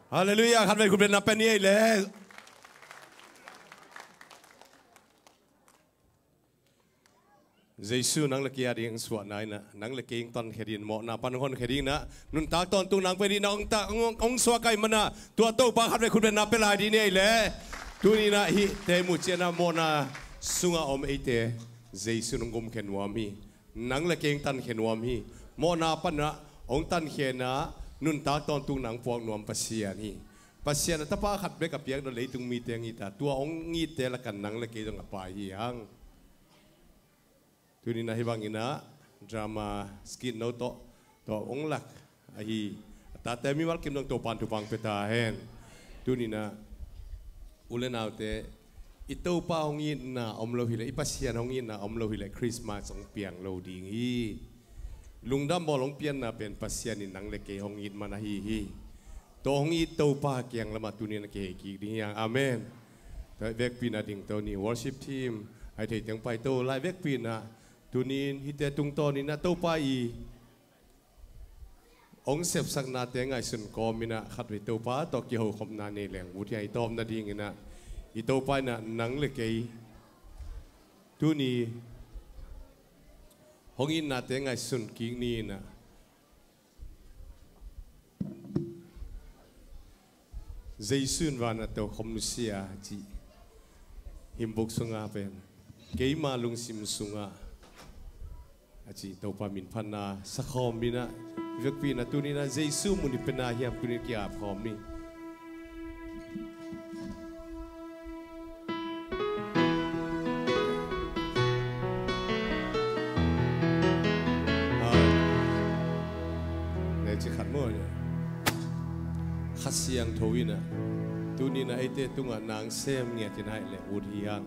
Halleluiah. Khatvei khut beng na pia ni ei le. Jesu nang le kei a ding suahna in ah, nang le kei hong tankhia ding, mawhna pan hong honkhia ding in ah, nuntak tawntung nang pia ding in ah, hong ta, hong, hong suak ahih manin ah, tua Topa khatvei khut beng na pia lai ding ni ei le. Tuni in ah hihte muh ciangin ah mawhna sungah om eite Jesu in hong gumkhia nuam hi. Nang le kei hong tankhia nuam hi. Mawhna pan ah hong tankhia in ah, nuntak tawntung nang puak nuam Pasian hi. Pasian a Tapa khat bek a piak dawh leitung mite hong it a, tua hong itte lakah nang le kei zong a pai hi hang. Tuni in ah hih bangin ah drama skit no tawh, tawh hong lak ahi a tate mimal kim dong Topa'n thupha hong pia ta hen. Tuni in ah u le naute, i Topa hong itna om lo hileh, i Pasian hong itna om lo hileh Christmas hong piang lo ding hi. Lungdam bawl hong pianna pen Pasian in nang le kei hong it man ahi hi. Tua hong it Topa kiang lamah tuni in ah kihei kik ding hi hang. Amen. Tua vekpi in ah dingto ni, worship team, a hih thei teng paito lai. Vekpi in ah tuni in hihte tungtawn in ah Topa i hong sepsaknate ngaihsun kawm in ah khatvei Topa tawh kihokhopna nei leng ut hi hang. I tawpna ding in ah i Topa in ah nang le kei tuni hong itnate ngaihsun kik ni in ah, Jesu in van ah tokhom nusia cih hymn book sungah pen, keima lungsim sungah a cih Topa min phatna sakhawm in ah, vekpi in ah tuni in ah Jesu mun i pen a hiam tuni in ki-ap khawm ni. Leh ci khat maw, Kha Siangtho in ah tuni in ah eite tungah nang sem ngiat in ah hih leh ut hi hang.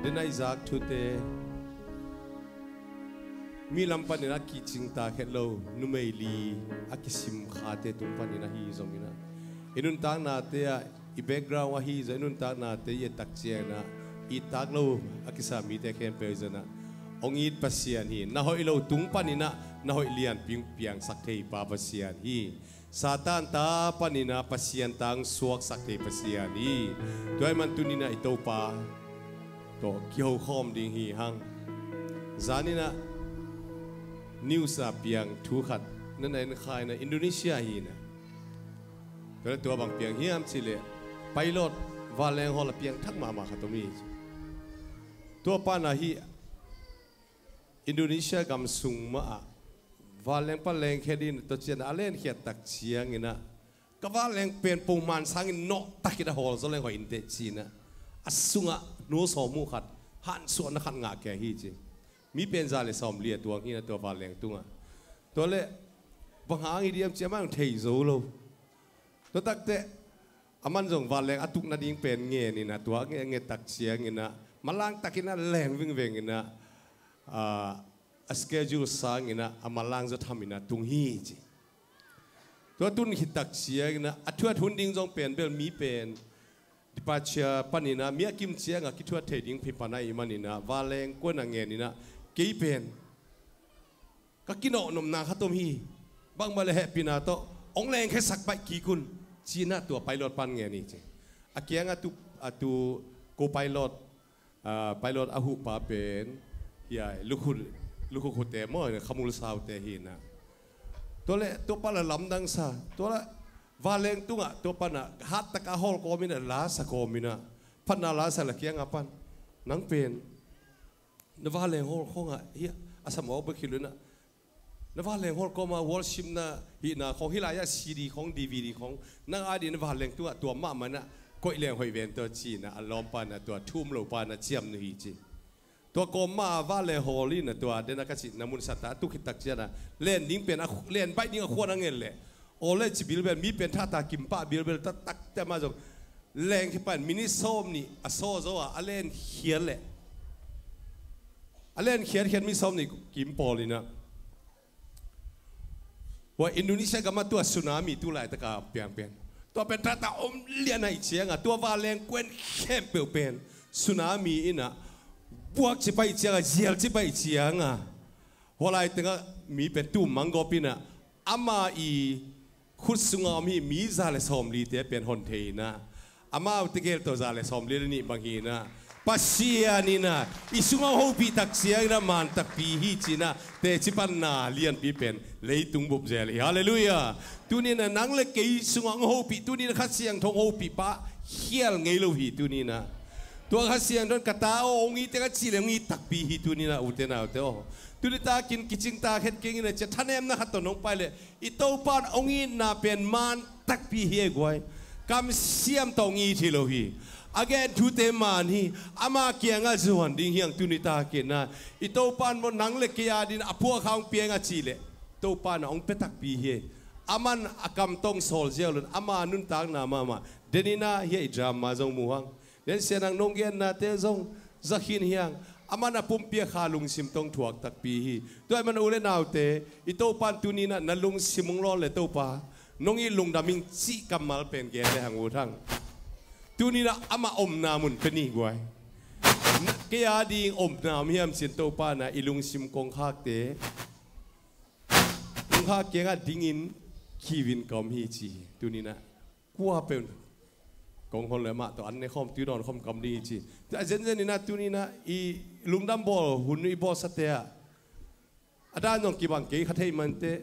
Den a i zak thute, mi lam panin a kicing ta khet lo, numei li a kisim khate tung panin ahi zongin ah, i nuntaknate ah, i background ahi zong, i nuntaknate i et tak ciangin ah, i tak lo a kisa mite khempeuh zong ah, hong it Pasian hi. Na hoih lo tung panin ah na hoih lianpi piangsak thei pa Pasian hi. Satan ta panin ah Pasian ta hong suaksak thei Pasian hi. Tua ahih man tuni in ah i Topa tawh kihokhawm ding hi hang. Zan in ah news a piang thu khat na na en kha in ah, Indonesia hi in ah. Tua leh tua bang piang hiam cih leh, pilot, vanleng hawl a piangthak mahmah khat om hi. Tua pa in ah hih Indonesia gam sung mah ah vanleng pan lengkhia dingin tua ciang a lenkhiat tak ciangin ah, ka vanleng pen pongman sangin nawh takin a hawl zaw leng hoih inteh ci-in ah, a sungah hnu sawm uh khat, hansuahna khat ngah khia hi ci. Mi pen za le sawmli a tuang hi in ah tua vanleng tungah. Tua leh bang hang hi diam ci-in amah zong thei zo lo. Tua takteh amah zong vanleng a tuk nading pen ngen in ah, tua a nget, nget tak ciangin ah, manlang takin a leng vingveng in ah, ah, a schedule sangin ah, a manlang zaw tham in ah tung hi ci. Tua tun khit tak ciangin ah, a thuat hun ding zong pen bel mi pen departure panin ah, mi a kim ciangah kithuat thei ding phipan ahih manin ah, vanleng kuan a ngen in ah, kei pen ka kinawhnopna khat om hi. Bangmah leh hehpihna tawh hong lengkhiasak baih kik un, ci-in ah tua pilot pan ngen hi ci. A kiangah tu, a tu co-pilot, ah, pilot a huhpa pen, hiai, lukhu, lukhu khute maw, khamul saute hi in ah. Tua leh tua pa la lamdang sa, tua leh vanleng tungah tua pa in ah hat takin a hawl kawmin ah, la sa kawmin ah, phatna la sa leh a kiangah pan, nang pen na vanleng hawl khawngah hih a sam awk bek hi lo in ah, na vanleng hawl kawmah worship na hihna khawng, hih lai-ah C D khawng, D V D khawng, nang a dingin na vanleng tungah tuam mahmah in ah koih leng hoih ven tua ci-in ah, a lawmpa in ah tua thu um lo pa in ah ciamnuih hi ci. Tua kawmah vanleng hawl in ah tua den a ka cihna mun sat a, a tuk khit tak ciangin ah len ding pen a, len baih ding a khuan a ngen leh, aw leh ci bilbel, mi pen thahta kim pah bilbel, tua takteh amah zong lengkhia pan minute sawmnih a sawl zo a, a lenkhiat leh, a lenkhiatkhiat minute sawmnih kim pawl in ah, tua Indonesia gamah tua tsunami tu laitak a piang pen, tua pen thahta om lian ahih ciangah, tua vanleng kuan khempeuh pen tsunami in ah buak ci pah ahih ciangah, zial ci pah ahih ciangah, hua lai tengah mi pen tum manggawp in ah, ama i khut sunga om hi mi za le sawmlite pen hon thei inah, amaute gel tawh za le sawmli le nih bang hi inah, Pasian inah i sungah hong hopih tak ciang inah man takpi hi ci inah teci panna lianpi pen leitung bup zel hi. Halleluiah. Tuni inah nang le kei sungah hong hopih, tuni inah Kha Siangtho hong hopih pa khial ngei lo hi tuni inah. Tua Kha Siangtho in ka ta aw hong it teng a cih le hong it takpi hi tuni inah ute naute aw. Tuni takin kicing ta khet keng inah cia thanemna khat tawh nong pai le i Topa in hong itna pen man takpi hi ei guai. Kamsiam tawh hong it hi lo hi. A gen thute man hi. Ama kiangah zuan ding hi hang tuni takin ah. I Topa in maw nang le kei adin a phuakha hong piang a cih leh Topa in ah hong pia takpi hi ei. Aman a kam tawh hong sawl ziau lo in ama nuntakna mahmah. Den inah hi ei drama zong mu hang. Nen sianang nong gennate zong za khin hi hang. Aman a pumpi a kha lungsim tawh hong thuak takpi hi. Tua ahih man u le naute, i Topa in tuni inah na lungsim hong lawn le Topa nong it lungdam ing cih kammal pen gen le hang ut hang. Tuni inah amah omna mun pia ni guai. Na, kei ading omna om hiam ci-in Topa inah i lungsim kongkhakte, kongkhak kiangah dingin kiu in ka om hi ci hi. Tuni inah kua peuh kong hon le mah tawh an ne khawm tui dawn khawm ka om ding hi ci. Tua zenzen inah tuni inah i lungdam bawl hun i bawlsate ah a dan zong kibang kei kha thei mah inteh,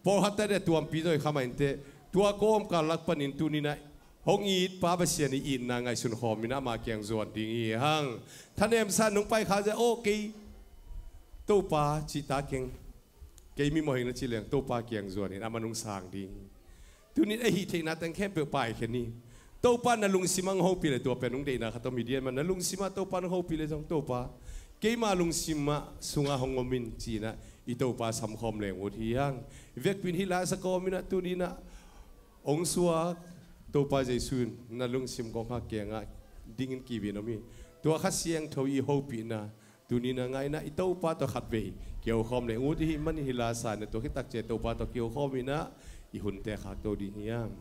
pawlkhatte a tuampi zong i kha mah inteh, tua kawmkal lak panin tuni inah hong it pa Pasian i itna ngaihsun khawm inah ama kiang zuan ding hi hang. Thanemsa nong pai kha zia aw kei Topa cih ta keng. Kei mi mawh hi ing na ci leng Topa kiang zuan in aman hong sang ding. Tuni in a hih theihna teng khempeuh paikhia ni. Topa na lungsim ah hong hopih le tua pen hong deihna khat om hi dian mah, na lungsim ah Topa hong hopih le zong Topa keima lungsim ah sungah hong om in ci-in ah i Topa samkhawm leng ut hi hang. I vekpi in hih la sa kawm in ah tuni in ah hong suak Topa Jesu in na lungsim kongkhak kiangah dingin kiu in om hi. Tua Kha Siangtho i hopihna tuni in ah ngaihna i Topa tawh khatvei kiho khawm leng ut i hih manin hih la sa in ah tua khit tak ciang Topa tawh kiho khawm in ah i hunte khakto ding hi hang.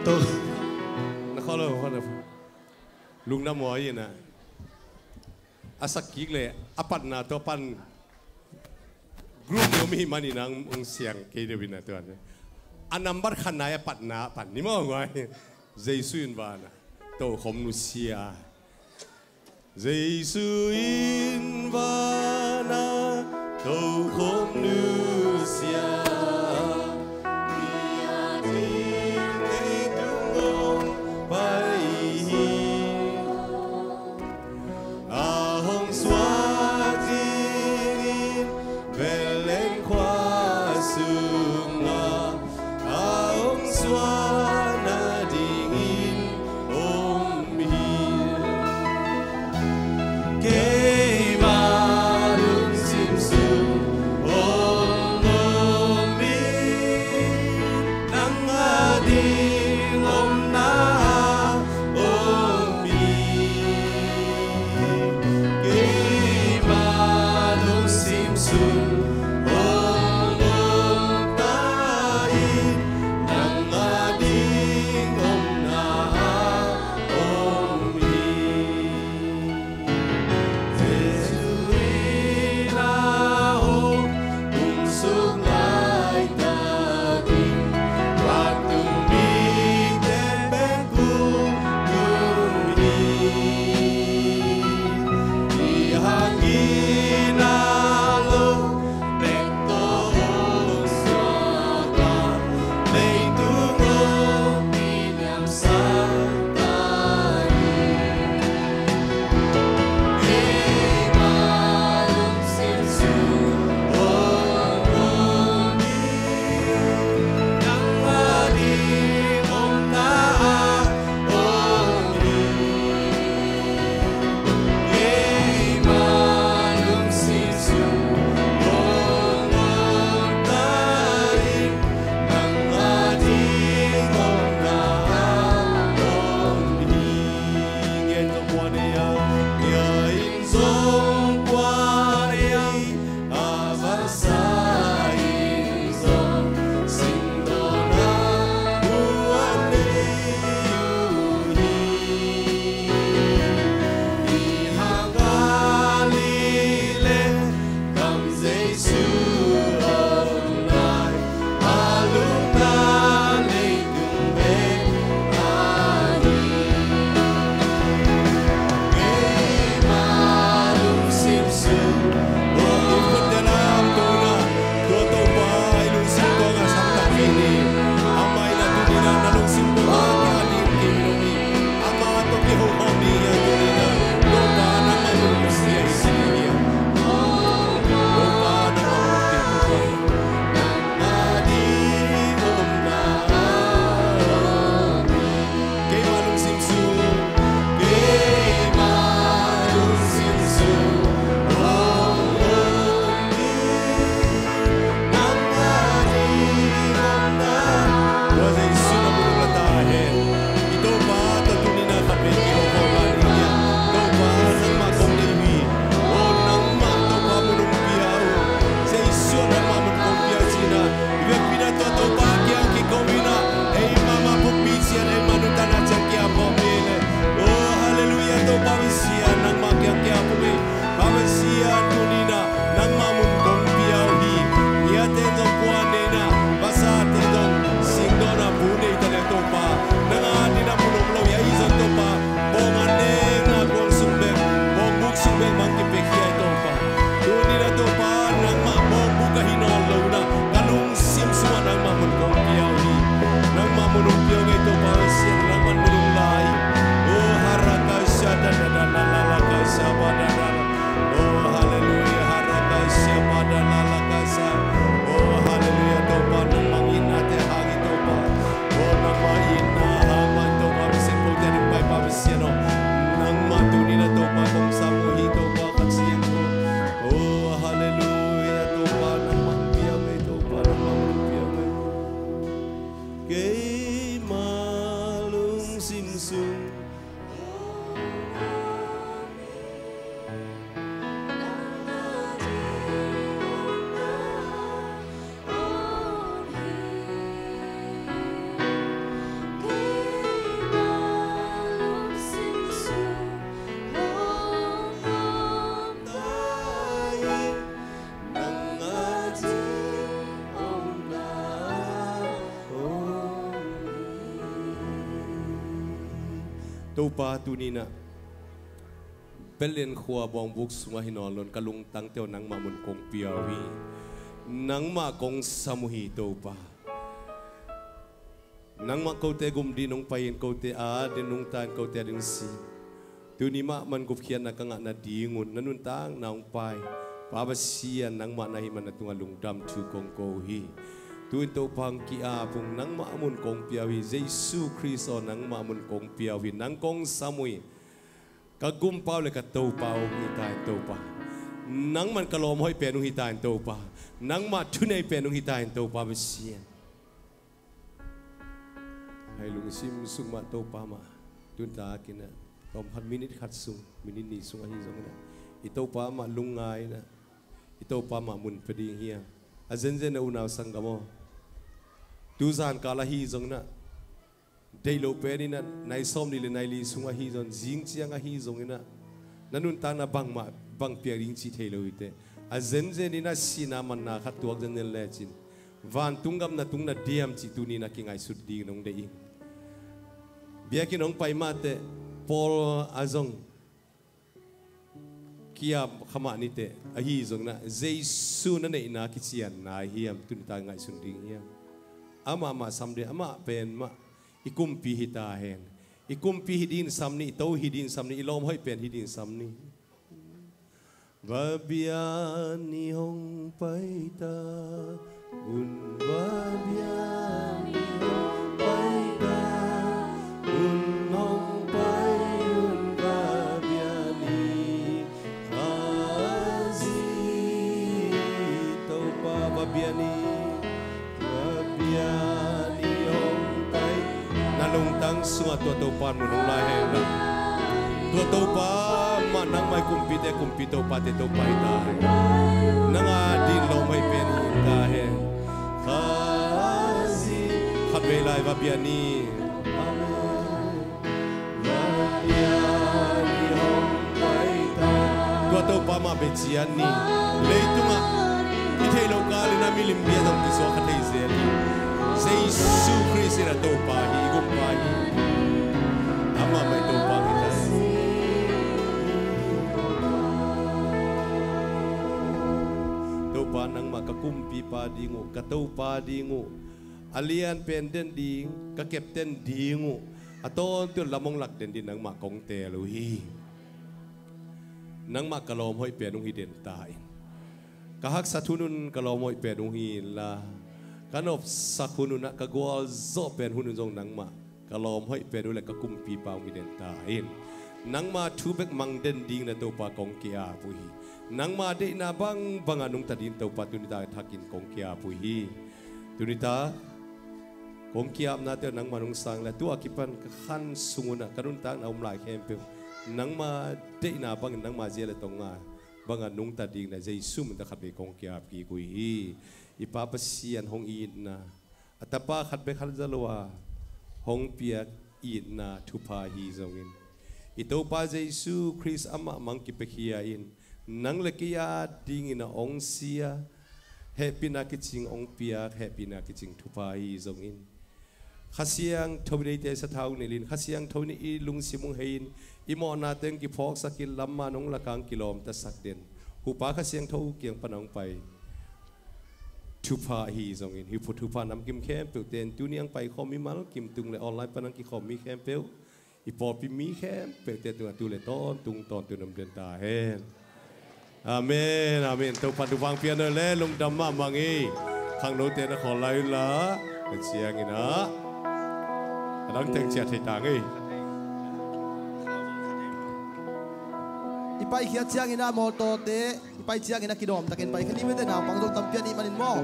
Topa na kholo kholo. Lungdam huai in ah a sak kik le a patna tawh pan group ni om i hih manin ah hong siang kei deuh in ah tua a nambat khatna a patna pan ni maw guai. Jesu in vanah tokhom nusia. Jesu in vanah tokhom nusia. Mi a ding leitung hong pai hi. A hong suak dingin Bethlehem khua sungah a hong suak nadingin om hi. Keima lungsim sung hong om Keima lungsim sung Topa, tuni-in ah Bethlehem khua bawngbuk sungah hi nawn loin ka lungtangte uh nangmah mun kong pia uh hi. Nangmah kong sam uh hi, Topa. Nangmah kote gum dingin hong pai-in, kote a dingin nungta-in, kote a dingin si. Tuni mahmah in gupkhiatna ka ngah nadingun na nuntakna hong pai Pa Pasian, nangmah na hih manin na tungah lungdam thu kong ko uh hi. Tu-in Topa, hong ki-ap ung, nangmah mun kong pia uh hi. Jesu Khrist aw, nangmah mun kong pia uh hi. Nang kong sam uh hi. Ka gumpa uh le ka Topa uh hong hi ta in, Topa. Nangmah in ka lawm hoih pen uh hi ta in, Topa. Nangmah thunei pen uh hi ta in, Topa Pasian. Hih lungsim sung mah Topa mah, tuni takin ah, tawm khat, minit khat sung, minit nih sung ahi zongin ah, i Topa mah lungngai-in ah, i Topa mah mun pia ding hi hang. A zenzen a, unau sanggam aw, tu zan kal ahi zongin ah, deih loh pen in ah, nai sawmnih le nai li sung ahi zongin, zing ciang ahi zongin ah, na nuntakna bangmah bang piak ding cih thei lo hi teh. A zenzen in ah sihna manna khat tuak zenzen lecin, vantung gam na tung na diam cih tuni-in ah kingaihsut dingin hong deih ing. Biakinn hong pai mah teh, pawl a zong ki-ap kha mah ni teh, ahi zongin ah Jesu na neihna kicianna ahi hiam, tuni tak ngaihsun ding hiam? Amah mah sam ding, amah pen mah i kumpi hi ta hen. I kumpi hi dingin sam ni, i To hi dingin sam ni, i lawm hoih pen hi dingin sam ni. Va bia ni, hong pai ta un, va bia ni, hong pai ta un, hong pai un, va bia ni, Khazih. Topa, va bia ni. Na lungtang sungah tua Topa mun hong lai hen la. Tua Topa mah nangmah i kumpite kumpi, Topate Topa hi ta hen. Nang a dingin lawm hoih pen hi ta hen. Khatvei lai va bia ni. Amen. Tua Topa mah bia ciat ni. Leitungah i theih loh kal in a milim bia zong kisuak kha thei zel hi. Jesu Khrist in a Topa hi, i Gumpa hi. Amah mah i Topa hi ta. Topa, nangmah ka kumpipa ding uh, ka Topa ding uh, a lian pen den ding, ka captain ding uh, a tawntung lam hong lak den ding nangmah kong teel uh hi. Nangmah ka lawm hoih pen hong hi den ta in. Ka haksat hun un ka lawm hoih pen hong hi inla, ka nopsak hun un ah ka gualzawh pen hun un zong nangmah ka lawm hoih pen uh le ka kumpipa hong hi den ta in. Nangma thu bek mang den ding na Topa kong ki-ap uh hi. Nangma deihna bangbang a nungta ding Topa tuni tak thakin kong ki-ap uh hi. Tuni tak kong ki-apnate nangmah nungsang le, tu a kipan ka khan sung un ah ka nuntakna om lai khempeuh nangma deihna bangin nangma zia le tong a bangah nungta ding na Jesu min tawh khatvei kong ki-ap kik uh hi. I Pa Pasian hong itna, a Tapa khat bek khat za lo a hong piak itna thupha hi zongin, i Topa Jesu Khrist amah mang kipiakhia in, nang le kei a dingin a hong si a, hehpihna kicing hong piak, hehpihna kicing thupha hi zongin, Kha Siangtho in eite sathau nilh in, Kha Siangtho in i lungsim hong hei in, i mawhnate hong kiphawksak in, lam man hong lak a hong kilawmtasak den Hupa Kha Siangtho kiang pan hong pai thupha hi zongin, hih thupha namkim khempeuhte in tuni a hong paikhawm mimal kim tung le online pan hong kikhawm mi khempeuh, i pawlpi mi khempeuhte tungah tu le tawntung tawntung om den ta hen. Amen, amen. Topa'n thupha hong pia hen la, lungdam mahmah ing ei. Khangnote na khawl lai un la, a ciangin ah a dang teng ciah thei ta ing ei. I paikhiat ciangin ah mawtawte, i pai ciangin ah kidawm takin paikhia ni maw, te naupang zong tampi a nih manin maw.